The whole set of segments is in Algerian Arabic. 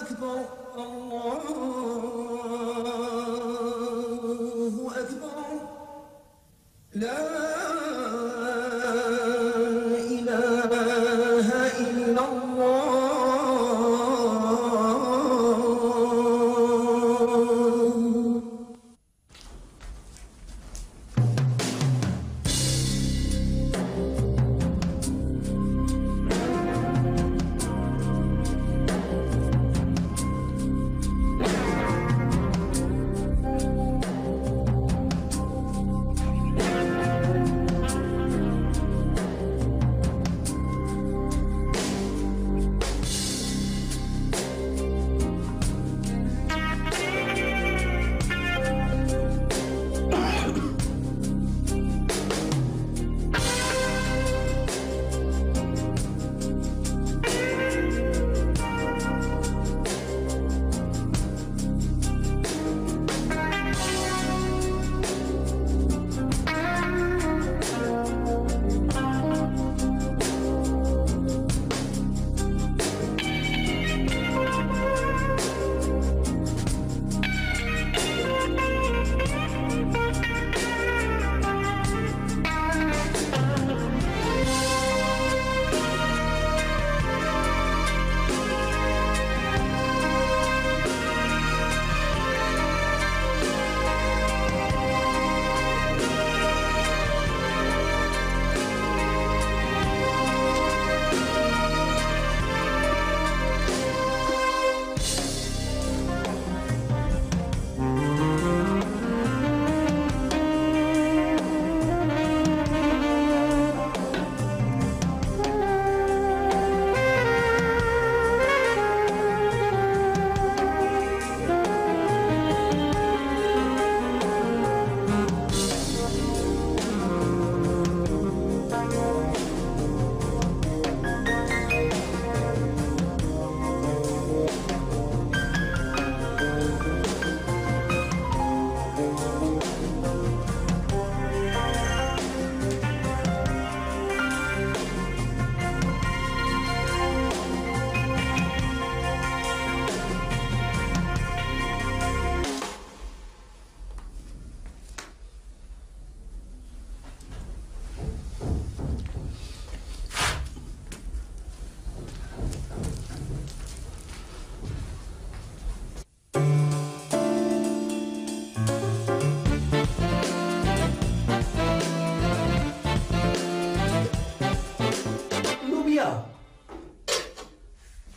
أكبر الله أكبر لا إله إلا الله.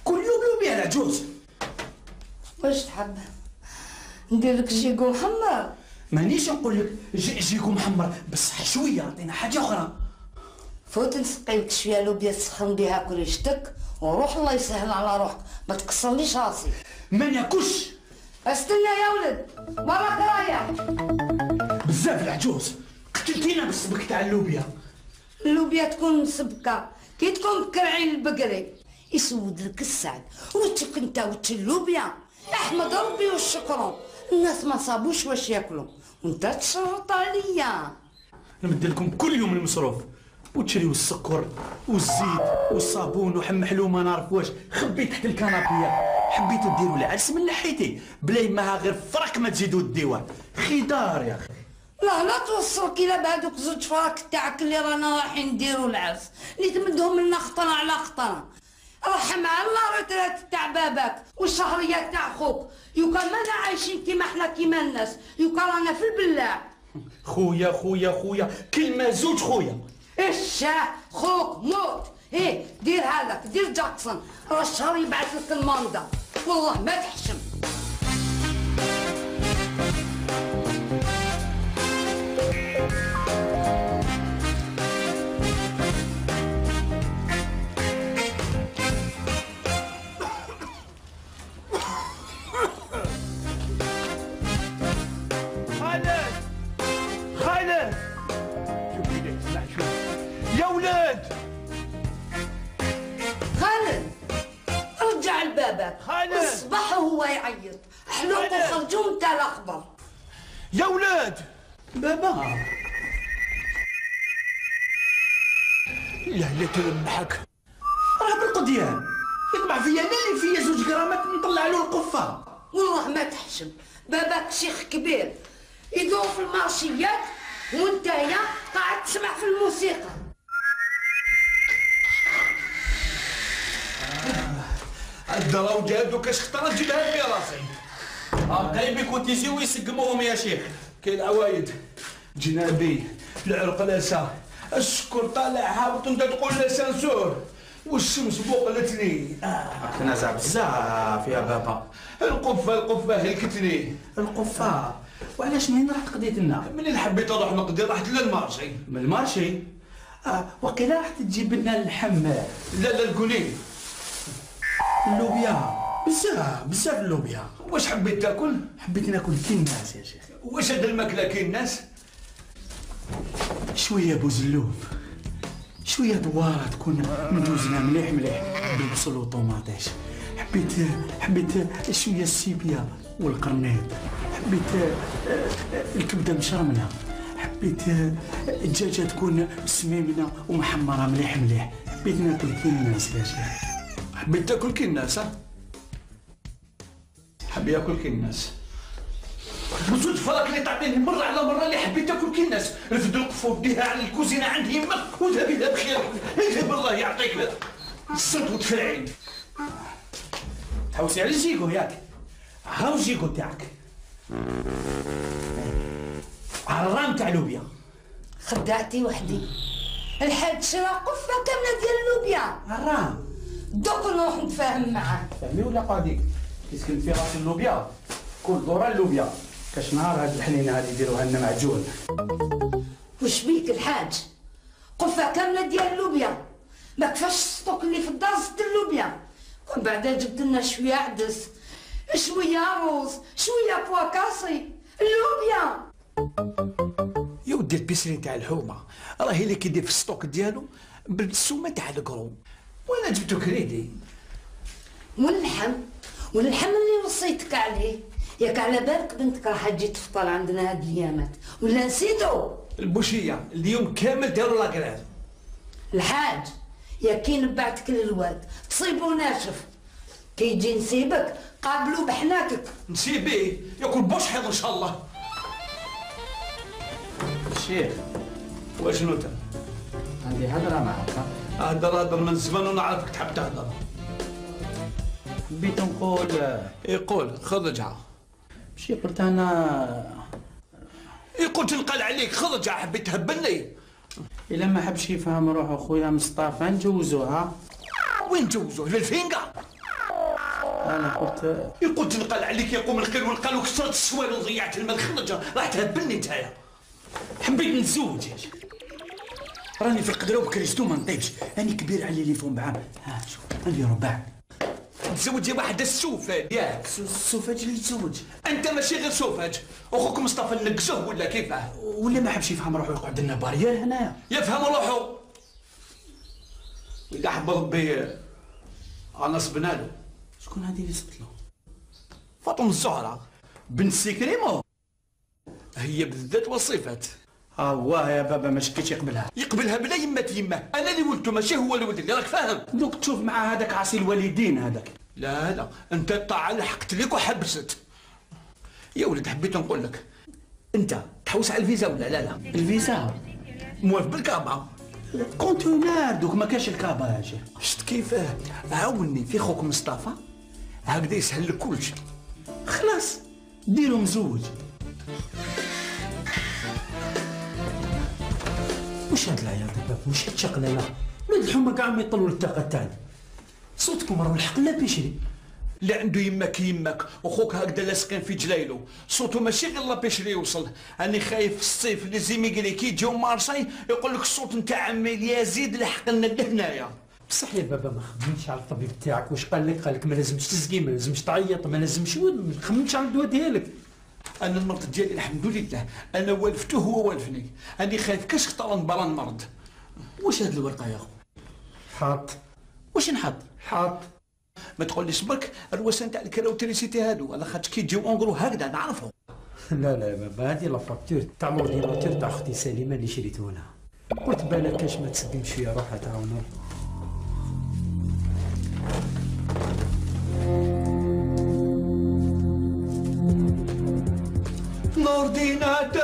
كل يوم لوبيا العجوز. واش تحب ندير لك جيكو محمر؟ مانيش نقول لك جيكو محمر، بصح شويه عطينا حاجه اخرى. فوت نسقي لك شويه لوبيا تسخن بها كريشتك وروح الله يسهل على روحك، ما تكسرليش راسي. ما ناكلش. استنى يا ولد وراك رايح. بزاف العجوز، قتلتينا بالسبك تاع اللوبيا. اللوبيا تكون مسبكه كي تكون بكرعين البقري يسود لك السعد، وتك انت وتش اللوبيا احمد ربي والشكر. الناس ما صابوش واش ياكلوا وانت تشرط عليا. نمد لكم كل يوم المصروف وتشريو السكر والزيت والصابون وحم حلوم ما نعرف واش، خبي تحت الكنابيه. حبيتو ديروا العرس من ناحيتي بلا يماها غير فرك ما تزيدوا ديوها. خضار يا اخي. لا توصلك الى بهذوك زوج فراك تاعك اللي رانا رايحين نديروا العرس، اللي تمدهم لنا خطره على خطره. رحم على الله روترات تاع باباك والشهريات تاع خوك، يو كان مانا عايشين كيما احنا كيما الناس، يو كان رانا في البلاع. خويا خويا خويا كلمه زوج خويا. الشاه خوك موت. ايه دير هذاك دير جاكسون، راه الشهر يبعث لك الماندا والله ما تحشم. يا ولاد خالد رجع لبابك. خالد الصباح وهو يعيط حلوق وخرجوا نتا الاخضر. يا ولاد بابا لا تلمحك راه بالقضيان يطبع فيا انا اللي فيا زوج جرامات نطلع له ما تحشم، باباك شيخ كبير يدور في المارشيات وانتايا قاعد تسمع في الموسيقى. الدراو جابدو كاش خطرات جبها في راسي. قريب يكون تيجيو يسقموهم يا شيخ. كاين العوايد جنابي العرقلاسه السكر طالع هابط وانت تقول لا سانسور والشمس بوقلتني. تنازع بزاف يا بابا. القفه هلكتني. القفه وعلاش منين رحت قضيت لنا؟ منين حبيت نروح نقضي رحت للمارشي. من المارشي؟ وقيلا رحت تجيب لنا اللحم. لا القولي اللوبيا بزاف اللوبيا. واش حبيت تاكل؟ حبيت ناكل كي الناس يا شيخ. واش هاد الماكله كي الناس؟ شويه بوزلوب، شويه دواره تكون مدوزنه مليح بالبصل والطوماطيش. حبيت شويه السيبيا والقرنيط. حبيت الكبده مشرمله. حبيت الدجاجه تكون سميمه ومحمره مليح. حبيت ناكل كي الناس يا شيخ. حبيت تاكل كي الناس؟ ها؟ حب ياكل كي الناس. بالصدفة راك اللي تعطيني مرة على مرة اللي حبيت تاكل كي الناس. رفد القفة وديها على الكوزينة عند يمك وذهبي لها بخير. اذهب الله يعطيك الصوت وتفرعين. تحوسي على الجيكو ياك. هاو الجيكو تاعك. عرام تاع لوبيا. خدعتي وحدي. الحاج شرا قفة كاملة ديال اللوبيا. عرام. دوك نروح نتفاهم معاه. فهمي ولا قاضيك؟ كيسكن في راس اللوبيا كل دورة اللوبيا. كاش نهار هاد الحنينه هادي يديروها لنا معجون. وش بيك الحاج؟ قفة كاملة ديال اللوبيا، ما كفاش السطوك اللي في الدار زدت اللوبيا، ومن بعد جبت لنا شوية عدس، شوية روز، شوية بواكاسي، اللوبيا. يا ودي البيسري تاع الحومه راهي اللي كيدير في السطوك ديالو بالسومه تاع الكروم. وانا جبتو كريدي. واللحم اللي وصيتك عليه، ياك على بالك بنتك راح تجي تفطر عندنا هاد الايامات ولا نسيتو؟ البوشيه اليوم كامل داروا لاكراز. الحاج يا كي نبعتك للواد تصيبو ناشف، كي يجي نسيبك قابلو بحناكك. نسيبيه ياكل بوش حيض ان شاء الله. الشيخ واشنو انت؟ عندي هضره معك. هضر من زمان ونعرفك تحب تهضر. حبيت نقول يقول خذ رجعه. ماشي قلت انا يقول تنقل عليك خذ رجعه. حبيت تهبلني. الا ما حبش يفهم روحو خويا مصطفى نجوزوها. وين جوزوه؟ للفينقا. انا قلت يقول تنقل عليك يقوم الخير والقال وكسرت السوال وضيعت المال. خرج راح تهبلني نتايا. حبيت نتزوج يا شيخ. راني في القدره وبكريستو ما نطيبش. راني كبير على لي فون بعام. شوف عندي ربع. تزوج يا واحد السوفاج ياك. السوفاج اللي تزوج. انت ماشي غير سوفاج. اخوك مصطفى نقزوه ولا كيفاه؟ ولا ما حبش يفهم روحو يقعد لنا بارير هنايا. يفهم روحو. واذا حب ربي انا صبنا له. شكون هذه اللي صبت له؟ فاطمه الزهراء بنت سيكريمو. هي بالذات وصفات. واه يا بابا ما شكيتش يقبلها بلا يمه انا اللي ولدته ماشي هو اللي ولد اللي راك فاهم. دوك تشوف مع هذاك عاصي الوالدين هذاك. لا انت الطاعه لحقت لك وحبست. يا ولد حبيت نقول لك انت تحوس على الفيزا ولا لا؟ الفيزا موالف بالكابا. كونتونار دوك ما كاش الكابا يا شيخ. شفت كيفاه؟ عاوني في خوك مصطفى هكذا يسهل لك كلشي. خلاص ديرو مزوج. وش هاد العيال دابا؟ وش هاد الشقلله؟ ولاد الحومه كاع ما يطلوا للطاقه تاعنا. صوتكم راه الحق لا بيشري. اللي عنده يماك يماك وخوك هكذا لاصقين في جلايلو. صوتو ماشي غير لا بيشري يوصل. راني خايف في الصيف لي زيميغري كي يجيو مارساي يقول لك الصوت نتاع عمي يزيد لحق لنا لهنايا. بصح يا بابا ما خممتش على الطبيب تاعك. واش قال لك؟ قال لك ما لازمش تزكي، ما لازمش تعيط، ما لازمش ما خممتش على الدواء ديالك. انا المرض ديالي الحمد لله انا والفته هو والفني. راني خايف كاش خطر نبرا المرض. واش هاد الورقه يا خو؟ حاط. واش نحط؟ حاط. ما تقوليش برك الروسان تاع الكراوتريسيتي هادو على خاطر كي يجيو اونغرو هكذا نعرفهم. لا يا بابا هادي لا فاكتور تاع لورديناتور تاع اختي سليمه اللي شريته لها. قلت بالك كاش ما تسقمش فيها روحها تعاونها. لورديناتور،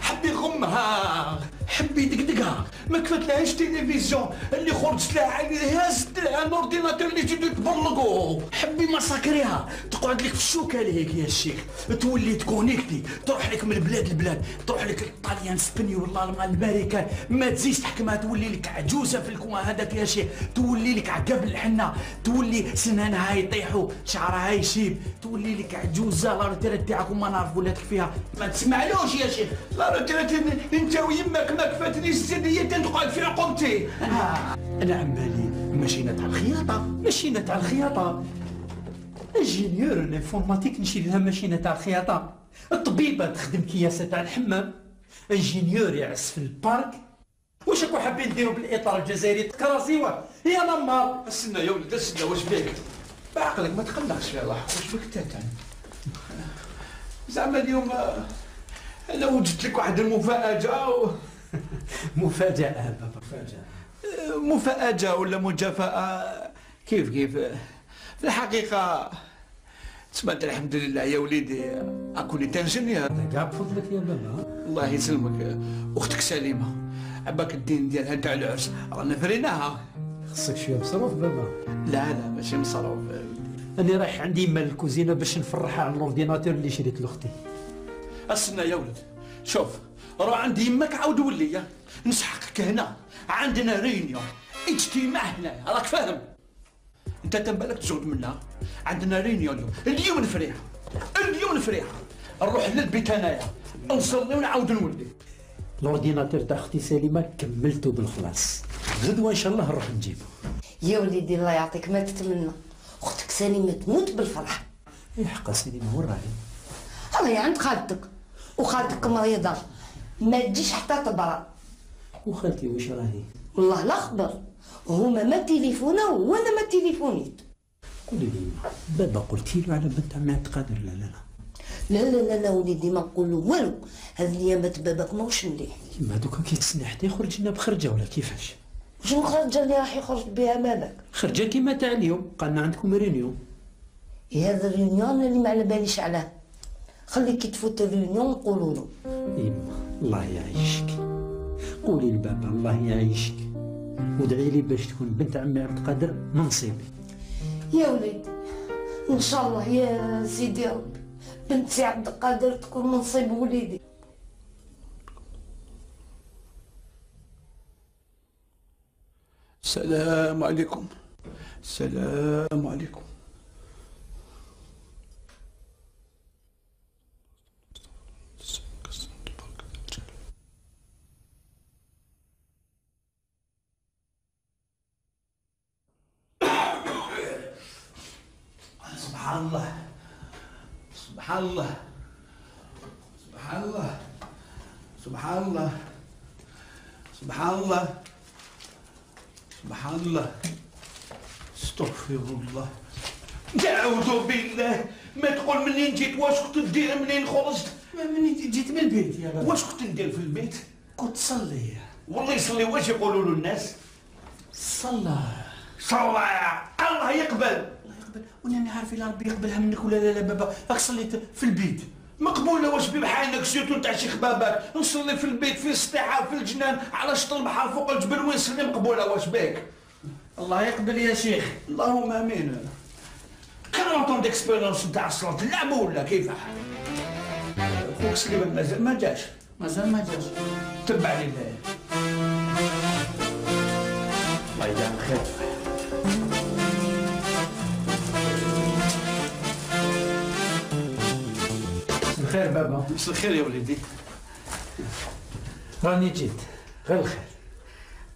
حب يغمها، حب يدقدقها، ما كفتلهاش تلفزيون اللي خرجت لها عيني هازت لها الاورديناتور اللي تجي تبلقو، حبي مساكريها تقعد لك في الشوكه هيك يا الشيخ، تولي تكونيكتي، تروح لك من البلاد لبلاد، تروح لك الطاليان سبني والله الامريكان، ما تزيدش تحكمها، تولي لك عجوزه في الكوان هذاك يا شيخ، تولي لك عقب الحنه، تولي سنانها يطيحوا، شعرها يشيب، تولي لك عجوزه. لا روتيريت تاعك وما نعرف ولاتك فيها، ما تسمعلوش يا شيخ. لا روتيريت انت ويمك ما كفاتنيش السديه تقعد في عقوبتي. انا عمالي ماشينا تاع الخياطه، ماشينة تاع الخياطة، انجينيور الانفورماتيك نشيل لها ماشينة تاع الخياطة، الطبيبة تخدم كياسة تاع الحمام، انجينيور يعس في البارك. واش راكو حابين نديرو بالاطار الجزائري كراسيوه يا نمار؟ استنى يا ولد استنى، واش بيك؟ بعقلك ما تقلقش يا الله، واش بك انت؟ زعما اليوم انا وجدت لك واحد المفاجأة مفاجأة بابا، مفاجأة ولا مجافأة كيف في الحقيقة تسمعت الحمد لله يا وليدي أكوني تنجنيور. كاع بفضلك يا بابا. الله يسلمك. أختك سليمة عباك الدين ديالها تاع العرس رانا فريناها. خصك شوية مصروف بابا. لا ماشي مصروف. أنا رايح عندي مال الكوزينة باش نفرحها على الاورديناتور اللي شريت لاختي. استنى يا ولد، شوف روح عند يمك عاود ولي نسحقك هنا، عندنا رينيون اجتماع هنا راك فاهم؟ انت تنبالك تزود منها، عندنا رينيون اليوم نفريها، اليوم نفريها، نروح للبيت انايا نصلي ونعاود نولي. الاورديناتور تاع اختي سليمة كملته بالخلاص، غدوة ان شاء الله نروح نجيبه. يا وليدي الله يعطيك ما تتمنى، اختك سليمة تموت بالفرح. حقا سليمة وين راهي؟ راهي عند خالتك، وخالتك مريضة ما تجيش حتى تبرا. وخالتي واش راهي؟ والله لا خبر، هما ما تليفونا وانا ما تليفونيت. قولي لي بابا قلتي له على بنت عمي عبد القادر؟ لا لا وليدي ما نقولو والو، هذه الايامات باباك ماهوش مليح. ما دوكا كي تسنى حتى يخرج لنا بخرجه ولا كيفاش؟ شنو الخرجه اللي راح يخرج بها باباك؟ خرجه كيما تاع اليوم، قالنا عندكم رينيون. هذا الريونيون اللي ما على باليش علاه، خلي كي تفوت الريونيون نقولوا له. يما الله يعيشك، قولي لبابا الله يعيشك، وادعي لي باش تكون بنت عمي عبد القادر من نصيبي. يا وليدي ان شاء الله يا سيدي ربي بنت سي عبد القادر تكون من نصيب وليدي. السلام عليكم. السلام عليكم. سبحان الله سبحان الله سبحان الله سبحان الله سبحان الله سبحان الله استغفر الله. أعوذ بالله، ما تقول منين جيت، واش كنت تدير منين خرجت؟ منين جيت من البيت يا بابا؟ واش كنت ندير في البيت؟ كنت تصلي. والله يصلي، واش يقولوا له الناس؟ صلى الله يقبل. وانا عارف الا ربي يقبلها منك ولا لا بابا، راك صليت في البيت مقبوله، واش بحالك سيرتو تاع شيخ باباك، نصلي في البيت في السطيحه في الجنان على شط البحر فوق الجبل وين نصلي مقبوله، واش بك؟ الله يقبل يا شيخ. اللهم امين. كان ديكسبيرونس تاع الصلاه اللعبه ولا كيف؟ خوك سليمان مازال ما جاش. تبع لله. الله يجعل خير. الخير بابا. مساء الخير يا وليدي. راني جيت غير الخير.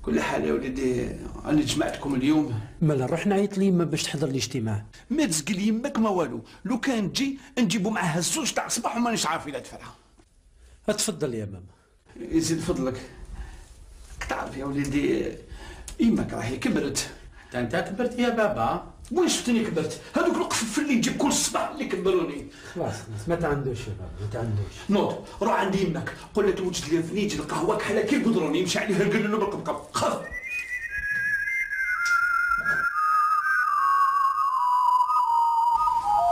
كل حال يا وليدي انا جمعتكم اليوم. مالا نروح نعيط ليما باش تحضر الاجتماع. ما تزقل يمك ما والو، لو كان تجي نجيبو معاها الزوج تاع الصباح ومانيش عارف الا تفرحها. تفضل يا بابا. يزيد فضلك. تعرف يا وليدي يمك راهي كبرت. انت كبرت يا بابا. وين شفتني كبرت؟ هذوك القفف اللي تجيب كل صباح اللي كبروني. خلاص ما تعندوش يا بابا، ما تعندوش. نوض روح عند يمك قول لها توجد لي فنيجل القهوه كحله كي القدرون يمشي عليها القلل بالقبقب. خف.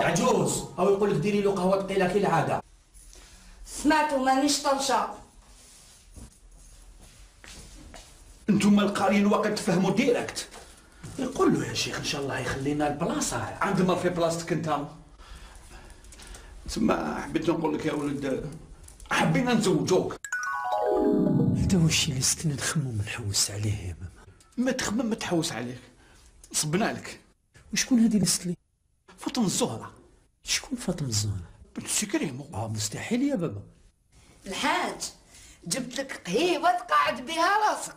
يا عجوز او يقول لك ديري له قهوه ثقيله كالعاده. سمعتو مانيش طنشة. انتم القاريين وقت تفهموا ديريكت. يقول له يا شيخ ان شاء الله يخلينا البلاصه عندما في بلاصتك انت. تسمى حبيت نقول لك يا ولد حبينا نزوجوك. هذا هو الشيء اللي ستنا نخمم نحوس عليه يا ماما. ما تخمم ما تحوس عليك، صبنا لك. وشكون هذه اللي ست لي؟ فاطمه الزهره. شكون فاطمه الزهراء؟ بنت سي كريمو. مستحيل يا بابا. الحاج جبت لك قهيوة تقعد بها راسك.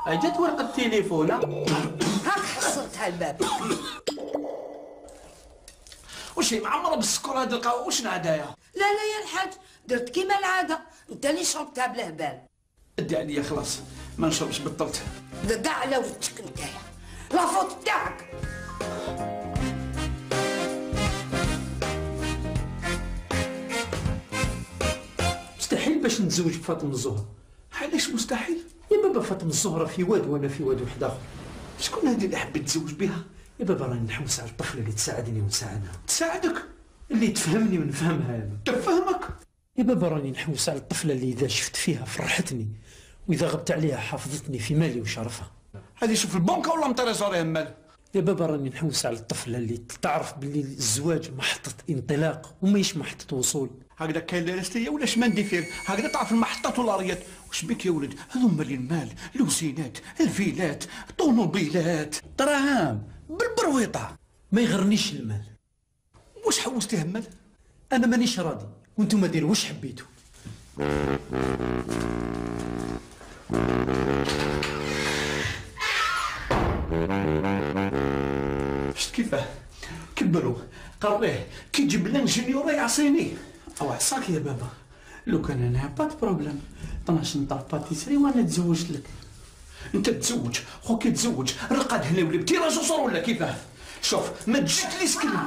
اجت ورقه التليفون. هاك حصلتها الباب. وش هي معمره بالسكر هذه القهوه؟ واش نعدايا؟ لا يا الحاج درت كيما العادة، انت اللي شربتها بلا بال. ادي عليا خلاص ما نشربش بطلت. دقع على ولدك نتايا، لا فوت تاعك. مستحيل باش نتزوج بفاطمه الزهراء. علاش مستحيل؟ يا بابا فاطمه الزهراء في واد وانا في واد واحد اخر. شكون هذه اللي حبيت تزوج بها؟ يا بابا راني نحوس على الطفله اللي تساعدني ونساعدها، تساعدك؟ اللي تفهمني ونفهمها يا بابا. تفهمك؟ يا بابا راني نحوس على الطفله اللي اذا شفت فيها فرحتني، واذا غبت عليها حافظتني في مالي وشرفها. هذه شوف البنكه ولا مطريزوري مال؟ يا بابا راني نحوس على الطفله اللي تعرف باللي الزواج محطه انطلاق وماهيش محطه وصول. هكذا كاين لاستيه ولا شمندي فيه، هكذا تعرف المحطات والاريات. واش بك يا ولد؟ هذوما اللي المال، لوزينات، الفيلات، طوموبيلات، دراهم بالبرويطه. ما يغرنيش المال. واش حوستيه مال؟ انا مانيش راضي وانتم ديروا واش حبيتوا. شفت كيفاه كبروا قريه كي يجيب لنا انجينيور يعصيني. او عصاك يا بابا، لو كان انا با بروبليم 12 نطاف باتيسري وانا تزوجت لك. انت تزوج خوك يتزوج رقد هنا ولا بتيرا جسر ولا كيفاه؟ شوف ما تجيش لي سكلني.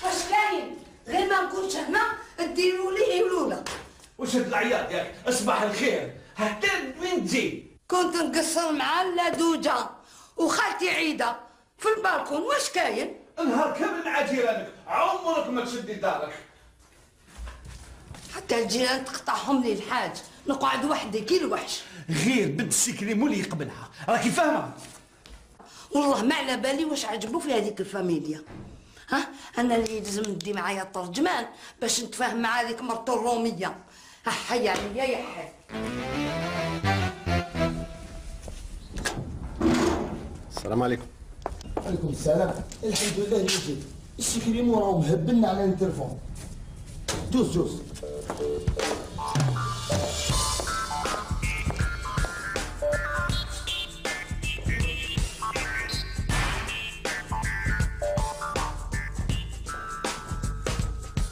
واش كاين؟ غير ما نكونش هنا ديروا لي يولولا. واش هاد العياط ياك؟ اصبح الخير حتى وين تجي؟ كنت نقصر مع اللدوجة وخالتي عيدة في البالكون. واش كاين؟ نهار كامل مع جيرانك عمرك ما تشدي دارك. حتى الجيران تقطعهم لي الحاج، نقعد وحدي كي الوحش. غير بنت السكريمو اللي يقبلها راكي فاهمه. والله ما على بالي واش عجبو في هذيك الفاميليا. ها انا اللي لازم ندي معايا الترجمان باش نتفاهم مع هذيك مرتو الروميه. حي عليا يا حي. السلام عليكم. عليكم السلام. الحمد لله اللي جيت. السكريمو راهو مهبلنا على التليفون. جوز جوز.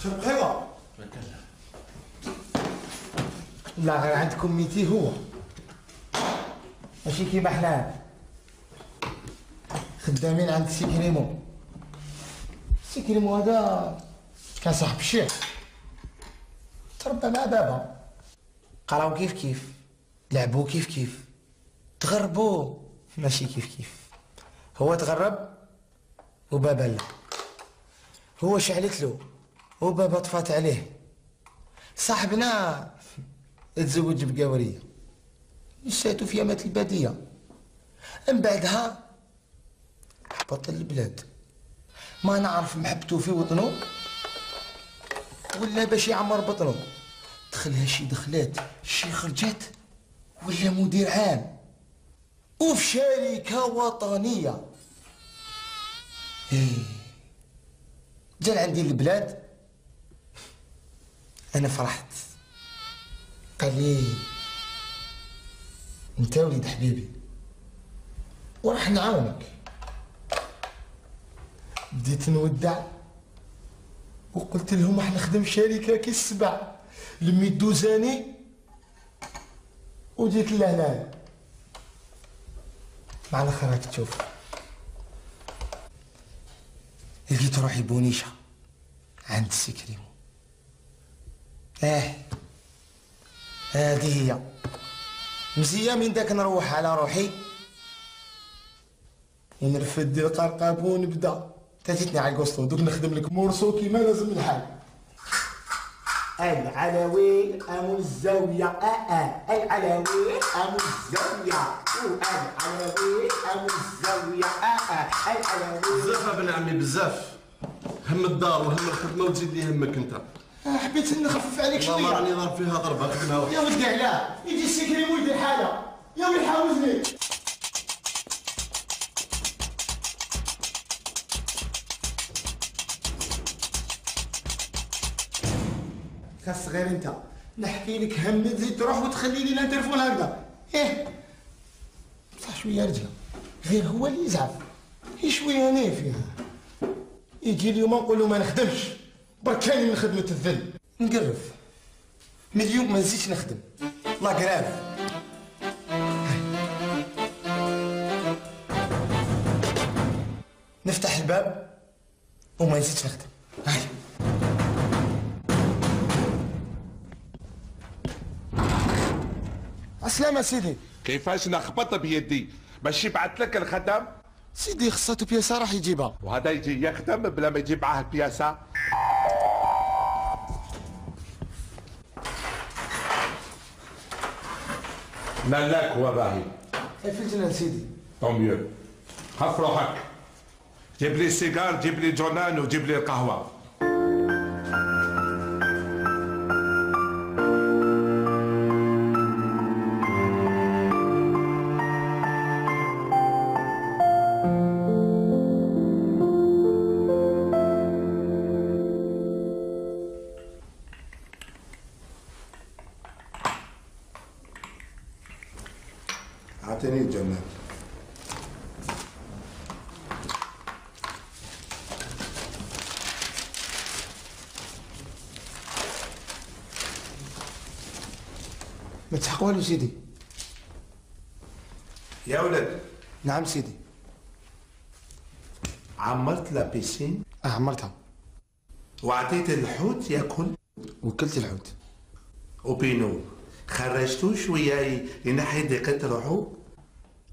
شنو خيبة؟ لا غير عندكم ميتي هو ماشي كيما حنا خدامين عند سيكريمو. سيكريمو هذا كان صاحب الشيخ، تربى مع بابا، قراو كيف كيف، لعبوا كيف كيف، تغربوا ماشي كيف كيف. هو تغرب وبابا لا، هو شعلت له وبابا طفات عليه. صاحبنا تزوج بقاورية نساتو في يامات البادية، من بعدها هبط البلاد. ما نعرف محبتو في وطنو ولا باش يعمر بطنو. دخلها شي دخلات شي خرجات ولا مدير عام وفي شركة وطنية. جا عندي البلاد انا فرحت. قال لي انت وليد حبيبي وراح نعاونك. بديت نودع وقلت لهم راح نخدم شركة كي السبع، لميت دوزاني وجيت لهنا. مع الاخر راك تشوف لقيت روحي بونيشة عند السكريمو. هذه هي مزية. من داك نروح على روحي ونرفد القرقاب ونبدا تاتيتني على الكوستو دوك نخدم لك مورسو كيما لازم الحال. العلوي أم الزاوية العلوي أم الزاوية العلوي أم الزاوية العلوي. بزاف ابن عمي بزاف، هم الدار وهم الخدمه وتزيد لي همك انت. حبيت نخفف عليك شويه. والله راني ضارب فيها ضربه خدمها. يا ودي علاه يجي السكري ويدير حاجه يا ولي حاوزني. خاص غير انت نحكي لك هم تزيد تروح وتخلي لي التليفون هكذا. صح شويه رجله غير هو اللي يزعف شويه انا فيها. يجي اليوم نقول له ما نخدمش بركاني من خدمه الذل نقرف من اليوم ما نزيدش نخدم لا كراف. نفتح الباب وما نزيدش نخدم. هاي عسلامة سيدي. كيفاش نخبط بيدي باش يبعث لك الخدم؟ سيدي خصاتو بياسة راح يجيبها. وهذا يجي يخدم بلا ما يجيب معاه البياسة؟ ملاك هو باهي. في الجنان سيدي. طون ميو. خف روحك. جيب لي السيجار، جيب لي جونان وجيب لي القهوة. اعطيني الجنان. ما تحق والو سيدي. يا ولد. نعم سيدي. عمرت لا بيسين؟ عمرتها. وعطيت الحوت ياكل؟ وكلت الحوت. وبينو خرجتو شويه ينحي ضيقة روحو؟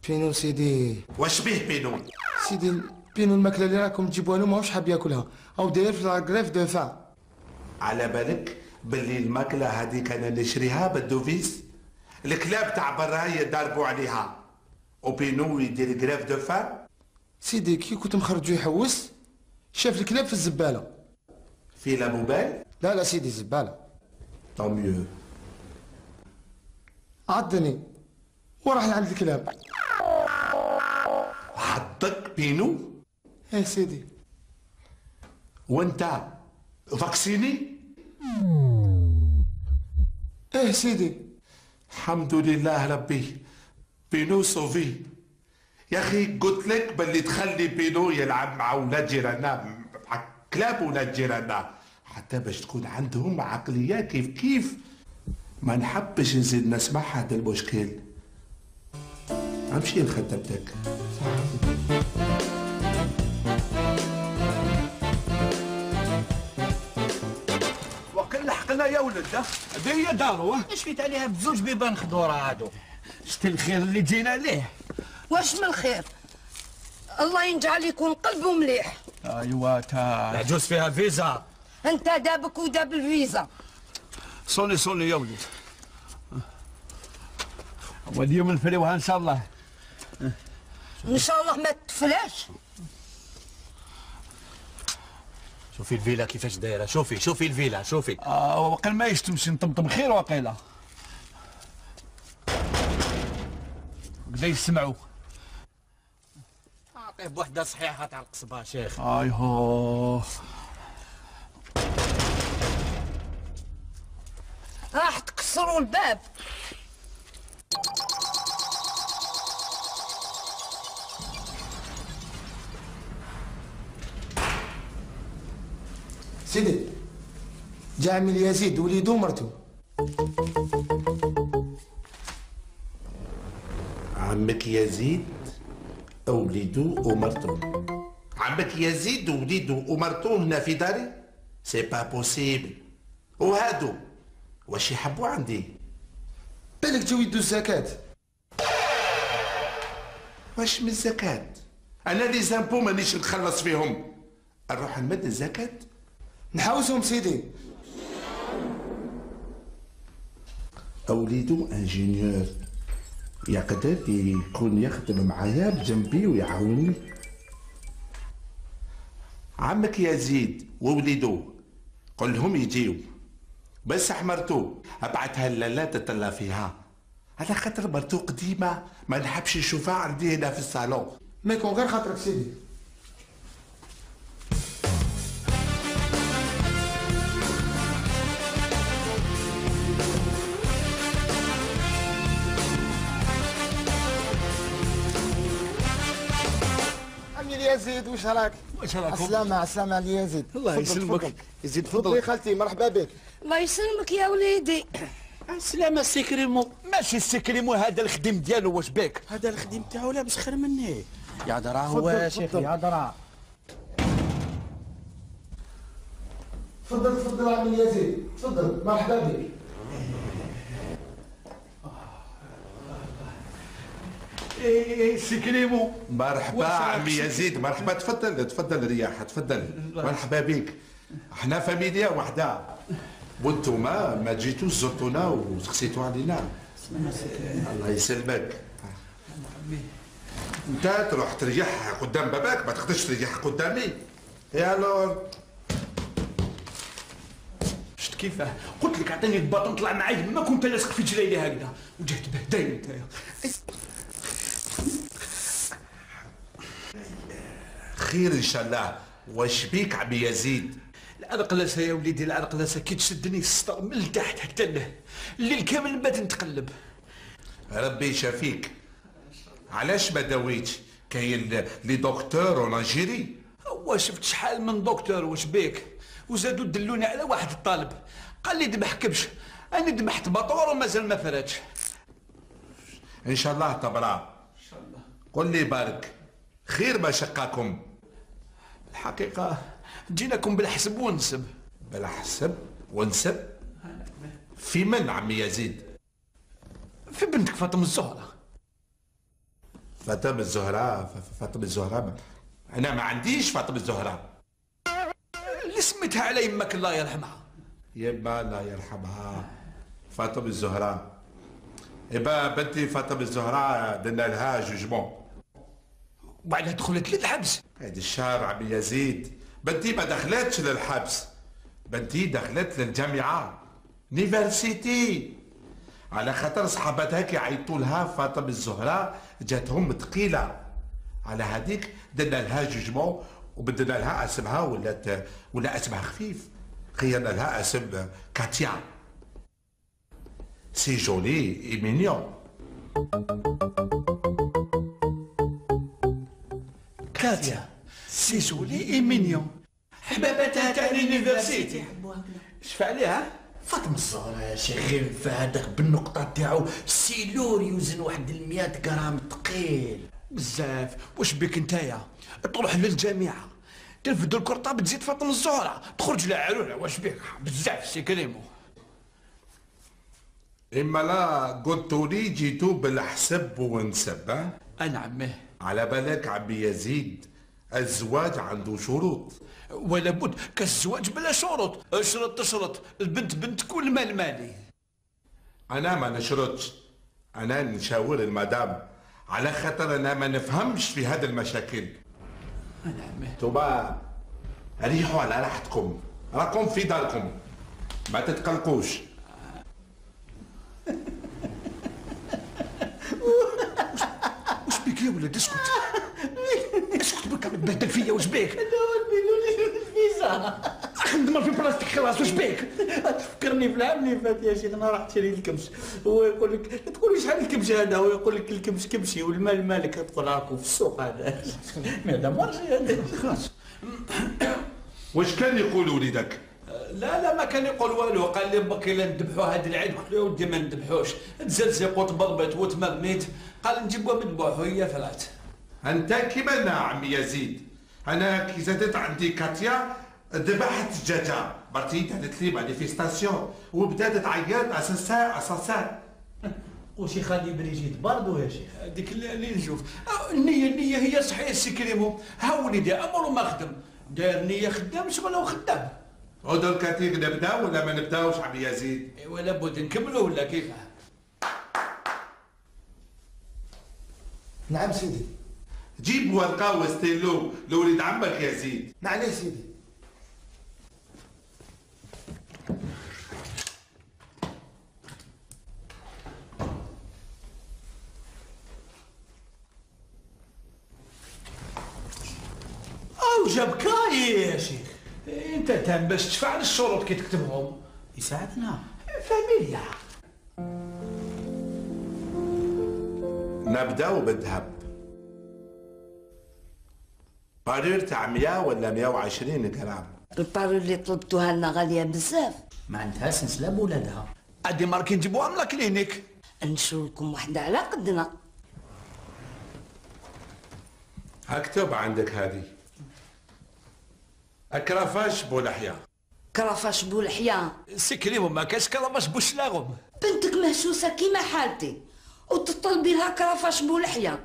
بينو سيدي. واش بيه بينو؟ سيدي بينو الماكله اللي راكم تجيبوها له ماهوش حاب ياكلها او داير في لاكريف دو فان. على بالك باللي الماكله هذيك انا نشريها بالدوفيس؟ الكلاب تاع برا يضربوا عليها وبينو يدير كريف دو فان. سيدي كي كنت مخرجو يحوس شاف الكلاب في الزباله. في لابوبال؟ لا لا سيدي زباله. طون ميو. عضني وراح لعند الكلاب. حطك بينو؟ ايه سيدي. وانت فاكسيني؟ ايه سيدي. الحمد لله ربي بينو صوفي. يا اخي قلت لك باللي تخلي بينو يلعب مع ولاد جيراننا مع كلاب ولاد جيراننا حتى باش تكون عندهم عقليه كيف ما نحبش نزيد نسمع هذا المشكل. امشي لخدمتك. وكل حقنا يا ولد هذه هي دارو. اش فيت عليها بزوج بيبان خضوره هادو. شتي الخير اللي جينا ليه. واش من الخير؟ الله ينجعل يكون قلبه مليح. ايوا تا العجوز فيها فيزا. انت دابك وداب الفيزا. صوني يا ولد. واليوم نفريوها ان شاء الله. ان شاء الله ما تفلاش. شوفي الفيلا كيفاش دايره. شوفي الفيلا شوفي. وقيل ما يشتمش نطمطم خير وقيله. وكذا يسمعوا. اعطيه بوحده صحيحه تاع القصبه شيخ. ايهو راح تكسروا الباب. سيدي جا عمي يزيد وليدو ومرتو. عمك يزيد وليدو ومرتو. عمك يزيد وليدو ومرتو هنا في داري؟ سي با بوسيبل. وهادو واش يحبوا عندي؟ بالك جاو يدو الزكاة. واش من الزكاة؟ انا لي زامبو مانيش نخلص فيهم. نروح نمد الزكاة. نحوسهم سيدي. أوليدو انجينيور يقدر يكون يخدم معايا بجنبي ويعاوني. عمك يزيد ووليدو قل لهم يجيو، بس مرتو ابعتها لالا تتلا فيها، على خاطر مرتو قديمة ما نحبش نشوفها عندي هنا في الصالون. ما يكون غير خاطرك سيدي. يزيد واش راك؟ واش راكم؟ السلامة السلامة على يزيد. الله يسلمك. يزيد تفضلي خالتي، مرحبا بك. الله يسلمك يا وليدي. السلامة السي كريمو. ماشي السي كريمو، هذا الخديم ديالو، واش بك؟ هذا الخديم تاعو لابس خير مني. يا درا هو شيخي، يا درا. تفضل تفضل عمي يزيد، تفضل مرحبا بك. سي كريمو. مرحبا عمي يزيد، مرحبا. تفضل تفضل رياح، تفضل. مرحبا بك. احنا فاميليا وحده، وانتم ما جيتوش زرتونا وسقسيتوا علينا. الله يسلمك. انت تروح تريح قدام باباك، ما تقدرش تريح قدامي. يا لور شفت كيفاه؟ قلت لك اعطيني الباطون طلع معايا، ما كنت لاصق في جليلي هكذا وجهت بهداين نتايا. خير ان شاء الله. واش بيك عمي يزيد؟ العرقلاسه يا وليدي، العرقلاسه كي تشدني السطر من لتحت حتى له، الليل كامل بات نتقلب. ربي يشافيك. علاش ما داويتش؟ كاين لي دكتور ونجيري. هو شفت شحال من دكتور، واش بيك؟ وزادوا دلوني على واحد الطالب قال لي ذبح كبش، انا ذبحت بطور ومازال ما فراتش. ان شاء الله تبرع. ان شاء الله. قل لي بارك خير ما شقاكم. الحقيقه جيناكم بالحسب ونسب. بالحسب ونسب؟ في من عمي يزيد؟ في بنتك فاطمه الزهراء. فاطمه الزهراء؟ فاطمه الزهراء؟ انا ما عنديش فاطمه الزهراء. اللي سميتها على يمك الله يرحمها. يما الله يرحمها. فاطمه الزهراء. إبا بنتي فاطمه الزهراء درنا لها جوجمون وبعدها دخلت للحبس. هذا الشهر عمي يزيد. بنتي ما دخلتش للحبس، بنتي دخلت للجامعة نيفرسيتي، على خاطر صحابتها كي عيطوا لها فاطمة الزهراء جاتهم ثقيلة، على هذيك درنا لها جوجمون وبدلنا لها اسمها ولا اسمها خفيف، خيرنا لها اسم كاتيا. سي جولي اي مينيون. كاتيا سي جولي اي مينيون، حبابتها تاع لينيفرسيتي. شفع عليها فاطمة الزهراء يا شيخي، هذاك بالنقطة تاعو سيلور يوزن واحد 100 غرام ثقيل بزاف. واش بك نتايا تروح للجامعة تلفد الكرطاب تزيد فاطمة الزهراء تخرج لها عرولة، واش بك بزاف سي كريمو. اما لا قلتوا لي جيتوا بالحسب ونسب. انا عمه. على بالك عمي يزيد الزواج عنده شروط. ولا بد كالزواج بلا شروط، اشرط تشرط، البنت بنتك والمال مالي. انا ما نشرطش، انا نشاور المدام، على خاطر انا ما نفهمش في هذه المشاكل. انا عمه. توبا ريحوا على راحتكم، راكم في داركم ما تتقلقوش. واش بيك يا ولد؟ اسكت اسكت بك تبهدل فيا، واش بيك؟ هذا هو البيلوني الفيزا. خدمه في بلاصتك خلاص، واش بيك؟ تفكرني في العام اللي فات يا شيخ، انا رحت شريت الكبش، هو يقول لك لا تقول لي شحال الكبش هذا، هو يقول لك الكبش كبشي والمال مالك، تقول راكو في السوق هذا. هذا مارشي هذا خلاص. واش كان يقول وليدك؟ لا ما كان يقول والو، قال لي بكي لا نذبحوا هذا العيد، قلت له يا ودي ما نذبحوش، تزلزق وتبربط وتمرميت، قال نجيبوها مذبوح وهي فرات. انت كيما انا عمي يزيد، انا كي زادت عندي كاتيا ذبحت الدجاجه، مرتي دارت لي مانيفيستاسيون وبدات تعيط اساسا. وشي خالي بريجيت برضو يا شيخ. هذيك اللي نشوف النية هي صحيح سي كريمو. ها وليدي امر ما خدم، داير نية خدام شغل هو خدام. ودول كاتيك نبدا ولا ما نبداوش عمي يزيد؟ ايوا لابد نكملوا ولا كيفاه؟ نعم سيدي. جيب ورقه وستيلو لوليد عمك يزيد. نعم سيدي. او جاب كاي يا شيخ. انت تام باش تفعل الشروط كي تكتبهم. يساعدنا. فاميليا. نبداو بالذهب. بارير تاع 100 ولا 120 غرام. البارو اللي طلبتوها لنا غاليه بزاف. ما عندها سنسله بولادها. عادي ماركي نجيبوها من الكلينيك. نشوف لكم وحده على قدنا. اكتب عندك هذه. كرافاش بولحية. كرافاش بولحية. سكريمو ما كاش كرافاش بوشلاغم. بنتك مهشوسه كيما حالتي وتطلبي لها كرافاش بولحية،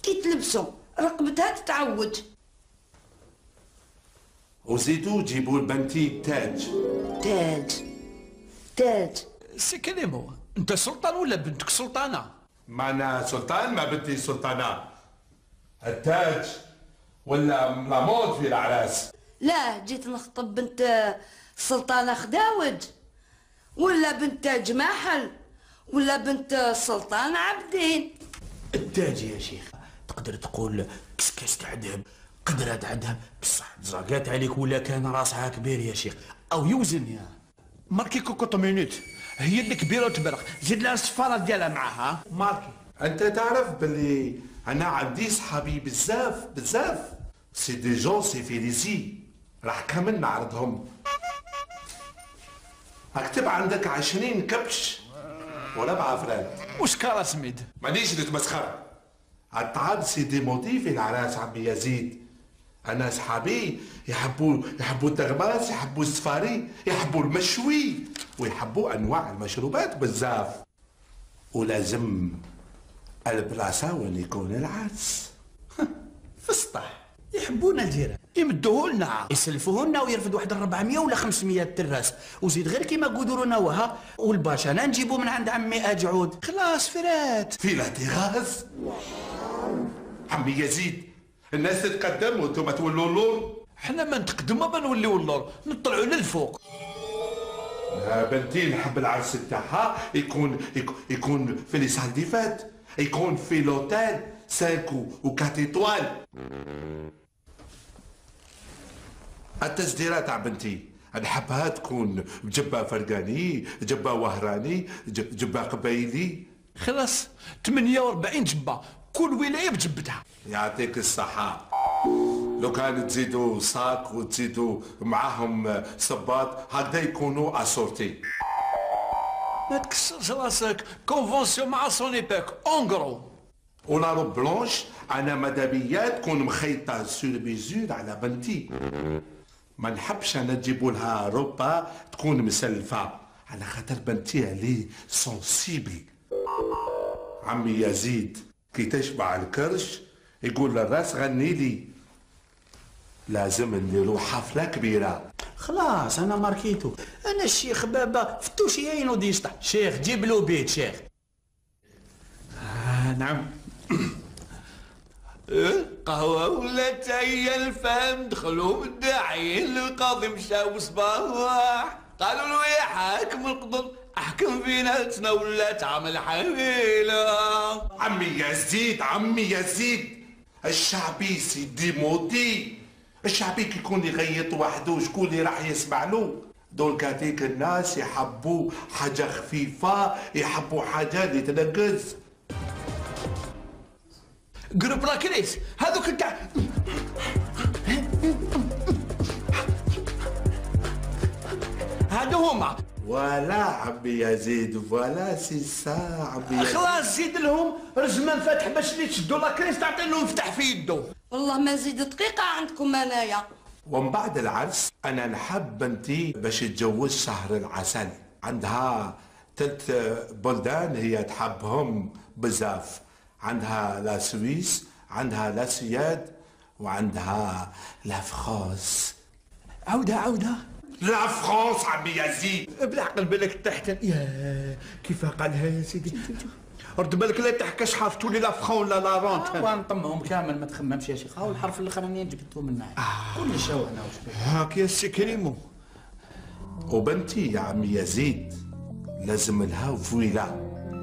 كي تلبسو رقبتها تتعوج. وزيدوا جيبوا لبنتي تاج. تاج. سكريمو انت سلطان ولا بنتك سلطانه؟ ما انا سلطان ما بنتي سلطانة. التاج ولا لامود في العراس. لا جيت نخطب بنت سلطانة خداوج ولا بنت تاج محل ولا بنت سلطان عبدين. التاج يا شيخ تقدر تقول كسكاس تاع ذهب، قدرة تاع ذهب بصح زاقات عليك ولا كان راسها كبير يا شيخ او يوزن يا ماركي كوكوط مينوت. هي اللي كبيره وتبرق، زيد لها الصفاره ديالها معاها ماركي. انت تعرف باللي انا عندي صحابي بزاف سي دي جون سي فيليزي، راح كامل نعرضهم. اكتب عندك 20 كبش ولا بعفرات. واش كارا سميد؟ مانيش نتمسخر. الطعام سي دي موتي في العراس عمي يزيد. انا صحابي يحبوا التغماس، يحبوا السفاري، يحبوا المشوي، ويحبوا انواع المشروبات بزاف. ولازم البلاصه وين يكون العرس. في السطح يحبونا الجيران يمدوه لنا، يسلفوه لنا ويرفد واحد 400 ولا 500 تراس، وزيد غير كيما قدرونا وها والباش انا نجيبو من عند عمي اجعود. خلاص فرات في الاعتراض عمي يزيد. الناس تتقدم وانتم تولوا اللور. حنا ما نتقدموا ما نوليو اللور، نطلعوا للفوق. بنتي نحب العرس تاعها يكون في لي سال دي فات، يكون في لوتيل 5 و 4 ايطوال. التسديره تاع بنتي نحبها تكون بجبه فرقاني، جبه وهراني، جبه قبايلي. خلاص 48 جبه كل ولايه بجبتها. يعطيك الصحة. لو كان تزيدوا صاك وتزيدوا معاهم صباط هكذا يكونوا اسورتي. ما تكسرش راسك، كونفونسيون مع سوني باك اونغرو. ولا روب بلونش انا مدابيا تكون مخيطة سور بيزور على بنتي. ما نحبش انا تجيبوا لها روبا تكون مسلفة على خاطر بنتي عليه سونسيبل. عمي يزيد كي تشبع الكرش يقول للراس غني لي. لازم نديرو حفلة كبيرة. خلاص انا ماركيتو. انا الشيخ بابا فتوشي عينو ديشطح. شيخ جيب له بيت شيخ. نعم. قهوة ولا تاي الفهم دخلوا مدعين القاضي مشاو صباح قالوا له يا حاكم القضل احكم فينا ولا تعمل حويلة. عمي يزيد الشعبي سيدي موتي. الشعبي كي يكون يغيط وحده شكون اللي راح يسمع له؟ دول كاتيك الناس يحبوا حاجة خفيفة، يحبوا حاجة اللي تنقز. قرب راكريس هذوك تاع هادو هما. ولا عمي يزيد ولا سي سا عمي يزيد. خلاص زيد لهم رجمان فاتح باش اللي تشدوا لاكريس تعطي لهم فتح في يدو. والله ما زيد دقيقة عندكم انايا. ومن بعد العرس انا نحب بنتي باش تتجوز شهر العسل. عندها 3 بلدان هي تحبهم بزاف. عندها لا سويس، عندها لا سويد، وعندها لا فرانس. عودة لا فرانس عمي يزيد. بالعقل بالك تحت. يا كيف قالها يا سيدي؟ رد بالك لا تحكاش حافظتوا لي لا فرون ولا لا رونت. ونطمهم كامل ما تخممش يا شيخ. هاو الحرف الاخراني جبتو منها كل شيء انا وش هاك يا سي كريمو. وبنتي يا عمي يزيد لازم لها فيلا،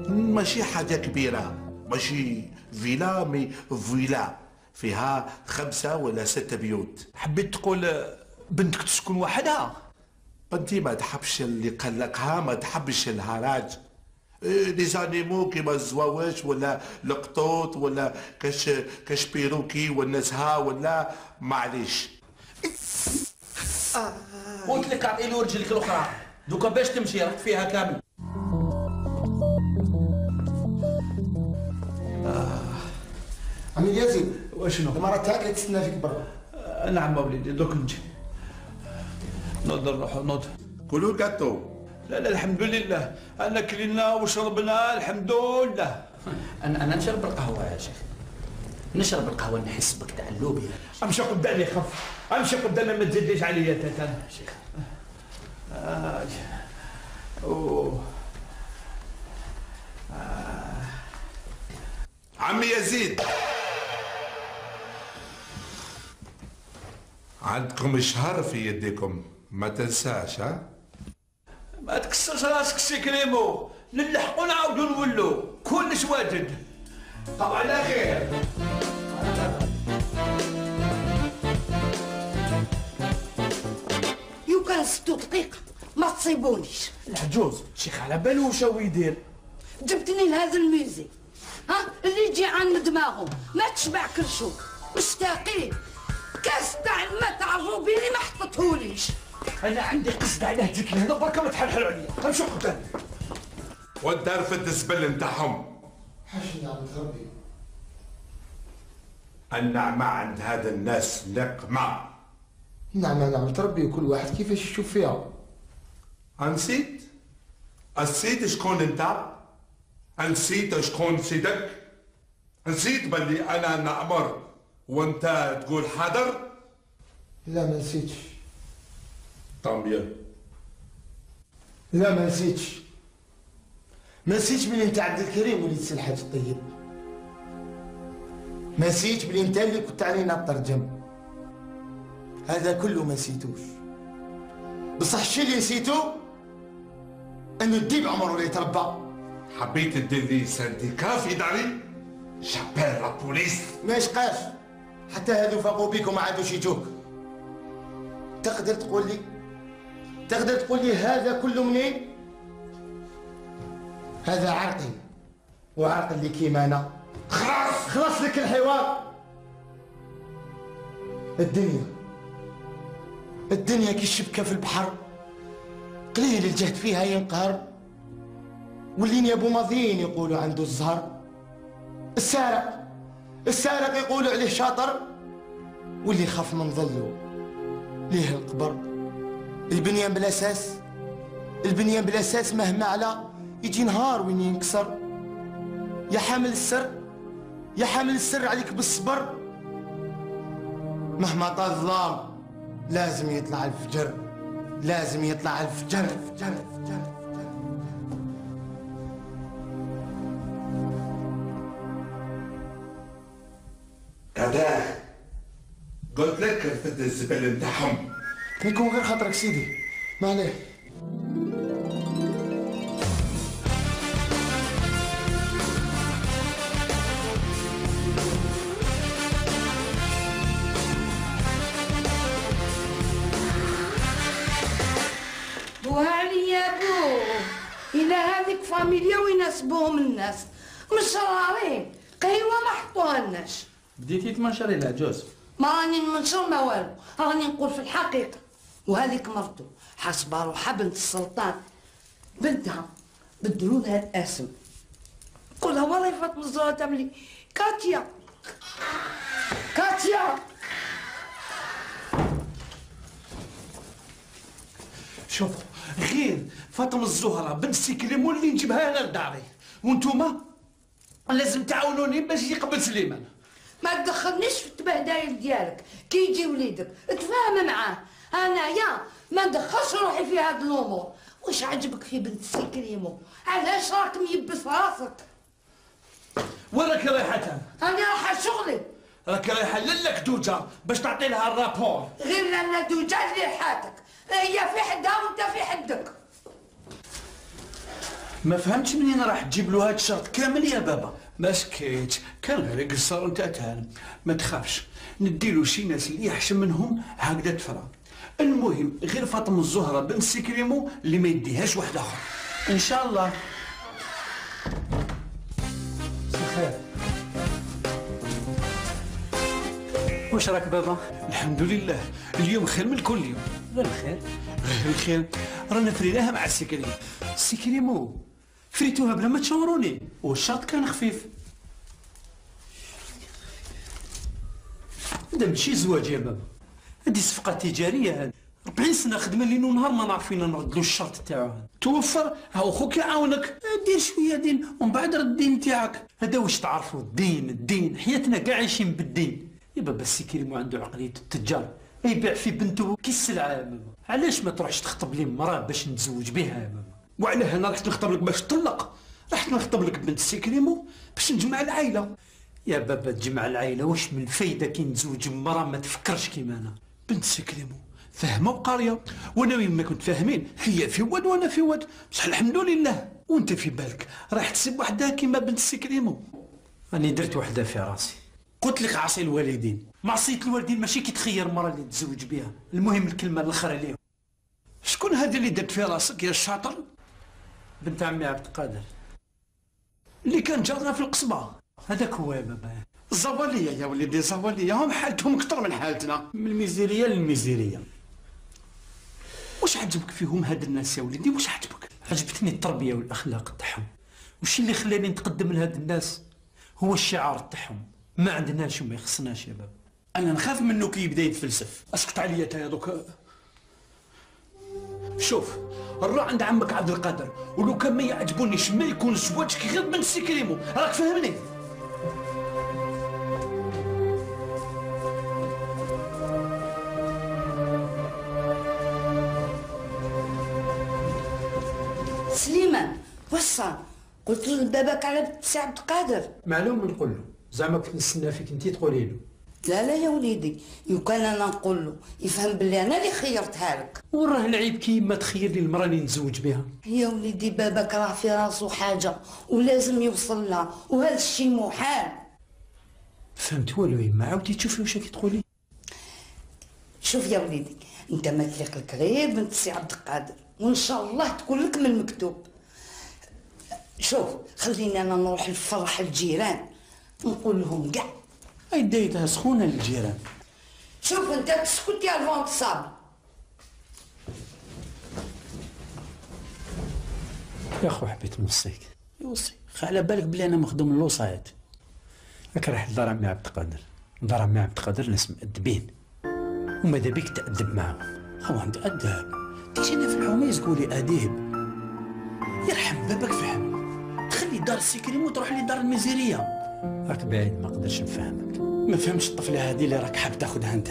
ماشي حاجة كبيرة، ماشي فيلا مي فيلا فيها 5 ولا 6 بيوت. حبيت تقول بنتك تسكن وحدها؟ بنتي ما تحبش اللي يقلقها، ما تحبش الهراج. لي زانيمو كيما الزواوش ولا القطوط ولا كاش بيروكي ولا نزهه ولا معليش. قلت لك اعطيني رجلك الاخرى دوكا باش تمشي رحت فيها كامل. عمي يزيد واشنو؟ المرة تاعك اللي تستنى فيك برا. نعم وليدي دوك نجي. نوض نروح نوض. كلوا كاتو. لا الحمد لله انا كلينا وشربنا الحمد لله. انا نشرب القهوه يا شيخ، نشرب القهوه نحس بك تاع اللوبيا. امشي قدامي خف، امشي قدامي ما تزيدليش عليا تاتا يا شيخ. عمي يزيد عندكم شهر في يديكم ما تنساش. ها ما تكسرش راسك سي كريمو، نلحقوا نعاودوا نولوا كلش واجد. طبعا على خير. يو كان 6 دقيقة ما تصيبونيش. العجوز شيخ على بالو واش هو يدير. جبتني لهذا الميوزي ها اللي يجي عن دماغه ما تشبع كرشو مشتاقين كاس تاع الماء تاع الروبيني ما حطتهوليش. انا عندي قصد عليه جيت لهنا بركا ما تحلحلوا عليا. امشوا قدامي. وانت رفد الزبل نتاعهم. حاشي نعم ربي. النعمة عند هذا الناس نقمة. نعم ربي وكل واحد كيفاش يشوف فيها. نسيت؟ نسيت شكون انت؟ نسيت شكون سيدك؟ نسيت بلي انا نأمر وانت تقول حاضر؟ لا ما نسيتش. طامبيا. لا ما نسيتش. ما نسيتش بلي انت عبد الكريم وليد سي الحاج الطيب. ما نسيتش بلي انت اللي كنت علينا ترجم. هذا كله ما نسيتوش. بصح الشيء اللي نسيتو انه الديب عمره لا يتربى. حبيت تدير لي سانديكا في داري؟ جابيل لا بوليس. ما يشقاش حتى هذو فاقوا بيك وما عادوش يجوك. تقدر تقول لي هذا كله منين؟ هذا عرقي وعرق اللي كيما انا. خلاص لك الحوار. الدنيا كي الشبكه في البحر قليل الجهد فيها ينقهر. واللي يابو ماضيين يقولوا عنده الزهر. السارق يقولوا عليه شاطر. واللي خاف من ظله ليه القبر. البنيان بلا اساس مهما على يجي نهار وين ينكسر. يا حامل السر عليك بالصبر. مهما طال الظلام لازم يطلع الفجر. هذا قلت لك رفد الزبل نتاعهم. يكون غير خاطرك سيدي ما عليه. بوها عليا بو إلى هذيك فاميليا ويناسبوهم الناس مش رارين قهوة ما حطوهالناش. بديتي تمنشري العجوز. ما راني نمنشر ما والو، راني نقول في الحقيقة. وهذيك مرته حاسبة روحها بنت السلطان. بنتها بدلوا لها الاسم. قولها والله فاطمة الزهراء تعملي كاتيا. شوفوا غير فاطمة الزهراء بنت سي كريمو اللي نجيبها انا لداري، وانتوما لازم تعاونوني باش يقبل سليمان. ما تدخلنيش في التبهدايل ديالك. كي يجي وليدك اتفاهم معاه، انايا ما ندخلش روحي في هاد الامور. واش عجبك في بنت سيكريمو؟ علاش راك ميبس راسك؟ وين راك رايحة؟ انا رايحه شغلي. راك رايحة لك دوجة باش تعطي لها الرابور. غير لالا دوجة اللي حاتك، هي في حدها وانت في حدك. ما فهمتش منين راح تجيب له هاد الشرط كامل يا بابا؟ ما سكيت، كان غير قصر نتاع تهان. ما تخافش، نديلو شي ناس اللي يحشم منهم هكذا تفرى. المهم غير فاطمه الزهره بنت سيكريمو اللي ما يديهاش واحد اخر ان شاء الله. خير. واش راك بابا؟ الحمد لله، اليوم خير من كل يوم. غير الخير. غير الخير، رانا فريناها مع السيكريمو. سيكريمو فريتوها بلا ما تشاوروني، والشرط كان خفيف. هذا ماشي زواج يا بابا، هذه صفقة تجارية. هذه 40 سنة خدمة ليل ونهار ما نعرف فينا نردلو الشرط تاعو. توفر، هاو خوك يعاونك. دير شوية دين ومن بعد رد الدين تاعك. هذا واش تعرفوا، الدين حياتنا كاع عايشين بالدين. يا بابا السيكريمو عنده عقلية التجار، يبيع في بنته كي السلعة يا بابا. علاش ما تروحش تخطب لي مراه باش نتزوج بها يا بابا؟ وعلى هنا رحت نخطب لك باش تطلق، رحت نخطب لك بنت سيكريمو باش نجمع العائلة. يا بابا تجمع العائلة واش من الفايدة كي نتزوج بمراه ما تفكرش كيما انا؟ بنت سيكريمو فاهمة وقارية، وانا وين ما كنت فاهمين، هي في واد وانا في واد، بصح الحمد لله. وانت في بالك راح تسيب وحدها كيما بنت سيكريمو؟ راني درت وحده في راسي. قلت لك عصي الوالدين. معصية الوالدين ماشي كي تخير مرة اللي تزوج بها، المهم الكلمة الاخرى عليهم. شكون هذه اللي درت في راسك يا الشاطر؟ بنت عمي عبد القادر اللي كان جارنا في القصبة. هذاك هو يا بابا. الزوالية يا وليدي، الزوالية هم حالتهم أكثر من حالتنا. من الميزيرية للميزيرية. واش عجبك فيهم هاد الناس يا وليدي؟ واش عجبك؟ عجبتني التربية والأخلاق تاعهم، وش اللي خلاني نتقدم لهاد الناس هو الشعار تاعهم، ما عندناش وما يخصناش يا بابا. أنا نخاف منه كي يبدا يتفلسف. اسكت عليا تا دوك. شوف الروح عند عمك عبد القادر، ولو كان ما يعجبونيش ما يكون زواجك غير بنت سيكريمو، راك فاهمني؟ سليمان واش صار؟ قلت لباباك على بنت سي عبد القادر؟ معلوم نقول له، زعما كنت نستنى فيك انتي تقولي له. لا يا وليدي، يو كان انا نقول له يفهم بلي انا اللي خيرتها لك. وراه العيب كي ما تخير لي المراه اللي نتزوج بها. يا وليدي باباك راه في راسو حاجه ولازم يوصل لها، وهذا الشيء محال. فهمت والو يما، عاودي تشوفي واش راكي تقولي. شوف يا وليدي، انت ما تليق لك غير بنت سي عبد القادر، وان شاء الله تكون لك من المكتوب. شوف خليني انا نروح نفرح الجيران، نقول لهم كاع. هاي دايتها سخونة للجيران. شوف انت تسكت يا الفونت صاب. يا خو حبيت نوصيك. يوصي، على بالك بلي انا مخدوم الوصايات. راك رايح لدار عمي عبد القادر، دار عمي عبد القادر ناس مؤدبين، وماذا بيك تأدب معاهم. هو عند أداب، تجينا في الحوميز تقولي أديب. يرحم بابك فهم، تخلي دار السيكريمو وتروح لي دار الميزيرية. راك بعيد ما قدرش نفهمك. ما فهمش الطفلة هذه اللي راك حاب تاخذها انت.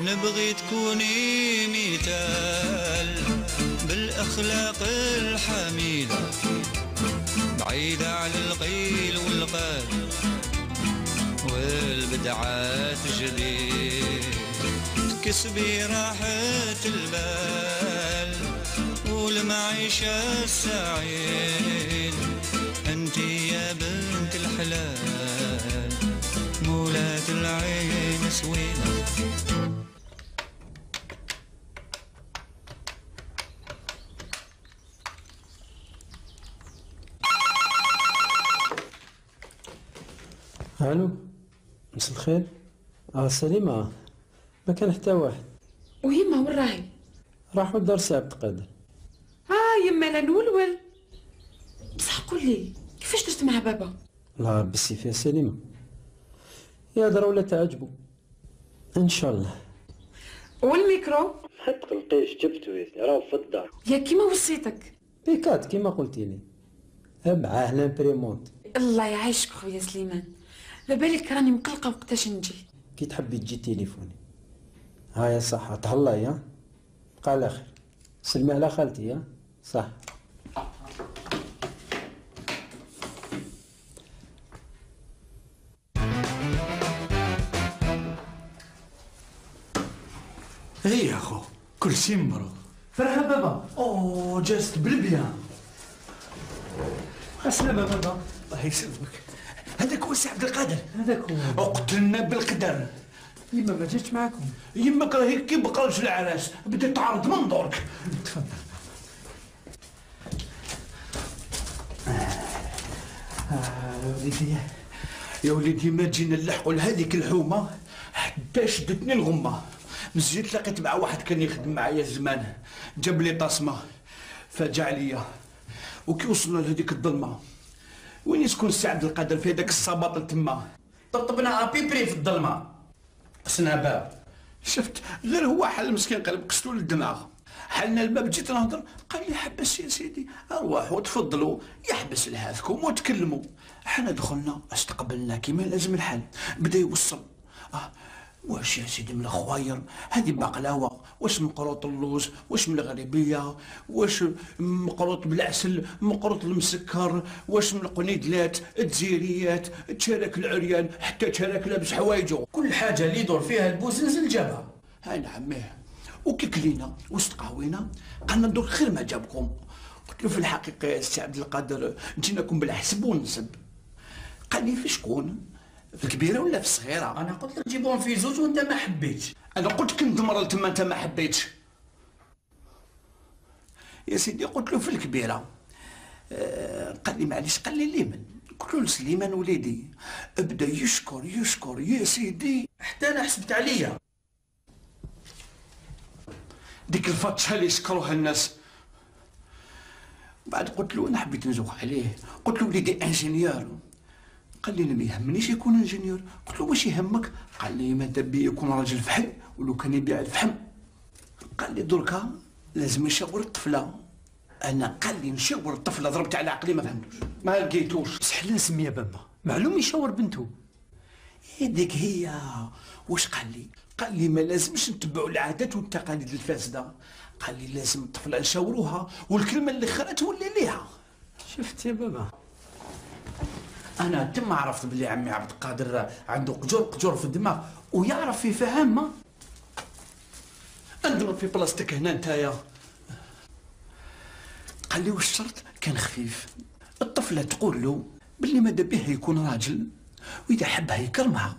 نبغي تكوني مثال بالأخلاق الحميدة، بعيدة عن القيل والقال والبدعات الجديد، تكسبي راحة البال والمعيشة السعيد. انتي يا بنت الحلال مولاة العين سويدة. الو، مساء الخير. سليمة، ما كان حتى واحد. ويما وين راهي؟ راحوا لدار سي عبد القادر. يما لا نولول. بصح قول لي كيفاش درت مع بابا؟ لا بسي فيها سليمة، يهضر ولا تعجبوا ان شاء الله. والميكرو ما تقلقيش جبتو راهو في الدار. يا كيما وصيتك. بيكات كيما قلتي لي معاه لامبريمونت. الله يعيشك خويا سليمان، لبالك راني مقلقه وقتاش نجي. كي تحبي تجي تليفوني. هايا صح تهلاي ها، بقى على خير. سلمي على خالتي ها. صح. هي يا خو كل شيء مبروك. فرحة بابا. اوه جازت بالبيان. السلامة بابا. الله يسلمك. هذاك هو سي عبد القادر. هذاك هو. اقتلنا بالقدر. يما ما جاتش معاكم. يماك راهي كي بقرش العراس بدات تعرض من دورك. تفضل. وليدي يا وليدي ما جينا نلحقوا لهذيك الحومه حتى شدتني الغمه. مزيت لقيت مع واحد كان يخدم معايا زمان، جاب لي طاسمه فجع ليا. وكي وصلنا لهذيك الظلمه وين يسكن السي عبد القادر في هذاك الصباط تما، طبطبنا ابيبري في الظلمه قسنا باب. شفت غير هو حل مسكين قلب قستو للدماغ. حلنا الباب جيت نهضر قال لي حبس يا سيدي ارواحوا تفضلوا يحبس لهذكم وتكلموا. حنا دخلنا استقبلنا كيما لازم الحال. بدا يوصل واش يا سيدي من الخواير هذه بقلاوه، واش مقروط اللوز، واش من الغريبيه، واش مقروط بالعسل، مقروط المسكر، واش من القنيدلات، التزيريات، التشارك العريان، حتى تشارك لابس حوايجو، كل حاجه اللي يدور فيها البوزنزل جابها. ها نعميه. وكي كلينا واستقهوينا قالنا ندور خير ما جابكم. قلت له في الحقيقه يا سي عبد القادر جيناكم بالحسب والنسب. قال لي في شكون؟ في الكبيره ولا في الصغيره؟ انا قلت لك جيبوهم في زوج وانت ما حبيتش. انا قلت كنت مرة تما انت ما حبيتش. يا سيدي قلت له في الكبيره. قال لي معليش. قال لي لمن؟ قلت له سليمان وليدي. بدا يشكر يشكر يا سيدي حتى انا حسبت عليا. ديك الفتشه اللي يشكروها الناس. بعد قلت له انا حبيت نزوق عليه، قلت له وليدي انجينيور. قال لي انا ما يهمنيش يكون انجينيور. قلت له واش يهمك؟ قال لي ماذا بي يكون راجل فحم ولو كان يبيع الفحم. قال لي دركا لازم يشاور الطفله. انا قال لي نشاور الطفله ضربت على عقلي ما فهمتوش ما لقيتوش. بصح لازم يا بابا معلوم يشاور بنته. هذيك هي. واش قال لي؟ قال لي ما لازمش نتبعوا العادات والتقاليد الفاسده. قال لي لازم الطفله نشاوروها والكلمه اللي خرات تولي ليها. شفت يا بابا انا تما عرفت بلي عمي عبد القادر عنده قجور في الدماغ ويعرف يفهم. ما انضرب في بلاصتك هنا نتايا. قال لي واش الشرط؟ كان خفيف. الطفله تقول له باللي ماذا به يكون راجل، واذا حبها يكرمها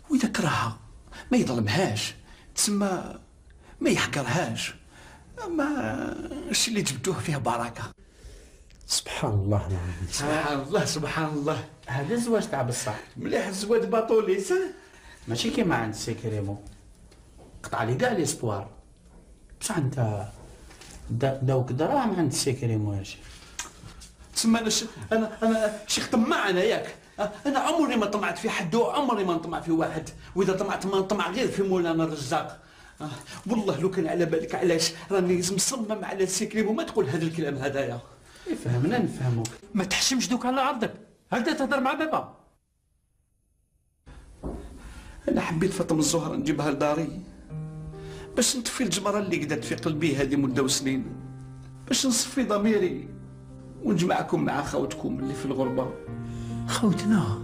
واذا كرهها ما يظلمهاش، تسمى ما يحقرهاش. اما الشيء اللي جبتوه فيه بركه. سبحان الله العظيم. سبحان الله سبحان الله. هذا الزواج تاع بصح مليح الزواج باطوليس ماشي كيما عند سيكريمو قطع لي كاع ليسبوار. بصح انت داوك دراهم عند سيكريمو يا شيخ. تسمى انا شيخ طماع انا ياك. انا عمري ما طمعت في حد وعمري ما نطمع في واحد، واذا طمعت ما نطمع غير في مولانا الرزاق. والله لو كان على بالك علاش راني مصمم على السيكريم وما تقول هذا الكلام هذايا. فهمنا نفهموك. ما تحشمش دوك على عرضك. هكذا تهضر مع بابا. انا حبيت فاطمه الزهراء نجيبها لداري باش نطفي الجمره اللي قدرت في قلبي هذه مده وسنين، باش نصفي ضميري ونجمعكم مع خوتكم اللي في الغربه. خوتنا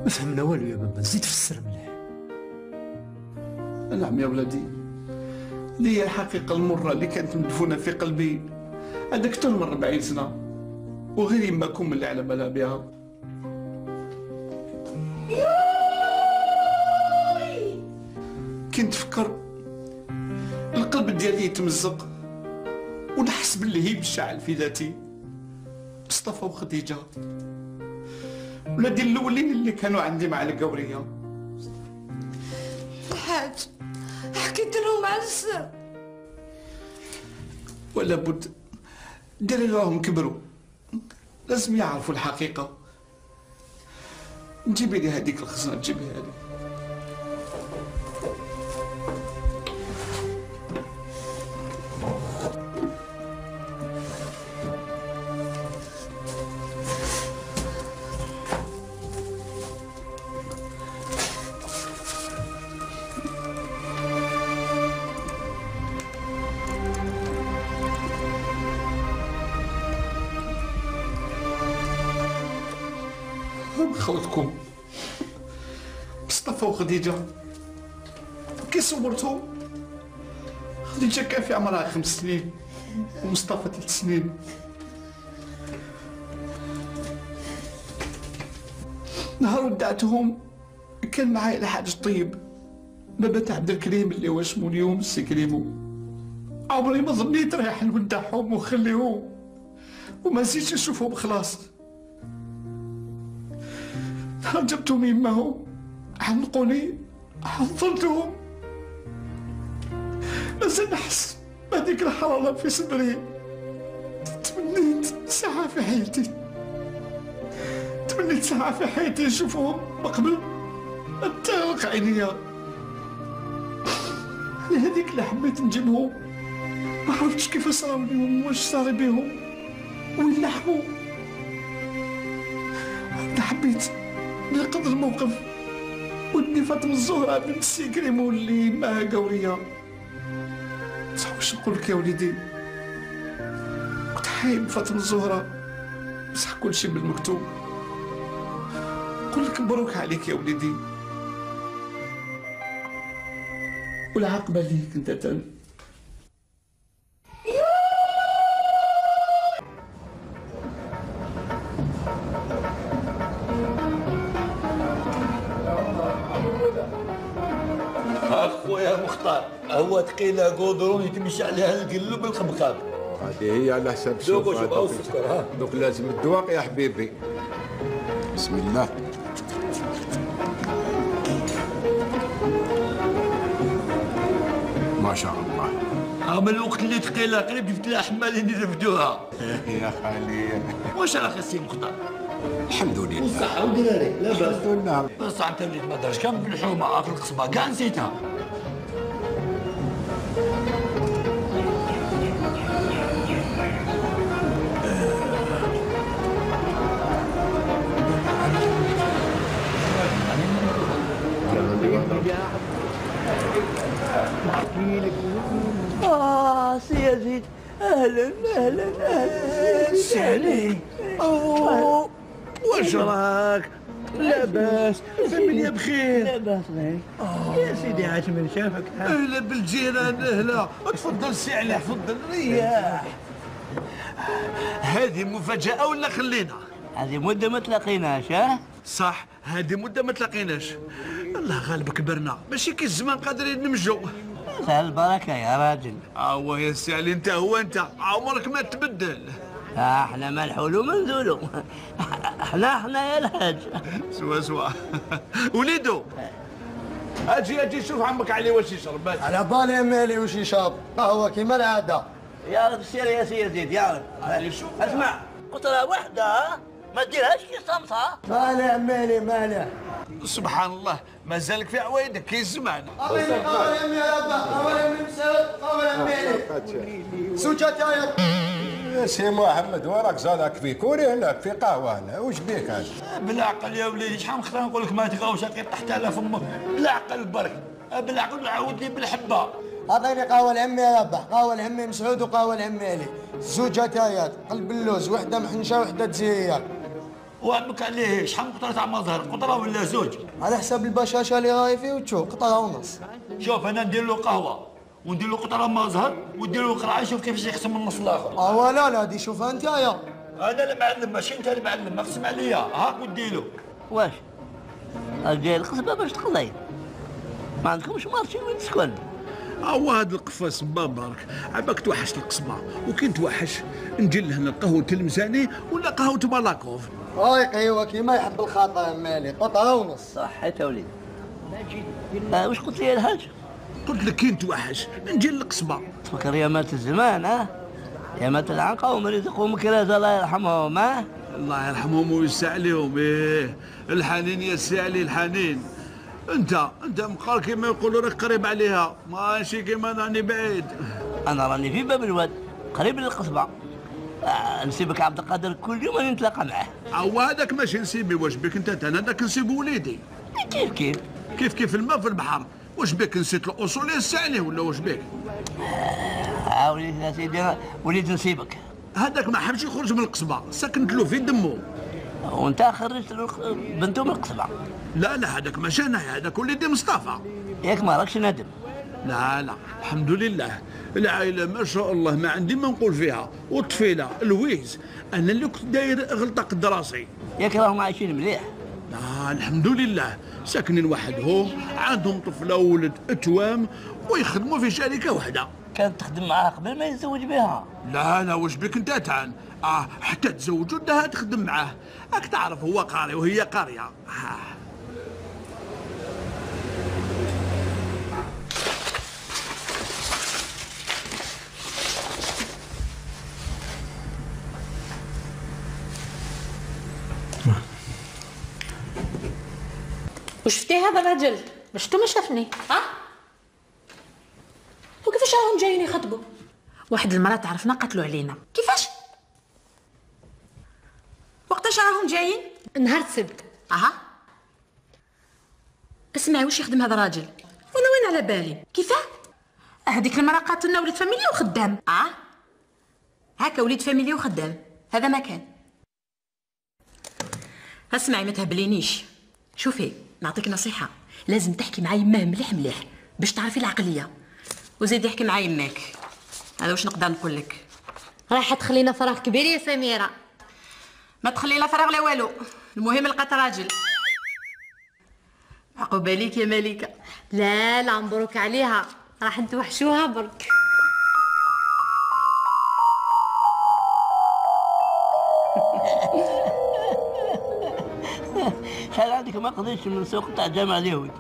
ما فهمنا والو يا بابا، زيد فسر مليح. نعم يا ولدي، لي الحقيقة المرة اللي كانت مدفونة في قلبي هذا أكثر من 40 سنة، وغير يماكم اللي على بالها بها. كنت فكر القلب ديالي يتمزق ونحس باللي هي بشعل في ذاتي. مصطفى وخديجة ولادي الأولين اللي كانوا عندي مع القورية. الحاج حكيت لهم على السر. ولا بد ديري راهم كبروا، لازم يعرفوا الحقيقة. جيبي لي هذيك الخزنة، جيبيها لي. خوتكم مصطفى وخديجة كي صورتهم خديجة كان في عمرها 5 سنين ومصطفى 3 سنين. نهار ودعتهم كان معايا الحاج طيب بابا تاع عبد الكريم اللي هو اسمو اليوم السي كريمو. عمري ما ظنيت رايح نودعهم ونخليهم وما نسيتش نشوفهم خلاص. نهار جبتهم يماهم عنقوني حضرتهم مازال نحس بهذيك الحرارة في صدري. تمنيت ساعة في حياتي، تمنيت ساعة في حياتي نشوفهم قبل ما تغلق عينيا. لهذيك اللي حبيت نجيبهم ما عرفتش كيف صراو اليوم واش صار بيهم وين لحقوا. أنا حبيت ننقذ الموقف ودني فاطمة الزهراء بنت السي كريمو اللي معها قورية. بصح واش نقول لك يا وليدي، كنت حايب فاطمة الزهراء بصح كلشي بالمكتوب. نقول لك مبروك عليك يا وليدي والعاقبة ليك انت تاني. اخويا مختار هو ثقيله قودرون يتمشي عليها القلب بالخبخاب. هذه هي على حساب دوك وشوف السكر ها دوك لازم الدواق يا حبيبي. بسم الله. ما شاء الله. من الوقت اللي ثقيله قريب جبت لها حمالين يرفدوها. يا خليل واش راك السي مختار؟ الحمد لله. الصحة ودراري لاباس. الحمد لله. بس انت وليت ما درتش كان بالحومه في القصبه كاع نسيتها. سي يزيد اهلا اهلا اهلا سي علي. واش راك؟ لاباس الفاميليا بخير. لاباس غير يا سيدي عاش من شافك. اهلا بالجيران اهلا. تفضل سي علي تفضل رياح. هذه مفاجأة ولا خلينا؟ هذه مدة ما تلاقيناش. ها؟ صح هذه مدة ما تلاقيناش. الله غالب كبرنا ماشي كي الزمان قادرين نمشوا. البركة يا راجل. يا سي علي انت هو انت عمرك ما تبدل. احنا ما نحولوا ما نزولوا. احنا يا الحاج. سوا وليدو اجي شوف عمك علي واش يشرب. على بالي مالي واش يشرب قهوة كيما العادة. يا رب سير يا سي يزيد يا رب. اسمع قطرة واحدة ما ديرهاش كي صمصة. مالح مالي مالح. سبحان الله مازالك في عوايدك كي الزمان. قهوة يمي يا ربا قهوة يمي مسعود قهوة مالي سوجة يا سي محمد وراك زادك في كوري هناك في قهوه هنا واش بيك هذا؟ بالعقل يا وليدي شحال من خطره نقول لك ما تغاوش طحت على فمك. بالعقل برك بالعقل عاود لي بالحبه. اعطيني قهوة العمي يا ربح قهوة العمي مسعود وقهوة العمي علي زوج تايات قلب اللوز وحدة محنشة وحدة تزيير. وعمك عليه شحال من قطره تاع مظهر قطره ولا زوج؟ على حساب البشاشة اللي راهي فيه وتشوف قطرة ونص. شوف انا ندير له قهوه وندير له قطره مظهر وندير له قرعه شوف كيفاش يقسم النص الاخر. لا دي شوفها انت يا. انا المعلم ماشي انت المعلم اقسم عليا هاك ودي له. واش جاي القصبة باش تقضي؟ ما عندكمش مارشي وين تسكن؟ هاد القفاص بابارك عباك توحش القصبه وكي نتوحش نجي لهنا قهوه تلمساني ولا قهوه مالاكوف. ايوا كيما يحب الخاطر مالي قطره ونص. صح يا وليد. واش قلت لي الحاج؟ قلت لك كي نتوحش نجي للقصبه. تفكر يا مات الزمان ها؟ يا مات العنقه ومن يرزقهم كراز الله يرحمهم. ها؟ الله يرحمهم ويوسع عليهم. الحنين يا سي علي الحنين. انت مقال كيما يقولوا راك قريب عليها ماشي كيما راني بعيد. انا راني في باب الواد قريب للقصبه. نسيبك عبد القادر كل يوم نتلاقى معاه. هذاك ماشي نسيبي واش بك انت انا هذاك نسيب وليدي. كيف الماء في البحر. واش بك نسيت الاصول يا سي علي ولا واش بك؟ وليد يا سيدي وليد نسيبك. هذاك ما حبش يخرج من القصبه سكنت له في دمه. وانت خرجت بنته من القصبة. لا لا هذاك ماشي انا، هذاك وليدي مصطفى. ياك ما راكش نادم؟ لا لا الحمد لله، العائلة ما شاء الله ما عندي ما نقول فيها، والطفيلة الويز أنا اللي كنت داير غلطة قد راسي. ياك راهم عايشين مليح؟ لا الحمد لله ساكنين وحدهم، عندهم طفلة وولد اتوام ويخدموا في شركة واحدة. كانت تخدم معاه قبل ما يتزوج بها؟ لا لا واش بك انت تعن؟ حتى تزوجوا دها تخدم معاه، راك تعرف هو قاري وهي قارية. وشفتي هذا الرجل؟ شفتو ما شافني؟ وكيفاش راهم جايين يخطبوا؟ واحد المرة تعرفنا قتلوا علينا. كيفاش؟ وقتاش راهم جايين؟ نهار السبت. اسمعي واش يخدم هذا الراجل؟ وانا وين على بالي؟ كيفاه؟ هذيك المرة قاتلنا وليد فاميليا وخدام. هكا وليد فاميليا وخدام، هذا ما كان. اسمعي ما تهبلينيش. شوفي نعطيك نصيحة، لازم تحكي مع يماه مليح مليح باش تعرفي العقلية، وزيد يحكي مع يماك. هذا واش نقدر نقول لك. راح تخلينا فراغ كبير يا سميرة. ما تخلينا فراغ لا والو، المهم لقات راجل. عقوبة ليك يا مليكة. لا لا مبروك عليها، راح نتوحشوها برك. شحال عندك ما قضيتش من السوق تاع جامع اليهود؟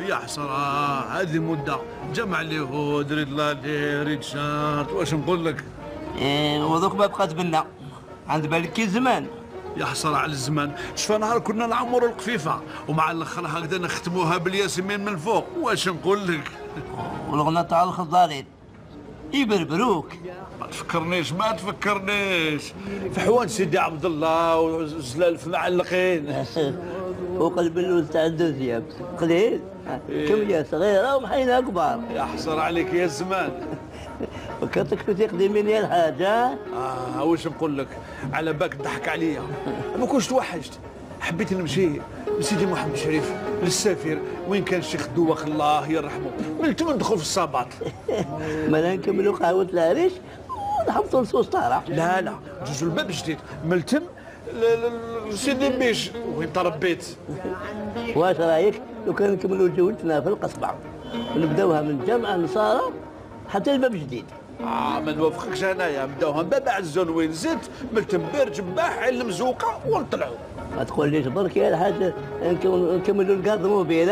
يا حسرة هذه مدة، جمع اليهود ريد لالي ريد شارت، واش نقول لك؟ وذوك ما بقات بنا، عند بالك كي زمان. يا حسرة على الزمان، شفا نهار كنا نعمروا القفيفة ومع الاخر هكذا نختموها بالياسمين من الفوق، واش نقول لك؟ والغنى تاع الخضارين يبربروك. ما تفكرنيش فحوان سيدي عبد الله وزلالف معلقين. وقلب اللوز تاع الدوزيام قليل، كمية صغيرة ومحينة كبار. يا حسرة عليك يا الزمان. فكرتك في تقديمين يا الحاجة. واش نقول لك، على بالك تضحك عليا، ما كنتش توحشت، حبيت نمشي لسيدي محمد شريف للسفير وين كان الشيخ دوخ الله يرحمه، ملت ندخل في الصابات. ما نكملوا قهوة العريش ونحبطوا لصوص طارح. لا لا جوجو الباب جديد ملتم سيدي بيش وين تربيت. واش رايك لو كان نكملوا جولتنا في القصبة ونبداوها من جامع النصارى حتى الباب جديد؟ ما نوافقكش انايا، نبداوها من باب عزون وين زدت ملتم بير جباح علم مزوقه ونطلعوا. ما تقوليش برك يا الحاج نكملوا الكارد موبيل،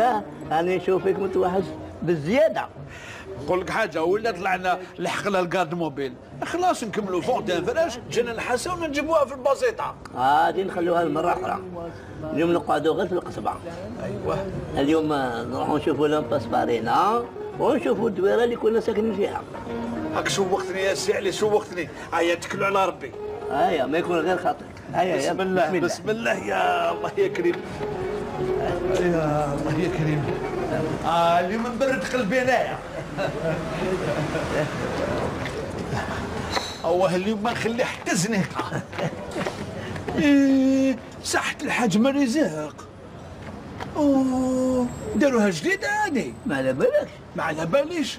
راني نشوفك متوحش بالزياده. نقول لك حاجه، ولا طلعنا لحقنا الكارد موبيل خلاص نكملوا فوق فراش جينا نحاسه ونجيبوها في البسيطه. غادي نخلوها لمره اخرى، اليوم نقعدوا غير في القصبه. ايوه اليوم نروحوا نشوفوا لامباس بارينا ونشوفوا الدويره اللي كنا ساكنين فيها. هاك شوقتني يا سي علي شوقتني. هيا اتكلوا على ربي. هيا ما يكون غير خاطرك. هيا بسم الله بسم الله يا الله يا كريم. يا الله يا كريم. اليوم مبرد قلبي انايا. اليوم ما نخلي حتى زنيقه. صحة الحاج مرزاق. داروها جديدة هادي. ما على بالكش؟ ما على باليش.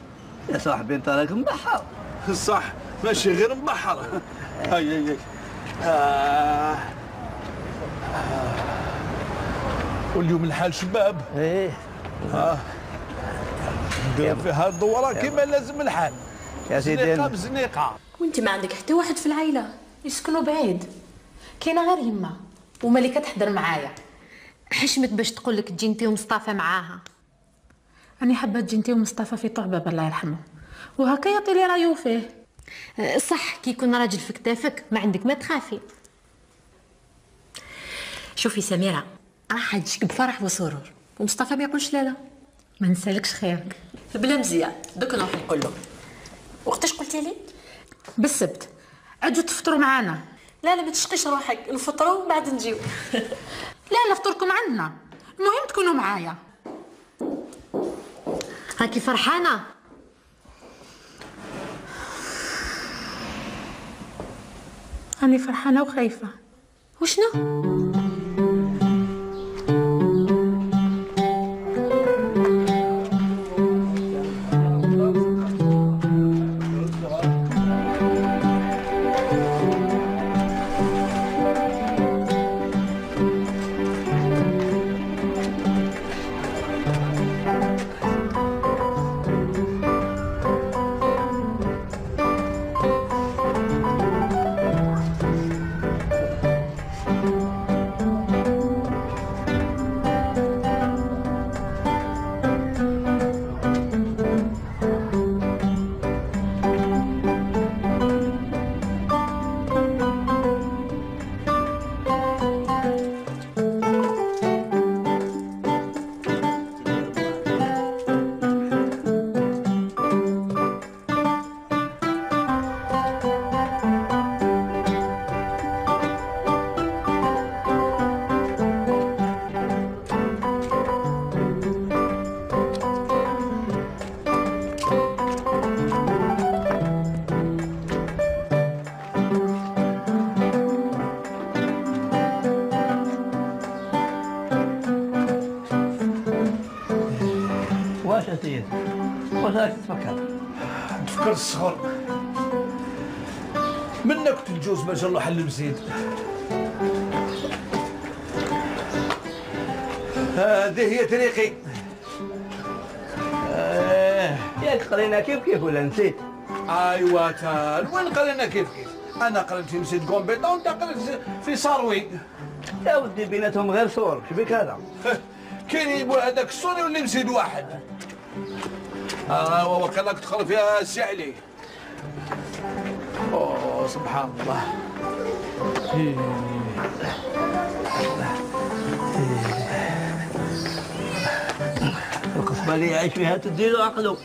يا صاحبي انت راك مبحر. صح ماشي غير مبحر. هاي واليوم الحال شباب. ندير فيها الدورة كيما لازم الحال. يا سيدي زنيقة بزنيقة. وانت ما عندك حتى واحد في العائلة يسكنوا بعيد؟ كاينه غير يما وملكة تحضر معايا. حشمت باش تقول لك تجي انتي ومصطفى معاها. راني حابه تجي انتي ومصطفى في طوع بابا الله يرحمه، وهكا يعطي لي رايو فيه. صح كي يكون راجل في كتافك ما عندك ما تخافي. شوفي سميرة، راح تجيك بفرح وسرور، ومصطفى ما يقولش لا لا. ما نسالكش خيرك. بلا مزيان دوك نروح نقول له. وقتاش قلتي لي؟ بالسبت. عجوا تفطروا معانا. لا لا ما تشقيش روحك، نفطروا وبعد نجيو. لا نفطركم عندنا، المهم تكونوا معايا. راكي فرحانه؟ راني فرحانه وخايفه، وشنو؟ واش يا سيدي؟ واش راك تفكر؟ نفكر الصغر منك تلجوز ما جا الله حل مزيد. هذه هي طريقي. ياك قرينا كيف ولا نسيت؟ ايوا تال وين قرينا كيف؟ انا قريت في مسجد كومبيتون وانت قريت في صاروي. يا ودي بيناتهم غير صور، شبيك هذا؟ كاين يبوا هذاك الصوني واللي مسجد واحد. وكانك تدخل فيها السي علي. اوه سبحان الله. القصبة اللي يعيش فيها تديرو عقلو.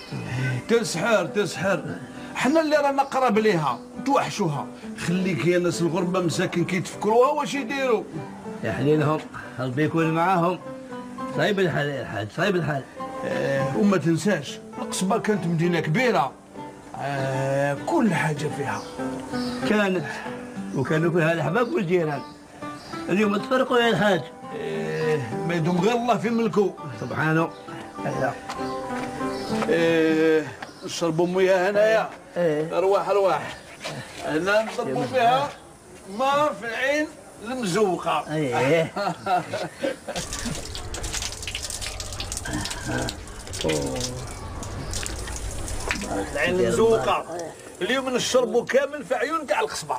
تسحر حنا اللي رانا قراب ليها توحشوها. خليك يا ناس الغربة مساكن كيتفكروها واش يديروا. يا حليلهم ربي يكون معاهم. صعيب الحال يا الحاج، صعيب الحال. وما تنساش القصبة كانت مدينة كبيرة. كل حاجة فيها كانت، وكانوا فيها الأحباب والجيران. اليوم تفرقوا يا الحاج. ما يدوم غير الله في ملكه سبحانه. لا. نشربوا مياه هنايا. رواح هنا نضربوا فيها ما في العين المزوقة. العين المزوقة اليوم نشربوا كامل في عيون كاع القصبة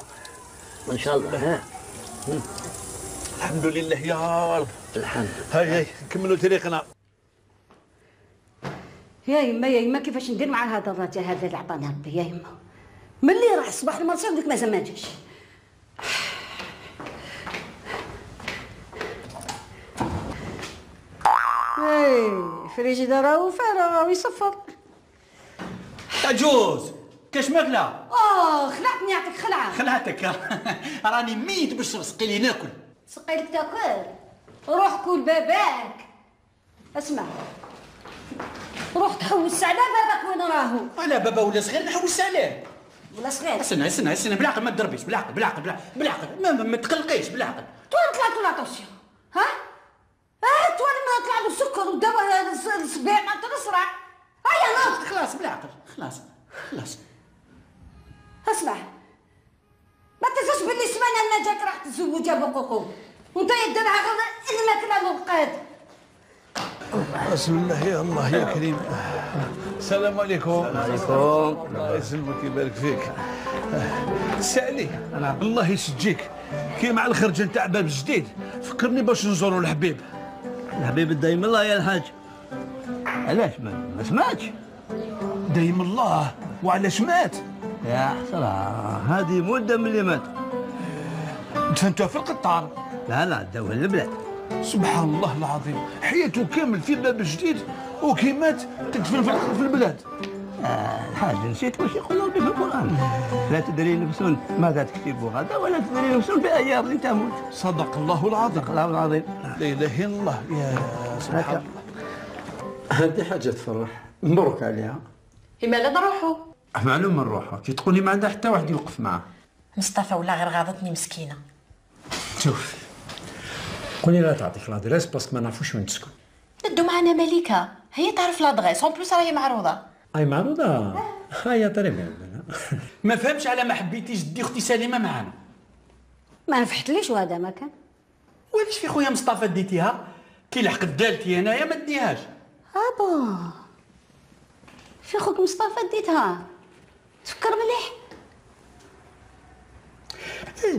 ان شاء الله. الحمد لله يا رب. الحمد. هاي نكملوا طريقنا. يا يما كيفاش ندير مع هذا الرجال هذا اللي عطاني ربي يا يما؟ ملي راح الصباح المرسل ديك مازال ما جاش. فريجيدار راهو فارغ راهو يصفر. عجوز كاش ماكله؟ خلعتني يعطيك خلعه. خلعتك راني ميت باش تسقي لي ناكل. سقيلك تاكل؟ روح كول باباك. اسمع روح تحوس على باباك وين راهو. على بابا ولا صغير نحوس عليه. ولا صغير؟ استنى بالعقل ما تضربيش، بالعقل ما تقلقيش بالعقل. توالي طلعت له لاتونسيون ها؟ توالي ما طلع له السكر والدواء الصبيع ما تنصرع. هيا ناض. خلاص بالعقل خلاص. اسمع ما تنساش باللي سمانه انا جاك راح تتزوج ابو قوقو وانت يديرها غير الماكله والقاد. بسم الله يا الله يا كريم. السلام عليكم. السلام عليكم. الله يسلمك ويبارك فيك. سالي الله يسجيك كي مع الخرجه نتاع باب جديد فكرني باش نزوروا الحبيب. الحبيب دايم الله يا الحاج. علاش ما سمعتش؟ دايم الله وعلاش مات؟ يا حسرة هذه مدة من اللي مات. دفنتوه في القطار؟ لا داوه البلاد. سبحان الله العظيم حياته كامل في باب جديد وكي مات تدفن في البلاد. الحاج نسيت واش يقول ربي في القرآن. لا تدري نفس ماذا تكتب غدا ولا تدري نفس بأي أرض تموت. صدق الله العظيم. صدق الله العظيم. لا إله إلا الله. يا سبحان الله. هذه حاجة تفرح مبروك عليها. لماذا نروحوا؟ معلوم نروحوا كي تقولي ما عندها حتى واحد يوقف معاه. مصطفى ولا غير غاضتني مسكينه. شوف قولي لا تعطيك لادريس باسكو ما نعرفوش وين تسكن. ندو معنا مليكه، هي تعرف لادريس، اون بلوس راهي معروضه. اي معروضه؟ هيا طري بيان. ما فهمش على ما حبيتيش دي اختي سليمه معانا. ما نفحتليش وهذا ما كان. وعلاش في خويا مصطفى ديتيها؟ كي لحقت دالتي انايا ما ديهاش. بون في خوك مصطفى ديتها، تفكر مليح.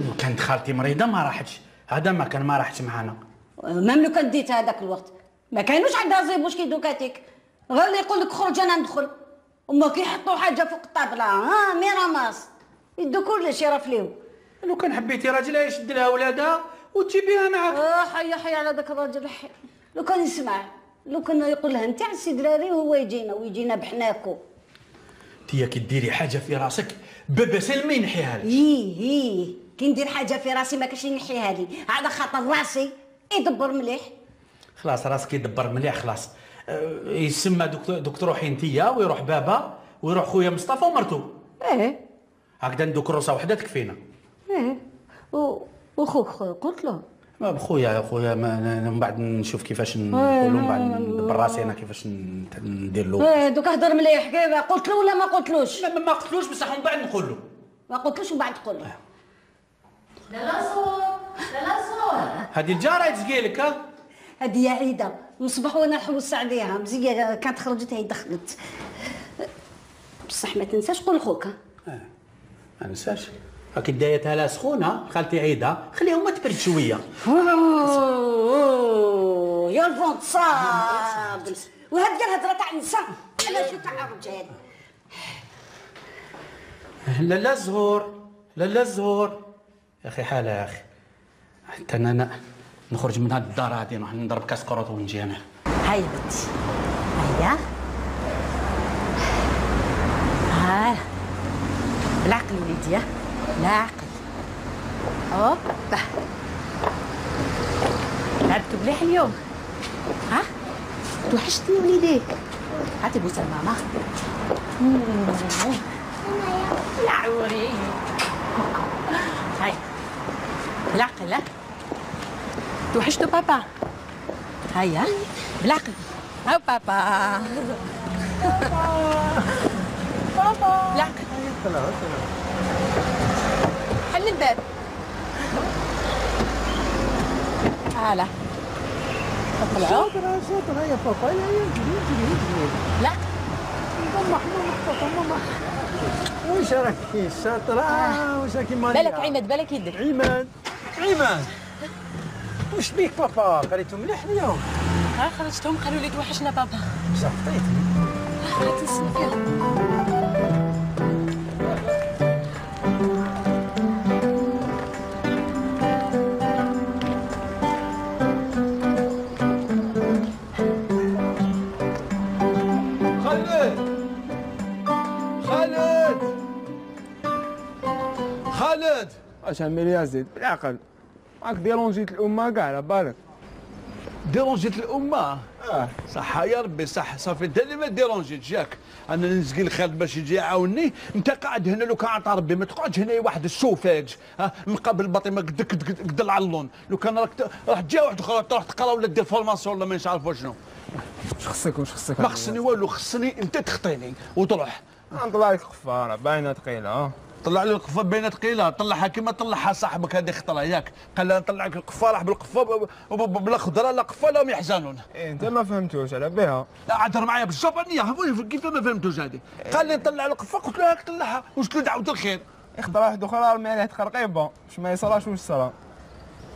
لو كانت خالتي مريضه ما راحتش، هذا ما كان ما راحتش معانا. مام لو كان ديتها هذاك الوقت ما كانوش عندها زيبوش كي دوكاتيك، غير اللي يقول لك خرج انا ندخل، وما كيحطوا حاجه فوق الطابله ميراماس يدو كلشي يرفليو. لو كان حبيتي راجلها يشد لها ولادها وتجيبيها معاك. حي على ذاك الراجل، حي لو كان يسمع، لو كان يقول لها انت عسي دراري وهو يجينا ويجينا بحناكو. انتيا كي ديري حاجه في راسك بابا سلمى ينحيها لك. هي كي ندير حاجه في راسي ما كاش ينحيها لي، على خاطر راسي يدبر مليح. خلاص راسك يدبر مليح خلاص. يسمى دكتور روحي انتيا ويروح بابا ويروح خويا مصطفى ومرتو. هكذا ندوك روسه وحده تكفينا. وخوك قلت له خويا من بعد نشوف كيفاش نقولوا، من بعد ندبر راسي انا كيفاش ندير له. دوك هضر مليح كيف قلت له ولا ما قلتلوش؟ لا ما قلتلوش بصح من بعد نقول له. ما قلتلوش ومن بعد تقول له. لا صور هذه الجاره تسقيلك. ها هذه يا عيده من الصباح وانا نحوس عليها مزيان، كانت خرجت هي دخلت. بصح ما تنساش قول خوك. ما ننساش. هاكي دايتها لا سخونه خالتي عيده، خليهم ما تبرد شويه. يا الفونت صاب وهذه الهضره تاع النساء انا شو تاع الرجال. لا الزهور يا اخي حاله يا اخي، حتى انا نخرج من هاد الدار هادي نروح نضرب كاس كروت ونجي انا. هاي بنتي هيا بالعقل وليدي، لا عقل. هوبا لعبتوا مليح اليوم، ها توحشتني وليديك. هاتي بوسه لماما. يا عوري هاي بالعقل. ها توحشتوا بابا، هيا بالعقل. هاو بابا بالعقل. حل الباب. هلا طلعوا شاطرة يا بابا. لا ماما واش راكي شاطرة؟ واش راكي مالية؟ بالك عماد، بالك يدك. عماد واش بيك بابا؟ قريتو مليح اليوم؟ خرجتهم قالوا لي توحشنا بابا. بصح فطيتي. خليتي السنة. خالد اش عمل يا زيد بالعقل، راك ديرونجيت الامه كاع على بالك. ديرونجيت الامه؟ صح يا ربي صح، صافي انت اللي ما ديرونجيتش ياك. انا نسقي الخالد باش يجي يعاوني، انت قاعد هنا لو كان عطا ربي ما تقعدش هنا واحد الشوفاج مقابل الباطمه قد العلون. لو كان راح تجي واحد اخر تروح تقرا ولا دير فورماسيون ولا ما نعرف شنو. واش خصك؟ ما خصني والو، خصني انت تخطيني وتروح. نطلع لك الخفاره باينه ثقيله. طلع لي القفه بين ثقيله، طلعها كيما طلعها صاحبك هذه خطره ياك، قال لها نطلع لك القفه راح بالقفه بلا خضره لا قفه لهم يحزنون. انت ما فهمتوش على بها. لا عذر معايا بالجابانيه كيف ما فهمتوش هذه. قال لي نطلع القفه قلت له هاك طلعها واش دعوت الخير. يخضر واحد اخرى رمي عليه تخرقيبه باش ما يصراش واش صرا.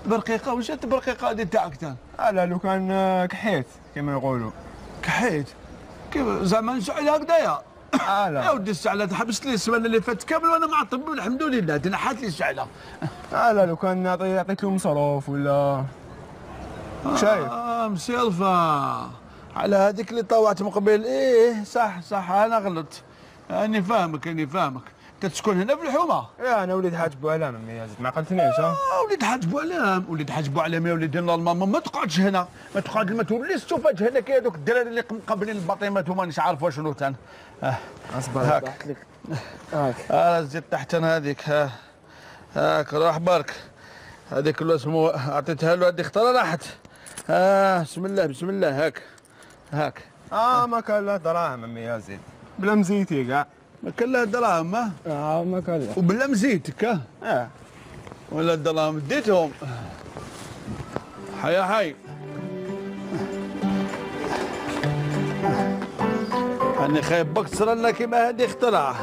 برقيقه واش انت برقيقه هذه تاعك تاع؟ لا لو كان كحيت كما يقولوا. كحيت؟ كيف زعما نشعل هكذايا؟ لا يا ودي الشعله حبست لي السمانه اللي فات كامل وانا معطب الحمد لله تنحات لي الشعله. لا لو كان عطيت له مصروف ولا شايف. مسيلفه على هذيك اللي طوعت من قبل. صح انا غلطت. اني فاهمك انت تسكن هنا في الحومه؟ انا وليد حاج بوعلام يا زيد ما عقلتنيش. وليد حاج بوعلام يا وليدي نورمالمون ما تقعدش هنا، ما توليش تشوفاش هنا كي هذوك الدراري اللي مقابلين الباطيمات ومانيش عارف شنو تان. اصبر هاك زيد تحت انا هذيك. هاك روح برك هذيك الاسمو عطيتها له، هذه خطره راحت. بسم الله بسم الله. هاك ما كان له دراهم امي يا زيد، بلا مزيتي كاع. ما كان له دراهم ما كان له. وبلا مزيتك ولا الدراهم ديتهم. حي أنا خايف بك تصير لنا كيما هذه اختراع.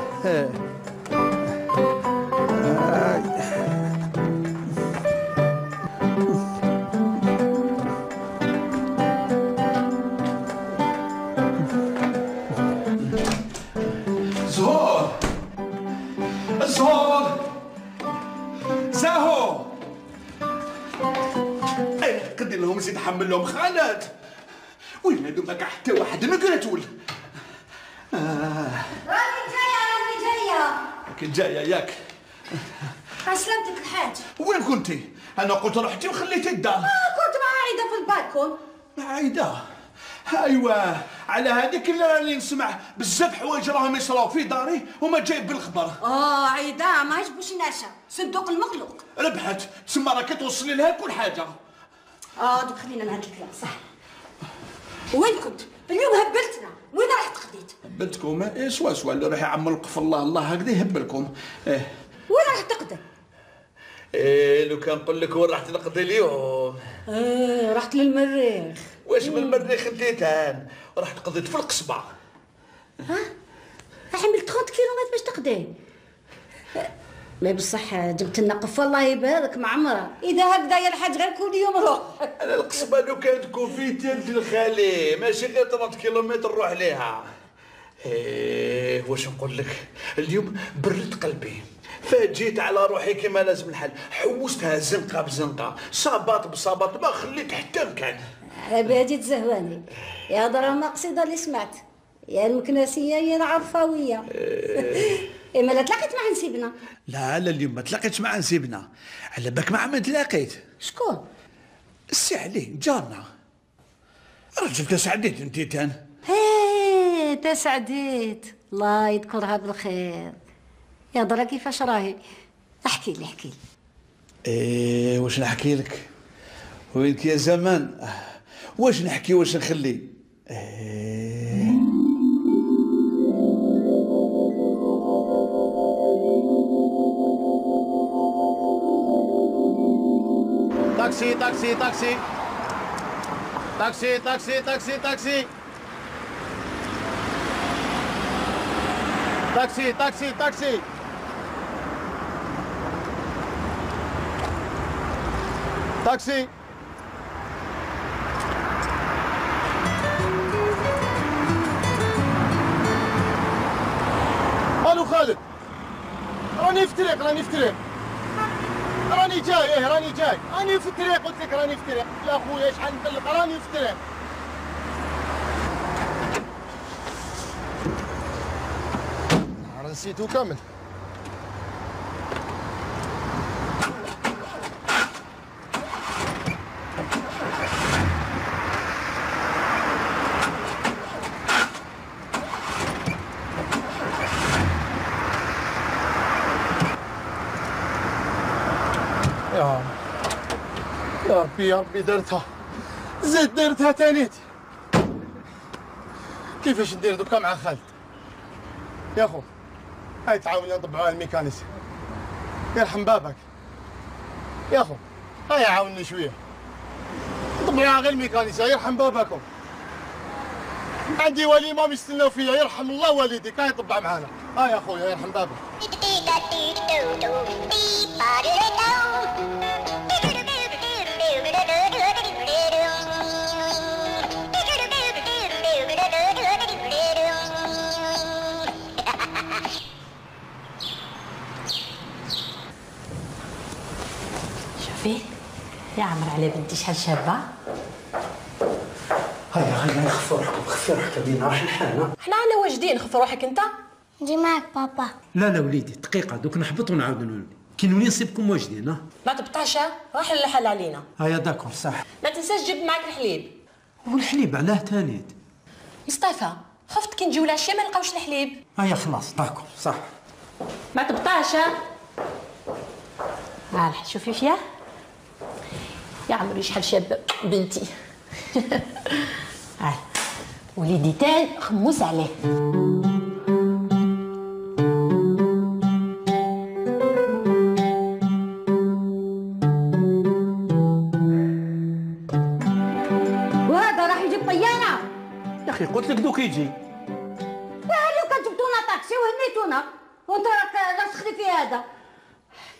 زهور زاهو قد لهم زيد حمل لهم خالد. وين هادو ما كاع حتى واحد ما قراتول. راني جايه كنت جايه ياك. سلامتك الحاج. وين كنتي؟ انا قلت رحتي وخليتي الدار. كنت مع عايده في البالكون. مع عايده؟ ايوا على هذيك اللي راني نسمع بزاف حوايج راهم يصراو في داري وما جايب بالخبر. عايده ما يعجبوش ناشا صندوق المخلوق. ربحت تسمى راكي توصلي لها كل حاجه. دوك خلينا نهد الكلام صح. وين كنت؟ اليوم هبلتنا، وين رحت قضيت؟ هبلتكم؟ سوا اللي راح يعمل في الله هكذا يهبلكم. وين راح تقضي؟ لو كان نقول لك وين راح تقضي اليوم؟ رحت للمريخ. واش من المريخ انت تان؟ رحت قضيت في القصبه. حملت 30 كيلومتر باش تقضي. لا بصح جبت لنا قف الله يبارك مع عمره. اذا هكذا يا الحاج غير كل يوم روح. انا القصبه لو كانت تكون في تلت الخالي ماشي غير 3 كيلومتر نروح ليها. واش نقول لك اليوم برد قلبي فجيت على روحي كما لازم الحال. حوستها زنقه بزنقه صابات بصابات ما خليت حتى مكان. عبادي تزهواني يا ضرا مقصده اللي سمعت يا المكناسيه يا العرفاويه. ما لا تلاقيت مع نسيبنا؟ لا اليوم ما تلاقيتش مع نسيبنا. على بالك مع من تلاقيت؟ شكون؟ السي علي جارنا. رجل تسعديت انت تان. تسعديت الله يذكرها بالخير. يا درا كيفاش راهي؟ احكي لي واش نحكي لك؟ وينك يا زمان؟ واش نحكي واش نخلي؟ تاكسي تاكسي تاكسي تاكسي تاكسي تاكسي تاكسي تاكسي تاكسي تاكسي تاكسي. الو خالد، راني في الطريق راني في الطريق راني جاي راني جاي راني في الطريق قلت لك راني في الطريق. لا خويا شحال نطلق راني في الطريق. نسيتو كامل. يا ربي درتها زيد درتها تانيت. كيفاش ندير دوكا مع خالد؟ يا خو هاي تعاوني نطبعوها الميكانيسي يرحم بابك. يا خو هاي عاوني شويه نطبعوها غير الميكانيسي يرحم بابكم. عندي وليمه بيستناو فيا يرحم الله والديك. هاي طبع معانا. يا خويا يرحم بابك. شوفي يا عمر على بنتي شحال شابه. هيا خفوا روحكم بينا راح لحالنا. حنا على واجدين. خف روحك انت. نجي معك بابا. لا وليدي دقيقه دوك نحبط ونعاود نولي كي نولي نصيبكم واجدين. ما تبطاش راح للحل علينا. هيا داكور صح. ما تنساش تجيب معك الحليب. والحليب علاه تانيت؟ مصطفى خفت كي نجيو العشيه ما نلقاوش الحليب. هيا خلاص داكور صح. ما تبطاش. شوفي فيها يا عمري شحال شابه بنتي. وليدي تان خموس عليه. وهذا راح يجيب طياره. يا اخي قلت لك دوك يجي. وهذه كان جبتونا طاكسي وهنيتونا وانت راك تخلي في هذا.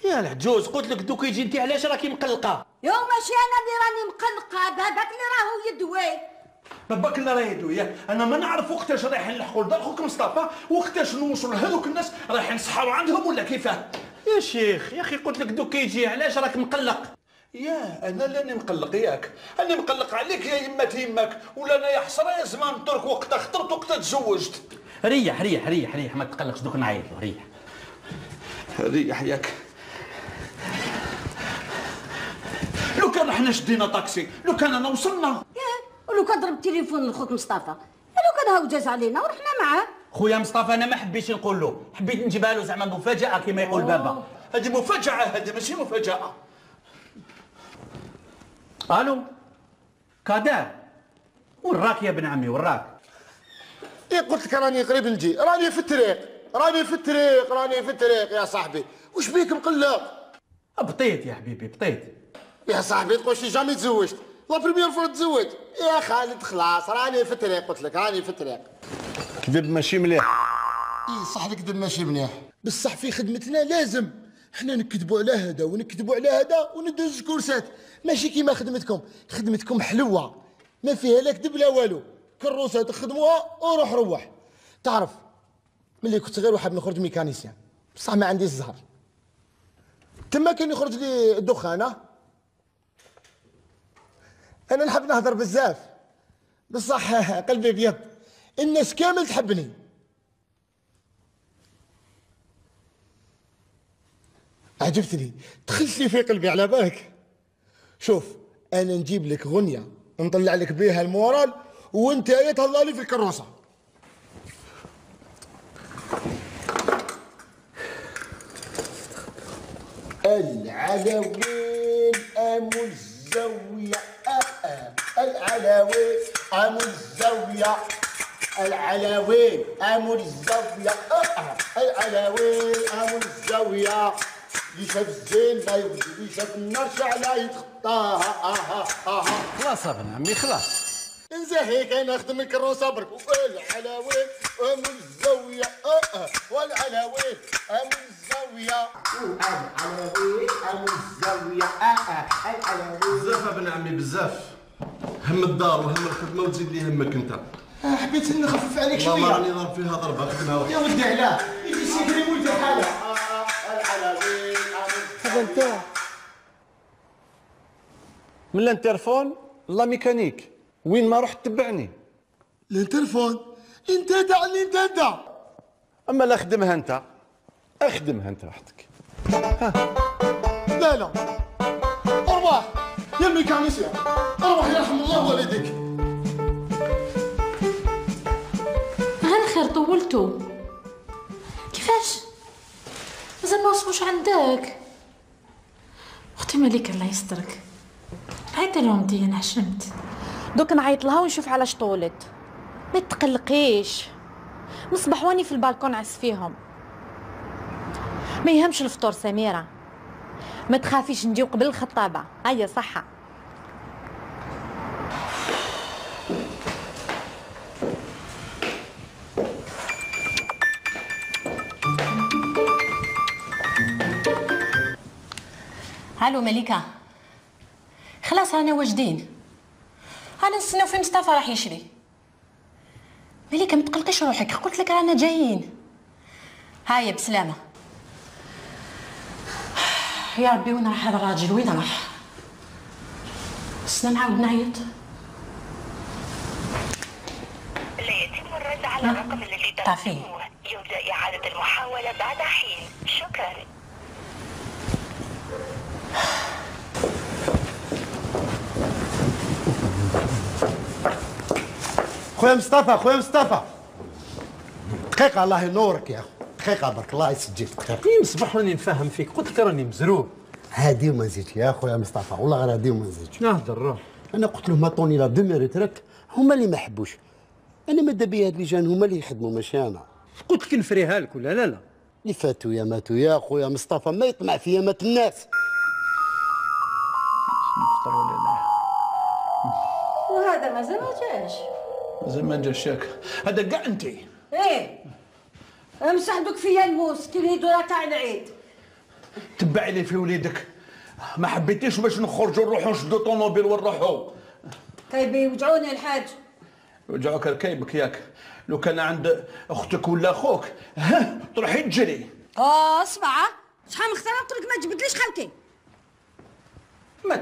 يا العجوز قلت لك دوك يجي، انت علاش راكي مقلقه؟ يو ماشي انا اللي راني مقلقه، باباك اللي راهو يدوي. باباك اللي راه يدوي. انا ما نعرف وقتاش رايحين نلحقوا لدار خوك مصطفى، وقتاش نوصلوا لهذوك الناس رايحين نسحروا عندهم ولا كيفاه؟ يا شيخ يا اخي قلت لك دوك يجي، علاش راك مقلق؟ يا انا اللي مقلق ياك، انا مقلق عليك يا يمك ولا انا يا حسره يا زمان ترك وقتها خطرت وقتها تزوجت. ريح ريح ريح ريح ما تقلقش، دوك نعيط له. ريح ريح ياك. لو كان احنا شدينا طاكسي، لو كان انا وصلنا. ولو كان ضرب التليفون لخوك مصطفى، لو كان هاو جاز علينا ورحنا معاه. خويا مصطفى انا ما حبيتش نقول له، حبيت نجيبها له زعما مفاجأة كما يقول بابا. هذه مفاجأة، هذه ماشي مفاجأة. الو كادر، وراك يا ابن عمي وراك؟ ايه قلت لك راني قريب نجي، راني في الطريق يا صاحبي. وش بيك مقلق؟ بطيت يا حبيبي بطيت. يا صاحبي تقولش جامي تزوجت، لا بريمير فور تزوج. يا خالد خلاص راني في الطريق، قلت لك راني في الطريق. كذب ماشي مليح. اي صح الكذب ماشي مليح، بصح في خدمتنا لازم حنا نكذبوا على هذا ونكذبوا على هذا وندوز كورسات، ماشي كيما خدمتكم حلوه ما فيها لا كذب لا والو، كروسه تخدموها وروح روح. تعرف ملي كنت غير وحاب نخرج ميكانيسيان بصح ما عنديش الزهر، تما كان يخرج لي الدخانه. انا نحب نهضر بزاف بصح قلبي ابيض، الناس كامل تحبني. عجبتني، دخلت لي في قلبي على بالك. شوف انا نجيب لك غنيه نطلع لك بها المورال وانت تهلا لي في الكروسه. العلوين ام الزاويه، العلوين ام الزاويه، العلوين ام الزاويه، العلوين ام الزاويه. اللي شاف الزين ما يبدي، اللي شاف النار شعلة يتخطاها. خلاص ابن عمي خلاص. انزهيك انا نخدم الكروسه برك. والعلاوين ام الزاويه، والعلاوين ام الزاويه، العلاوين ام الزاويه، العلاوين. بزاف ابن عمي بزاف، هم الدار وهم الخدمه وتزيد لي همك انت. حبيت نخفف عليك شويه. والله راني ضارب فيها ضربه خدمها. يا ودي علاه يجي سيدري ولدي حاله. العلاوين هذا انت من الانترفون لا ميكانيك، وين ما رحت تبعني. الانترفون انت دعني انت. اما لا اخدمها انت، اخدمها انت وحدك. لا ارواح يا ميكانيسيان، ارواح يرحم الله والديك. غير خير طولتو كيفاش؟ مازال ما وصلوش عندك. اختي مليكه الله يسترك، عيطي لهم دي انا حشمت. دوك نعيط لها ونشوف علاش طولت. ما تقلقيش، من الصباح واني في البالكون عس فيهم. ما يهمش الفطور سميره، ما تخافيش نجيو قبل الخطابه. هيا صحه. الو مليكه، خلاص انا واجدين، انا نستناو في مصطفى راح يشري. مليكه ما تقلقيش روحك، قلت لك رانا جايين. هاي بسلامه. يا ربي وين راح هذا الراجل؟ وين راح؟ استنى نعاود نعيط. لا يتم الرد على الرقم الذي ضغطتموه، يرجى إعادة المحاولة بعد حين. شكرا. خويا مصطفى دقيقة الله ينورك يا اخو، دقيقة برك الله يسجلك. صباح راني نفهم فيك، قلت لك راني مزروب. هادي وما نزيدش يا خويا مصطفى، والله غير هادي وما نزيدش. نهضر روح. انا قلت لهم عطوني لا دومي ريتريت، هما اللي ما حبوش. انا ماذا بيا هاد اللي جان هما اللي يخدموا ماشي انا. قلت لك نفريها لك ولا لا؟ اللي فاتوا يا ماتوا يا خويا مصطفى، ما يطمع فيا مات الناس. وهذا مازال ما جاش. مازال ما جاش ياك؟ هذا كاع انت. ايه امسح دوك فيا الموس كي الهيدوره تاع العيد. تبعي لي في وليدك، ما حبيتيش باش نخرجوا نروحوا نشدوا طوموبيل ونروحوا. كيبي يوجعوني الحاج. يوجعوك ركايبك ياك، لو كان عند اختك ولا اخوك ها تروحي تجري. اسمع شحال من خطره قلت لك ما تجبدليش خالتي. ما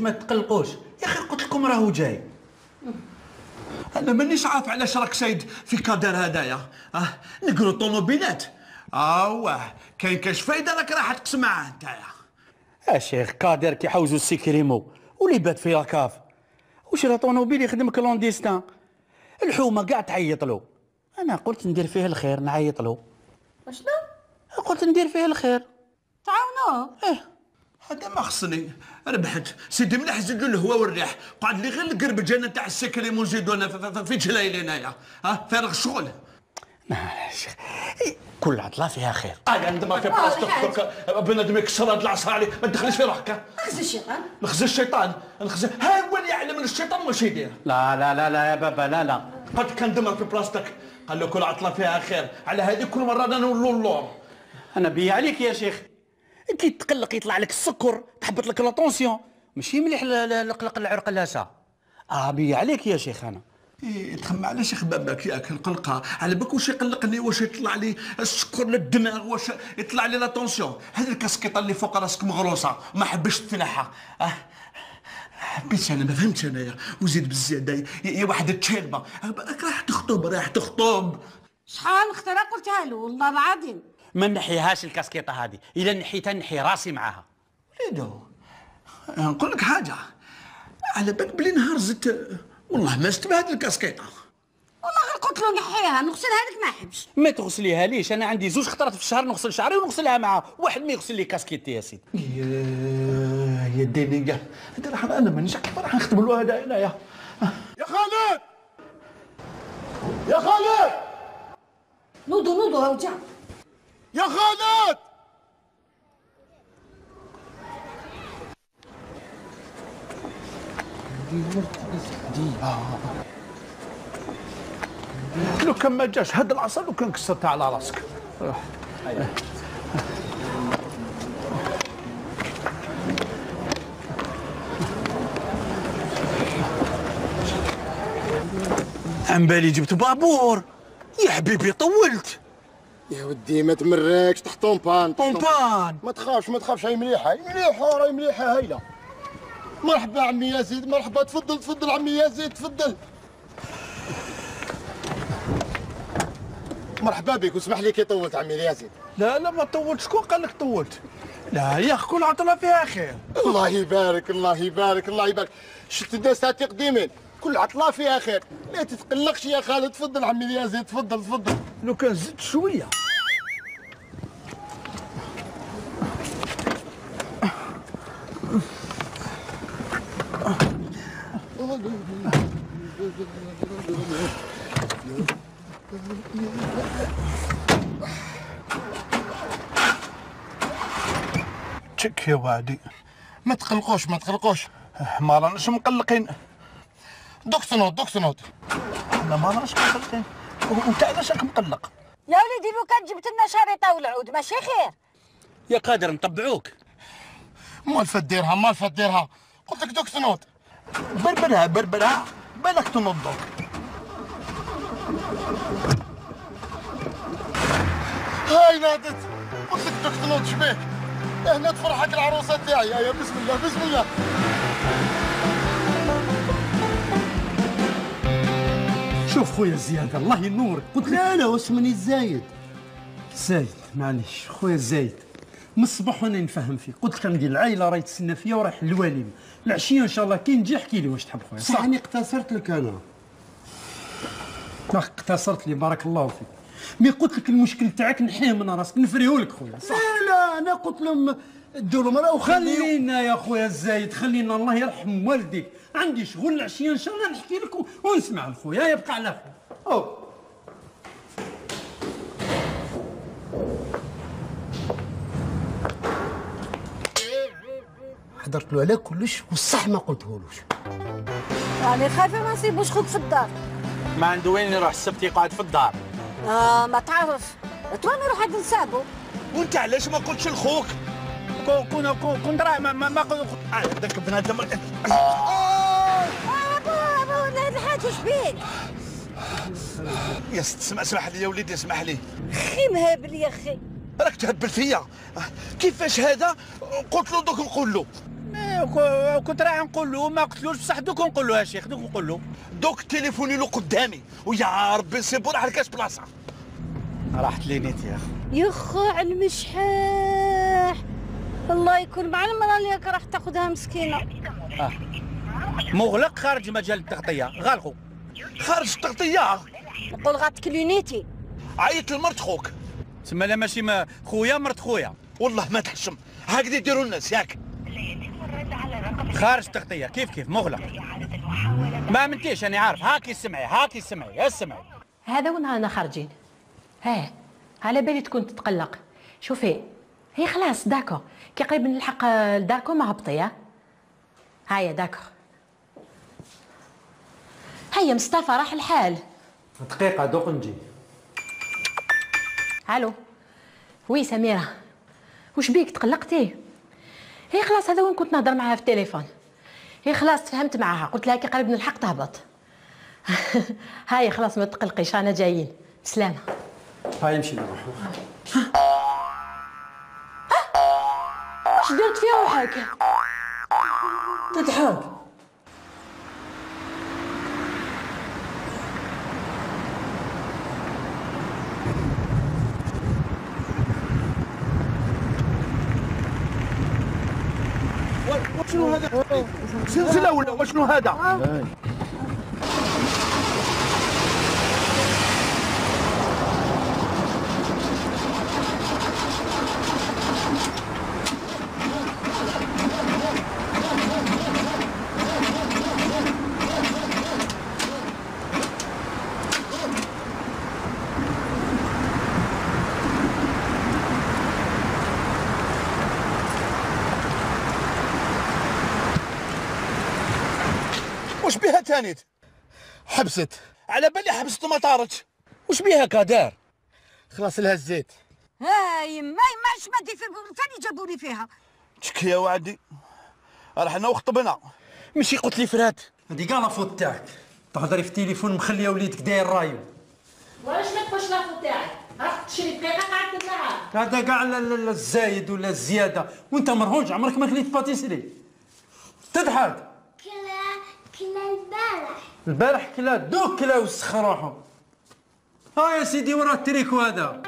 تقلقوش يا اخي، قلت لكم راهو جاي. انا مانيش عارف علاش راك سايد في كادر هدايا. نقروا طوموبيلات. كاين كاش فايده راك راح تقسم معاه نتايا. شيخ كادر كيحوزوا السيكريمو واللي بات في لاكاف، وش راه طونوبيل يخدم كلونديستان. الحومه كاع تعيط له. انا قلت ندير فيه الخير، نعيط له. شنو؟ قلت ندير فيه الخير. تعاونوه. هذا ما خصني، ربحت سيدي مليح زيدوا الهواء والريح، قعد لي غير القربج انا تاع السكريم ونزيدوا انا في جلايل هنايا. فارغ الشغل. شيخ كل عطله فيها خير. عندما في بلاصتك بنادم يكسر هاد العصا عليه، ما تدخليش في روحك. نخزي الشيطان. نخزي الشيطان، ها هو اللي يعلم الشيطان واش يدير. لا يا بابا لا. قد كان دمر في بلاصتك، قال له كل عطله فيها خير، على هذه كل مره انا نولوا اللور. انا بيا عليك يا شيخ، كي تقلق يطلع لك السكر، تحبط لك لاطونسيون، ماشي مليح القلق العرقلاسه. بيا عليك يا شيخ انا. تخمم على شيخ باباك ياك القلقه، على بالك واش يقلقني، واش يطلع لي السكر للدماغ، واش يطلع لي لاطونسيون. هذه الكاسكيطه اللي فوق راسك مغروسه ما حبش تنحى. حبيتش انا، ما فهمتش انايا، وزيد بالزياده يا واحد التشيلبه راح تخطب. شحال خطره قلتها له والله العظيم. ما نحيهاش الكاسكيطه هذه، الا نحيتها نحي راسي معاها. وليدو نقول لك حاجه، على بالك بلي نهار زدت والله ما شفت بهذه الكاسكيطه. والله غير قلت له نحيها نغسلها لك ما حبش. ما تغسليها ليش، انا عندي 2 خطرات في الشهر نغسل شعري ونغسلها معاه، واحد ما يغسل لي كاسكيتي يا سيدي. يا ديني هذا راح انا مانيش راح نخدم له هذا هنايا. يا خالد يا خالد نوضو هاو جا. يا خالد لو كان ما جاش هاد العصا لو كان كسرتها على راسك. عن بالي جبت بابور يا حبيبي، طولت. يا ودي ما تمركش تحت طومبان. ما تخافش، هاي مليحه راهي مليحه هايله. مرحبا عمي يزيد، مرحبا، تفضل عمي يزيد، تفضل. مرحبا بك، واسمح لي كي طولت عمي يزيد. لا ما طولت، شكون قال لك طولت؟ لا يا اخي كل عطله فيها خير. الله يبارك. شفت الناس تاع تقديمين، كل عطله فيها خير، لا تتقلقش يا خالد. تفضل عمي يزيد، تفضل. لو كان زدت شويه. تشك يا وادي. ما تقلقوش ما راناش مقلقين. دوك سنوض. لا ما راناش مقلقين. وانت علاش راك مقلق؟ يا وليدي لو كان جبت لنا شريطه والعود ماشي خير. يا قادر نطبعوك. مال فديرها قلت لك دوك سنوض. بربرها بالك تنضك. هاي نادت، قلت لك دوك سنوض شبيك؟ هنا تفرحك العروسه تاعي. يا بسم الله. شوف خويا زياد الله ينورك، قلت لك لا واسمني زايد معليش خويا زايد، من الصباح وانا نفهم فيك، قلت لك عندي العائله راهي تسنى فيا ورايح للواليم، العشيه ان شاء الله كي نجي احكي لي واش تحب خويا. صح اني اقتصرت لك انا. اقتصرت لي بارك الله فيك، مي قلت لك المشكل تاعك نحيه من راسك نفريه لك خويا. صح لا انا قلت لهم ديروا المراه خلينا يا خويا الزايد، خلينا الله يرحم والديك، عندي شغل العشيه ان شاء الله نحكي لك ونسمع الخويا، يبقى على خير. حضرت له على كلش والصح ما قلتهولوش. راني خايفه ما نسيبوش خوك في الدار. ما عنده وين يروح السبت يقعد في الدار. ما تعرف تواني نروح عند نسابو. وانت علاش ما قلتش لخوك؟ كنت راه ما قلت هذاك بنادم. ابو هذا الحاج واش بيك؟ يا ست اسمح لي يا وليدي اسمح لي. خي مهابل يا خي. راك تهبل فيا. كيفاش هذا؟ قلت له دوك نقول له. كنت راح نقول له ما قلتلوش بصح دوك نقول له يا شيخ دوك نقول له. دوك تليفوني له قدامي ويا ربي نسيبو راح لكاش بلاصه. راحت لي نيت يا اخي. يا خو على المشحاح. الله يكون مع المراه اللي راح تاخذها مسكينه. مغلق خارج مجال التغطيه، غالقو. خارج التغطيه؟ نقول غاتكلونيتي. عيط لمرت خوك. تسمى لا ماشي خويا مرت خويا. والله ما تحشم، هكذا يديروا الناس ياك. خارج التغطيه كيف مغلق. ما منتيش انا عارف. هاكي اسمعي. هذا وين رانا خارجين؟ على بالي تكون تتقلق. شوفي هي خلاص داكو، كي قريب نلحق لداركم هبطي. هيا داكو. هيا مصطفى راح الحال. دقيقة دوق نجي. الو وي سميرة، وش بيك تقلقتي؟ هي خلاص هذا وين كنت نهضر معاها في التليفون. هي خلاص تفهمت معاها، قلت لها كي قريب نلحق تهبط. هاي خلاص ما تقلقيش رانا جايين. سلامة. هاي نمشي نروح. اش درت في روحك؟ تضحك. شنو هذا؟ سلسلة ولا وشنو هذا؟ وش بيها تانيت؟ حبست. على بالي حبست وما طارتش. وش بيها كادار؟ خلاص لها الزيت. هاي ما شمدي في ثاني جابوا لي فيها. تشكي يا وعدي. رحنا وخطبنا. ماشي قلت لي فرات. هذه كاع لافوت تاعك. تهضري في التليفون مخليه وليدك داير رايو. وعلاش ما تقولش لافوت تاعك؟ راح تشري دقيقة قعدت معاه. هذا كاع الزايد ولا الزيادة، وانت مرهوج عمرك ما كليت باتيسري. تضحك. كلا البارح كلا دوك كلا وسخ روحو. يا سيدي ورا التريكو هذا.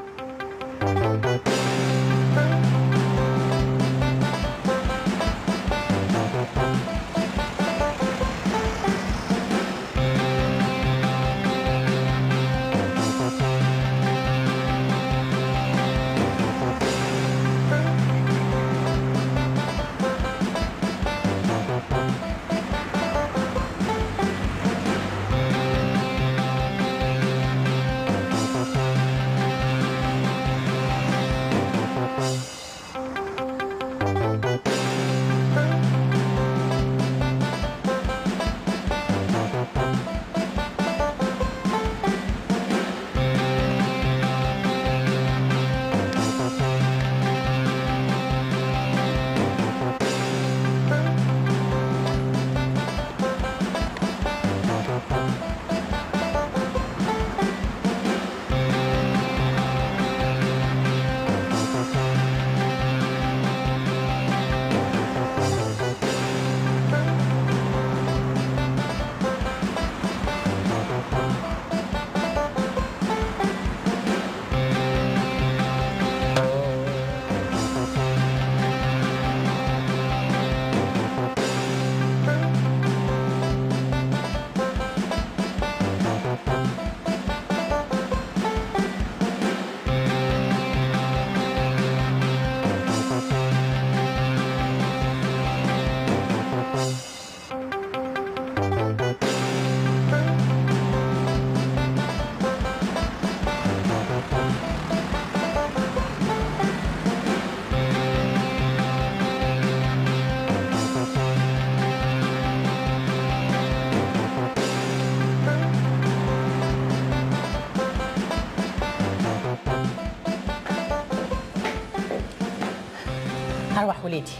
ارواح وليدي.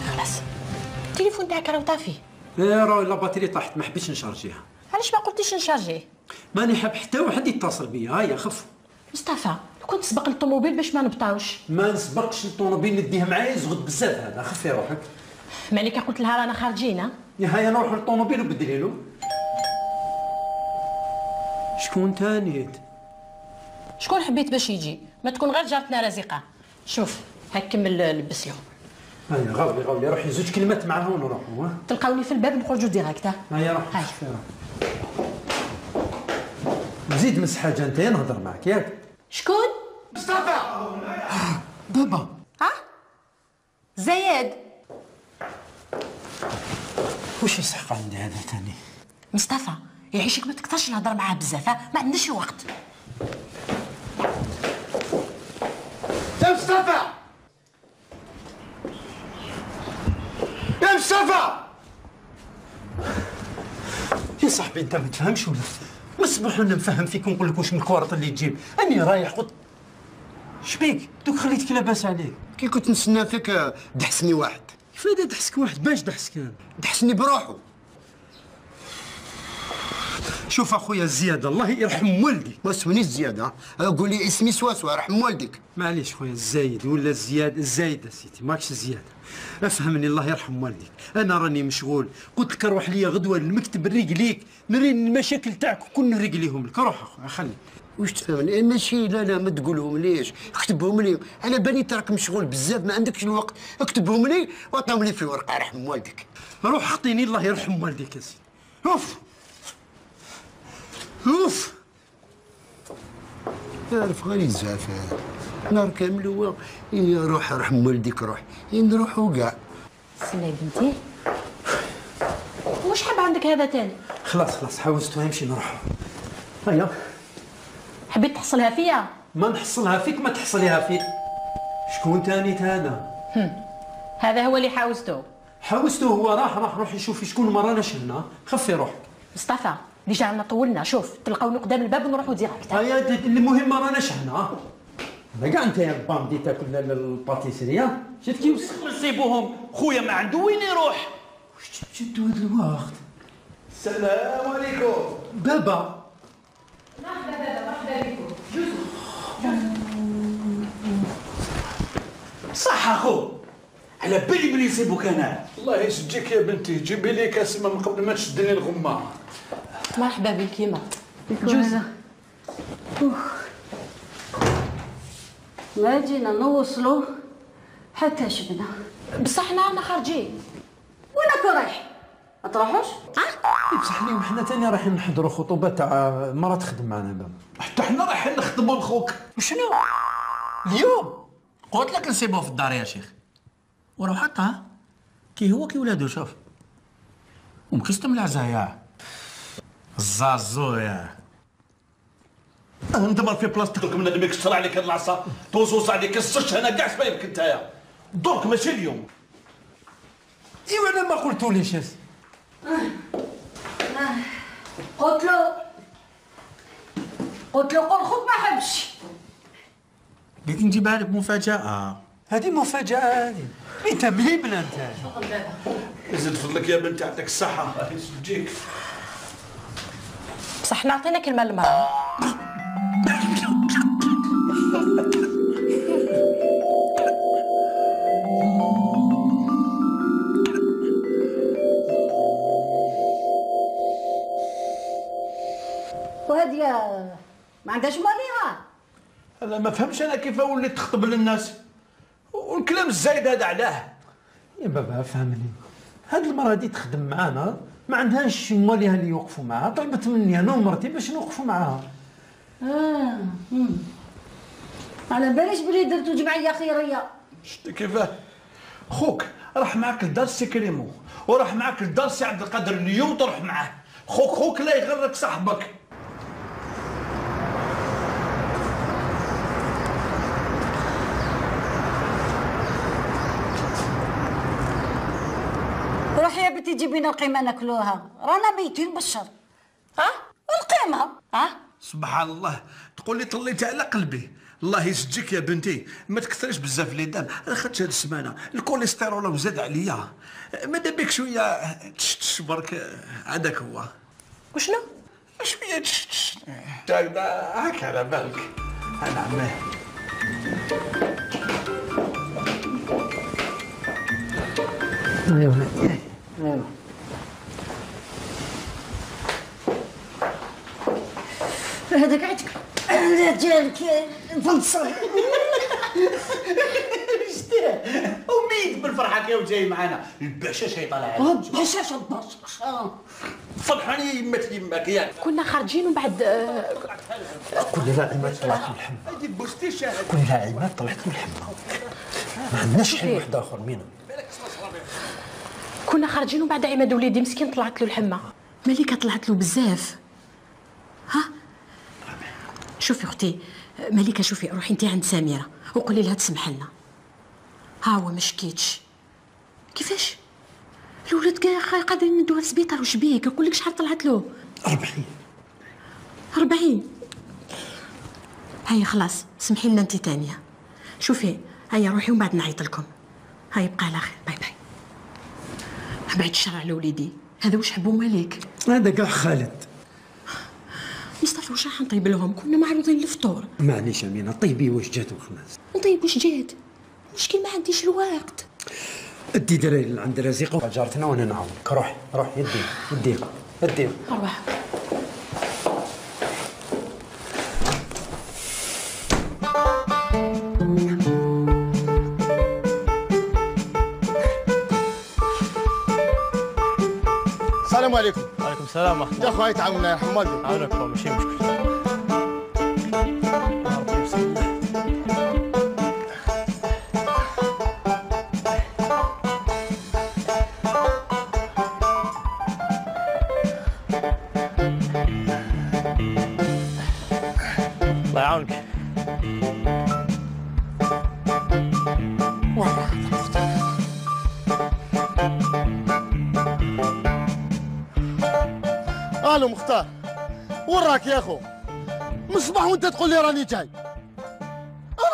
خلاص التليفون تاعك راه طافي. لا راه لا باتري طاحت ما حبيتش نشارجيها. علاش ما قلتيش نشارجيه؟ ماني حاب حتى واحد يتصل بيا. هيا خف. مصطفى لو كنت تسبق للطوموبيل باش ما نبطاوش. ما نسبقش للطوموبيل نديه معايا يزغد بزاف هذا. خفي روحك. مالك قلت لها رانا خارجين. هيا نروحوا للطوموبيل وبدلي له. شكون تاني؟ شكون حبيت باش يجي؟ ما تكون غير جارتنا رزقه. شوف هاك كمل لبس له. هيا غاولي روحي زوج كلمات معاه ونروحوا. تلقاوني في الباب نخرجوا ديريكت. هيا روح. هيا زيد مس حاجه انت نهضر معك ياك. شكون؟ مصطفى. بابا. زياد. واش يسحق عندي هذا ثاني؟ مصطفى يعيشك ما تكثرش نهضر معاه بزاف. ما عندناش وقت. يا مصطفى يا مصطفى. يا صاحبي انت ما تفهمش ولا مسموح لنا نفهم فيك ونقول لك واش من الكوارط اللي تجيب. اني رايح قلت شبيك دوك خليتك لاباس عليك. كي كنت نستنى فيك دحسني واحد. كيفاش دحسك واحد؟ باش دحسك انا؟ دحسني بروحه. شوف اخويا الزياده الله يرحم والدي. ما اسمنيش زياده. قول لي اسمي سواسوا رحم والدك. معليش خويا الزايد ولا الزايد سيتي ماكش زياده. افهمني الله يرحم والديك. انا راني مشغول. قلت لك روح ليا غدوه للمكتب نريق ليك نري المشاكل تاعك وكل نريق ليهم لك. روح اخويا خلي. واش تفهمني؟ ماشي لا ما تقولهم ليش. اكتبهم لي. انا بالي تراك مشغول بزاف ما عندكش الوقت. اكتبهم لي وعطيهم لي في ورقه رحم والدك. روح اعطيني الله يرحم والديك يا سيدي. اوف اوف. تعرف غير الزعف نهار كامل هو روح رحم والديك روح نروحوا كاع. سنة يا بنتي واش حاب عندك هذا تاني؟ خلاص حوزتو يمشي نروحوا. هيا حبيت تحصلها فيا؟ ما نحصلها فيك ما تحصليها فيك. شكون تاني هذا؟ هذا هو اللي حاوزته هو راح روح يشوف شكون مرانا شلنا. خفي روحك. مصطفى ديجا عنا طولنا. شوف تلقاوني قدام الباب ونروحوا ديريكت. هيا المهم ما راناش هنا. كاع انت يا با بديت تاكل الباتيسيريا. شفت كي نصيبوهم خويا ما عنده وين يروح. واش جدوا هذا الوقت؟ السلام عليكم بابا. مرحبا بكم. صح اخو على بالي بلي يصيبوك انا. الله يسجيك يا بنتي. جيبي لي كاس من قبل ما تشدني الغمه. مرحبا بك يما. جوزة. ما جينا نوصلوا حتى شبنا. بصح حنا خارجين. وينك رايح؟ ما تروحوش؟ بصح اليوم حنا تاني رايحين نحضروا خطوبه تاع مرة تخدم معنا بابا. حتى حنا رايحين نخدموا لخوك. وشنو؟ اليوم قلت لك نسيبوه في الدار يا شيخ. وروح هكا كي هو كي ولادو. شوف ومكستم العزايا الزازو يا ندمر في بلاصتك. من اللي يكسر عليك هاد العصا توزوز عليك السش. انا كاع سبايبك نتايا درك ماشي اليوم. ايوا انا ما قلتوليش. قلت له قول خوك ما حبش. قلت نجيبها لك مفاجأة. هذه مفاجأة هذه. انت مهيبنا انت. يزيد فضلك يا بنتي يعطيك الصحة. الله يسجيك. بصح نعطينا كلمة للمرأة. وهذه ما عندهاش ماليها. انا ما فهمش انا كيف وليت تخطب للناس والكلام الزايد هذا علاه. يا بابا فهمني. هاد المرأة دي تخدم معانا ما عندهاش مواليها اللي يوقفوا معاها. طلبت مني انا ومرتي باش نوقفوا معاها. على باليش بلي درتو جمعية خيرية. شتي كيفاه؟ خوك راح معاك لدار سي كريمو وراح معاك لدار سي عبد القادر اليوم تروح معاه. خوك لا يغرك صاحبك. روحي يا بنتي جيبي لنا القيمة ناكلوها. رانا ميتين بالشر. القيمة سبحان الله، تقول لي طليتي على قلبي. الله يسجيك يا بنتي، ما تكثريش بزاف لي دام. انا خدت هاد السمانه الكوليسترول وزاد عليا، ماذا بك شويه تش برك. هذاك هو. وشنو؟ شويه تش هاك على بالك. انا عماه هذاك عندك ديالك فنصل. شتيه وميت بالفرحه كي جاي معنا الباشا يطلع على باشاش فرحاني يماك ياك. كنا خارجين ومن بعد قول لها عماد طلعت من الحمام. قول لها عماد طلعت من الحمام. ما عندناش حل واحد اخر مينا. كنا خارجين ومن بعد عماد وليدي مسكين طلعت له الحمه. مليكه طلعت له بزاف. ها شوفي اختي مليكه، شوفي روحي انت عند سميره وقولي لها تسمح لنا. ها هو ما شكيتش. كيفاش الولاد كاع قادرين ندوها للسبيطار؟ واش بيك؟ نقول لك شحال طلعت له؟ 40. هيا خلاص سمحي لنا انت ثانيه. شوفي هيا روحي ومن بعد نعيط لكم. هيا بقى على خير. باي باي. بعد الشر على وليدي، هذا واش حبوا مالك؟ هذا كاع خالد. مصطفى واش راح نطيب لهم؟ كنا معروضين للفطور. معليش امينه طيبي واش جات وخلاص. نطيب واش جات؟ المشكل ما عنديش الوقت. ادي دراري عند رزيقه وجارتنا وانا نعاونك. روح يدي روح. السلام عليكم. وعليكم السلام ورحمه الله. يا خويا تعاوننا يرحم والديك. عاونك ماشي مشكل. الله يعاونك. الو مختار، وين راك يا اخو؟ من الصباح وانت تقول لي راني جاي.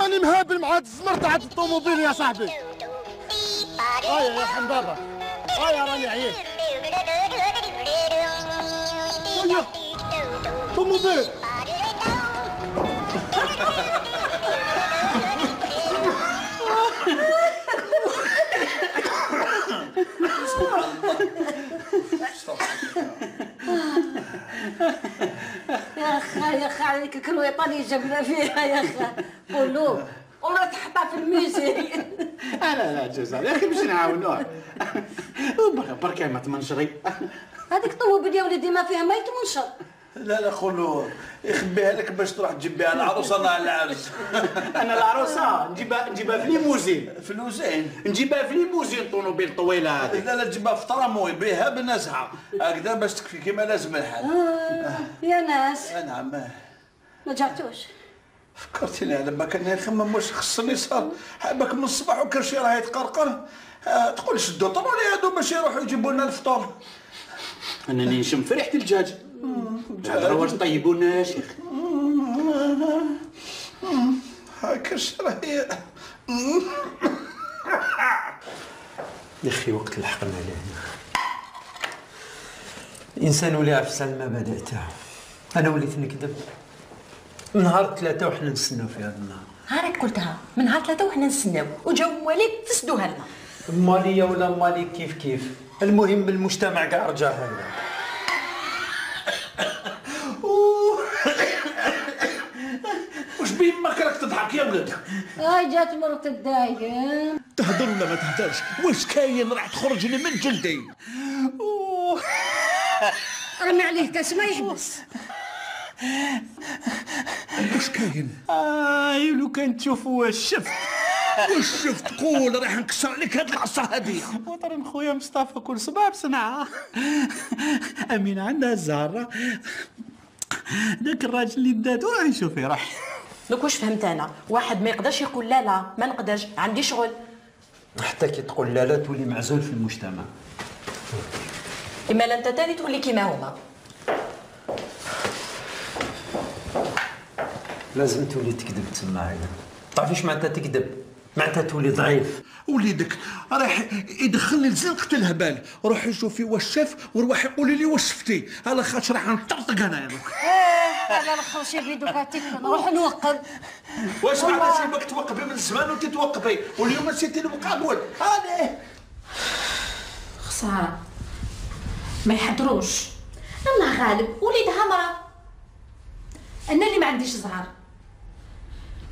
راني مهابل مع هاد الزمر تاع الطوموبيل يا صاحبي. يا حمدابه راني عييت. طوموبيل. يا خا عليك الكرويطاني جبنا فيها يا خا. قولوا والله تحطها في الميزان. لا جزاء يا اخي باش نعاونوه. برك ما تمنشري. هذيك طوب يا ولدي ما فيها ما يتمنشر. لا خلو يخبيها لك باش تروح تجيب بها العروسه مع العرس. انا العروسه نجيبها في ليموزين. نجيبها في ليموزين طونوبيل طويله هذه. لا تجيبها في طراموي بها بنزعه هكذا باش تكفي كيما لازم الحال. يا ناس. نعم. ما جاتوش. فكرتيني على ما كان يخمم واش خصني صار حابك من الصباح وكل شيء راه يتقرقر. تقول شدوا طروني هادو باش يروحوا يجيبوا لنا الفطور. انني نشم في ريحه الدجاج. هذا واش طيبوا لنا يا شيخ. هاكا شراهي. يا اخي وقت لحقنا لهنا. الانسان ولا افسد المبادئ تاعو. انا وليت نكذب. من نهار 3 وحنا نستناو في هذا النهار. هاك قلتها من نهار 3 وحنا نستناو وجاو مواليك تسدوها لنا. ماليه ولا مالي كيف المهم المجتمع كاع رجع هكذا. واش بين ما راك تضحك يا ولد؟ جات مرت الدايم. تهدر ولا ما تهدرش؟ واش كاين راح تخرج لي من جلدي؟ رمي عليه كاس ما يحبس. واش كاين؟ لو كان تشوفوا واش شفت. واش شفت؟ قول راح نكسر لك هاد العصا هذه. وطرين خويا مصطفى كل صباح بصنعه. امينه عندها الزهره. ذاك الراجل اللي داتو راه يشوفي راح. دوك واش فهمت انا؟ واحد ما يقدرش يقول لا ما نقدرش عندي شغل. حتى كي تقول لا تولي معزول في المجتمع. اما لا انت تاني تولي كيما هما. لازم تولي تكذب تسمى عينك. تعرف ايش معناتها تكذب؟ معناتها تولي ضعيف. وليدك راح يدخلني لزنقة الهبال، روحي شوفي واش شاف وروحي قولي لي واش شفتي، على خاطر راح نطرطق انا يا دوك. على الاخر شي بيدك هاتيك نروح نوقف. واش معناتها سيبك توقفي من زمان وانت توقفي واليوم نسيتي المقابل هذا؟ خسارة ما يحضروش. الله غالب وليدها مرة، انا اللي ما عنديش زهر.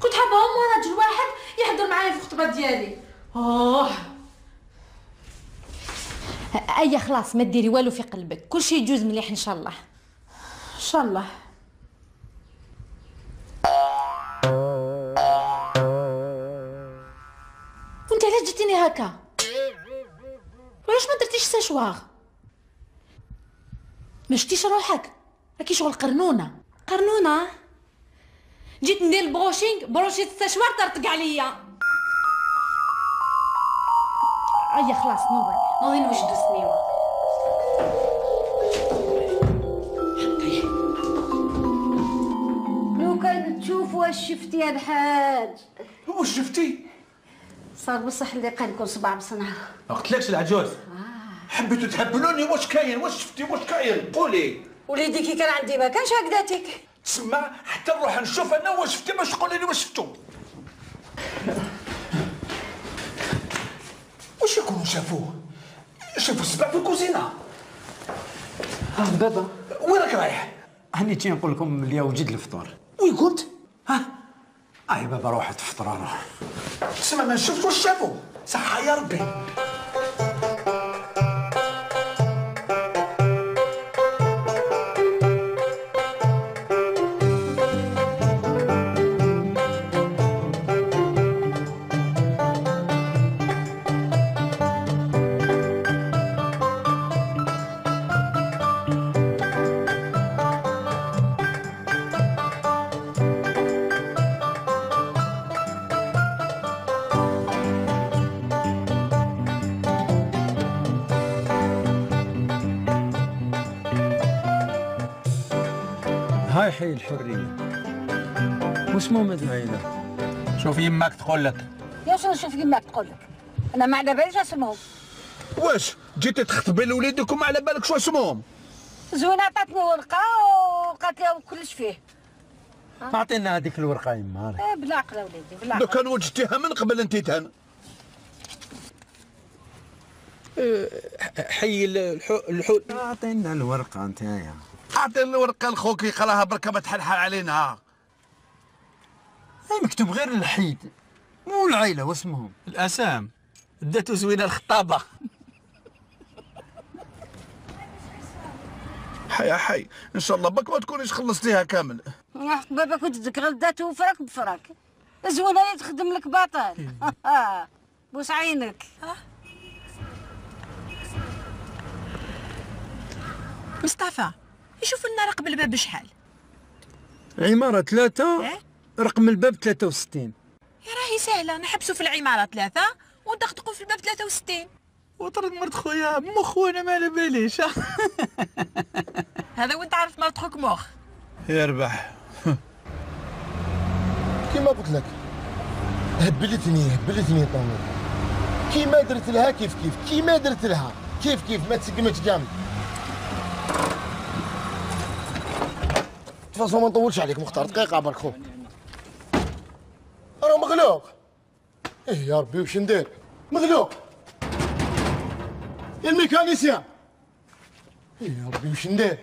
كنت حابه ام راجل واحد يحضر معايا في الخطبه ديالي. اي خلاص ما ديري والو في قلبك، كل شيء يجوز مليح ان شاء الله. ان شاء الله. وانت علاش جيتيني هكا؟ وعلاش ما درتيش ساشواغ؟ ما شتيش روحك؟ راكي شغل قرنونه. قرنونه؟ جيت ندير البروشينغ، بروشيت الساشوار طرطق عليا. اي خلاص نوضي نوجدو السنيوه. لو كان تشوف واش شفتي يا الحاج. واش شفتي؟ صار بصح اللي قال لكم صباع بصنعه. ما قلتلكش العجوز. حبيتوا تهبلوني. واش كاين؟ واش شفتي؟ واش كاين؟ قولي. وليدي كي كان عندي ما كانش هكذاتك. تسمى حتى نروح نشوف انا واش شفتي باش تقولي لي واش شفتو. واش يكونوا شافوه؟ شافوا السبع في الكوزينه. بابا وين راك رايح؟ هاني جاي نقول لكم اليوم وجد الفطور. وين كنت؟ اي بابا روح تفطر انا. تسمى ما شفت واش شافوا. صحة يا ربي. هاي حي الحرية. واسمهم هاد العيلة؟ شوف يماك تقول لك. يا شنو شوف يماك تقول لك؟ انا ما على باليش اسمهم. واش جيتي تخطبي لوليدك وما على بالك شو اسمهم؟ زوينة عطاتني ورقة وقالت لي كلش فيه. اعطينا هذيك الورقة يما. بالعقل وليدي بالعقل. لو كان وجدتيها من قبل انت تهان. حي الحول. اعطينا الورقة نتايا. اعطينا الورقة لخوك يقراها بركة ما تحلحل علينا. مكتوب غير الحيد مو العيلة واسمهم. الاسام داتو زوينة الخطابة. حي ان شاء الله بك ما تكونيش خلصتيها كامل. بابا كنت تذكر داتو فراك بفراك. زوينة اللي تخدم لك باطل. بوس عينك. مصطفى يشوف لنا رقم الباب بشحال؟ عمارة 3 رقم الباب 63. يا راهي سهلة، نحبسوا في العمارة 3 وندقدقوا في الباب 63. وطرد مرت خويا مخ وانا ما على باليش. هذا وانت عارف مرت خوك مخ. يربح. كيما قلت لك هبلتني طامر. كيما درت لها كيف كيما درت لها كيف ما تسقمتش جامد. تفاصيل ما نطولش عليك مختار، دقيقة برك خو. راه مغلوق. ايه يا ربي واش ندير؟ مغلوق. يا الميكانيسيان. ايه يا ربي واش ندير؟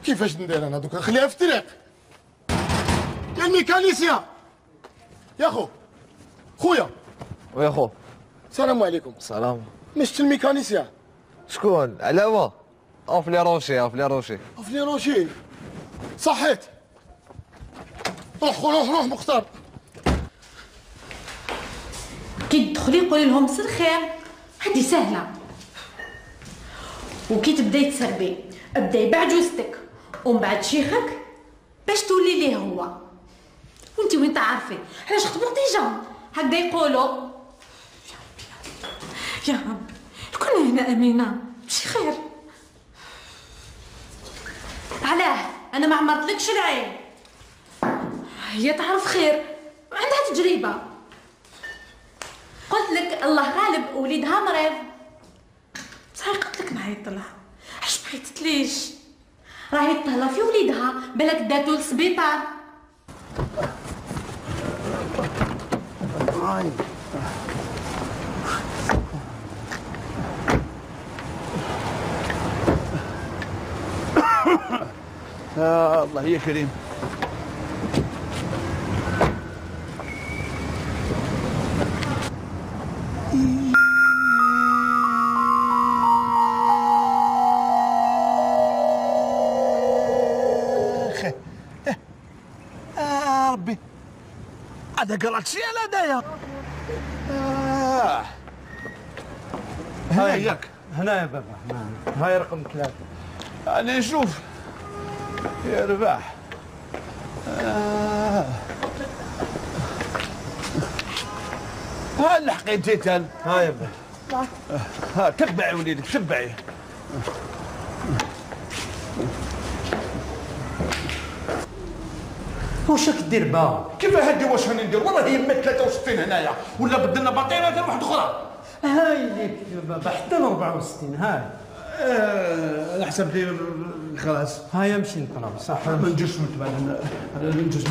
كيفاش ندير انا دوكا نخليها في الطريق؟ يا الميكانيسيان. يا خو. خويا. ويا خو. السلام عليكم. السلام. مشت الميكانيسيان. شكون؟ علاوة؟ افلي روشي. صحيت. روح مختار. كي تدخلي قولي لهم مساء الخير، هذه سهلة. وكي تبداي تسربي ابداي بعجوزتك ومن بعد شيخك باش تولي ليه هو. وانتي وين تعرفي علاش خطبوا ديجا هكذا يقولوا. يا رب كنا هنا امينه ماشي خير. علاه انا ما عمرتلكش العين. هي تعرف خير، عندها تجربة. قلت لك الله غالب وليدها مريض. صحيح قلت لك ما يطلع، علاش ما عيطتليش؟ راهي تهلا في وليدها، بالك داتو للسبيطار. الله يا كريم. ربي هذا قرات شي على هدايا. هنا ياك هنا يا بابا، هنا هاي رقم 3. أنا نشوف يا رباح. ها لحقيتي تال. ها يا بابا. ها تبعي وليدك تبعي. واش راك دير بها؟ كيف هادي واش راني ندير؟ والله هي 63 هنايا ولا بدلنا باطينه تاع واحده اخرى. هاي ليك يا بابا حتى ل 64 هاي. على حسب لي خلاص. هاي نمشي نطلع صح. ما نجوش بعد نجوز.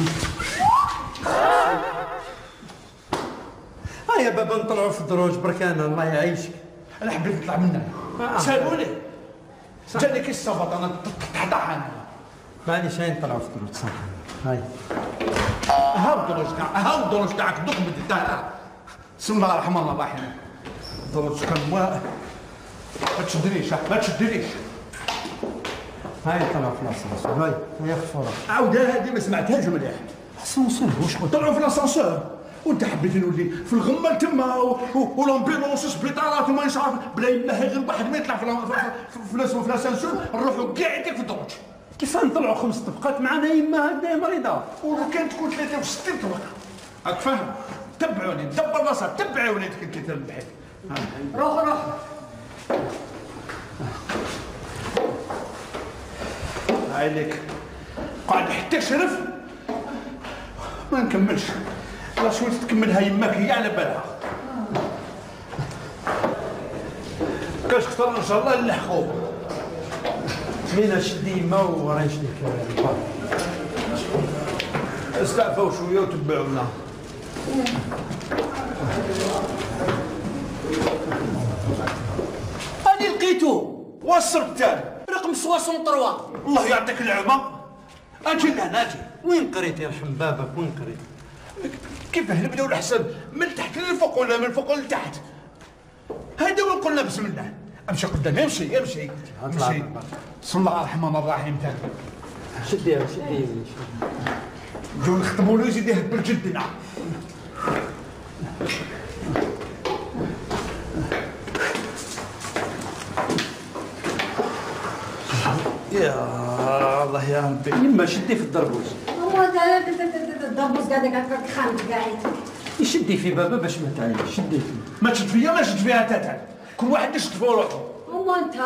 ها يا بابا نطلعوا في الدروج بركانه الله يعيشك. انا حبيت نطلع منها. سالوني جاني كي الصفط انا تحت حانا. معليش هاي نطلعوا في الدروج صح. هاي هاو الدروج تاعك، هاو الدروج تاعك دوك بديتها. بسم الله الرحمن الرحيم. الدروج كان ما تشدنيش ما تشدنيش. هاي طلعوا في الاسانسور. هاي خفوره. عاود هذه ما سمعتهاش مليح. اسانسور واش قلت؟ طلعوا في الاسانسور وانت حبيت نولي في الغمه تما ولامبيلونس سبيطارات وما نعرف بلا يما غير واحد ما يطلع في الاسانسور نروحوا كاع يديك في الدروج. كيف نطلعوا 5 طبقات معنا يما هكذا مريضه؟ ولو كانت تكون 63 طبقه راك فاهم؟ تبعوني دبر راسك تبعي وليدك انت تربحي. روح عليك قاعد حتى شرف ما نكملش. لا شوي تكملها يماك هي على بالها. كاش خطر ان شاء الله نلحقوا. مين شدي يما وراه يشديك البار. استعفوا شويه وتبعونا. أنا لقيتو وصلت تاني رقم 63. الله يعطيك العافيه. اجي لهنا اجي. وين قريت يرحم بابك وين قريت؟ كيف نبداو الحساب من تحت للفوق ولا من فوق لتحت؟ هيدا وين قلنا بسم الله. امشي قدام امشي امشي امشي. بسم الله الرحمن الرحيم تاني. شديها نجيو نختموا له يزيد يهبل جدنا. يا الله يا ربي. يما شدي في الدربوز. الدربوز قاعد هكاك خامس قاعد. يشدي في بابا باش ما تعيش. شدي فيه. ما تشد فيا ما تشد فيها تاتا. كل واحد يشد في روحه. وما انت.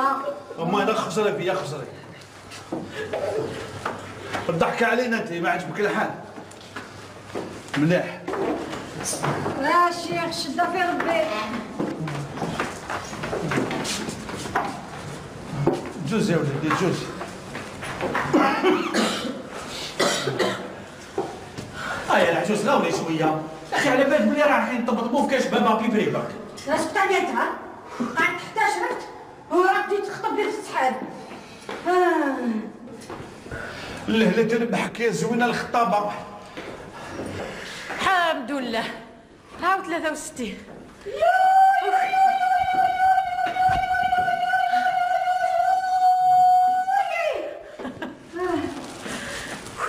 وما انا خسري فيا خسري. الضحكة علينا انت ما عجبك الحال. مليح. لا شيخ شده في ربي. جوز يا ولدي جوز. هاي العجوز غاولي شويه يا اخي على بالك بلي رايحين نطبطبوا في كاش بابا بيبري برك. لا شفت عليتها قاعد تحتاج وراك تجي تخطب لي في السحاب. اللهله تربحك يا زوينه الخطابه. الحمد لله. هاو 63.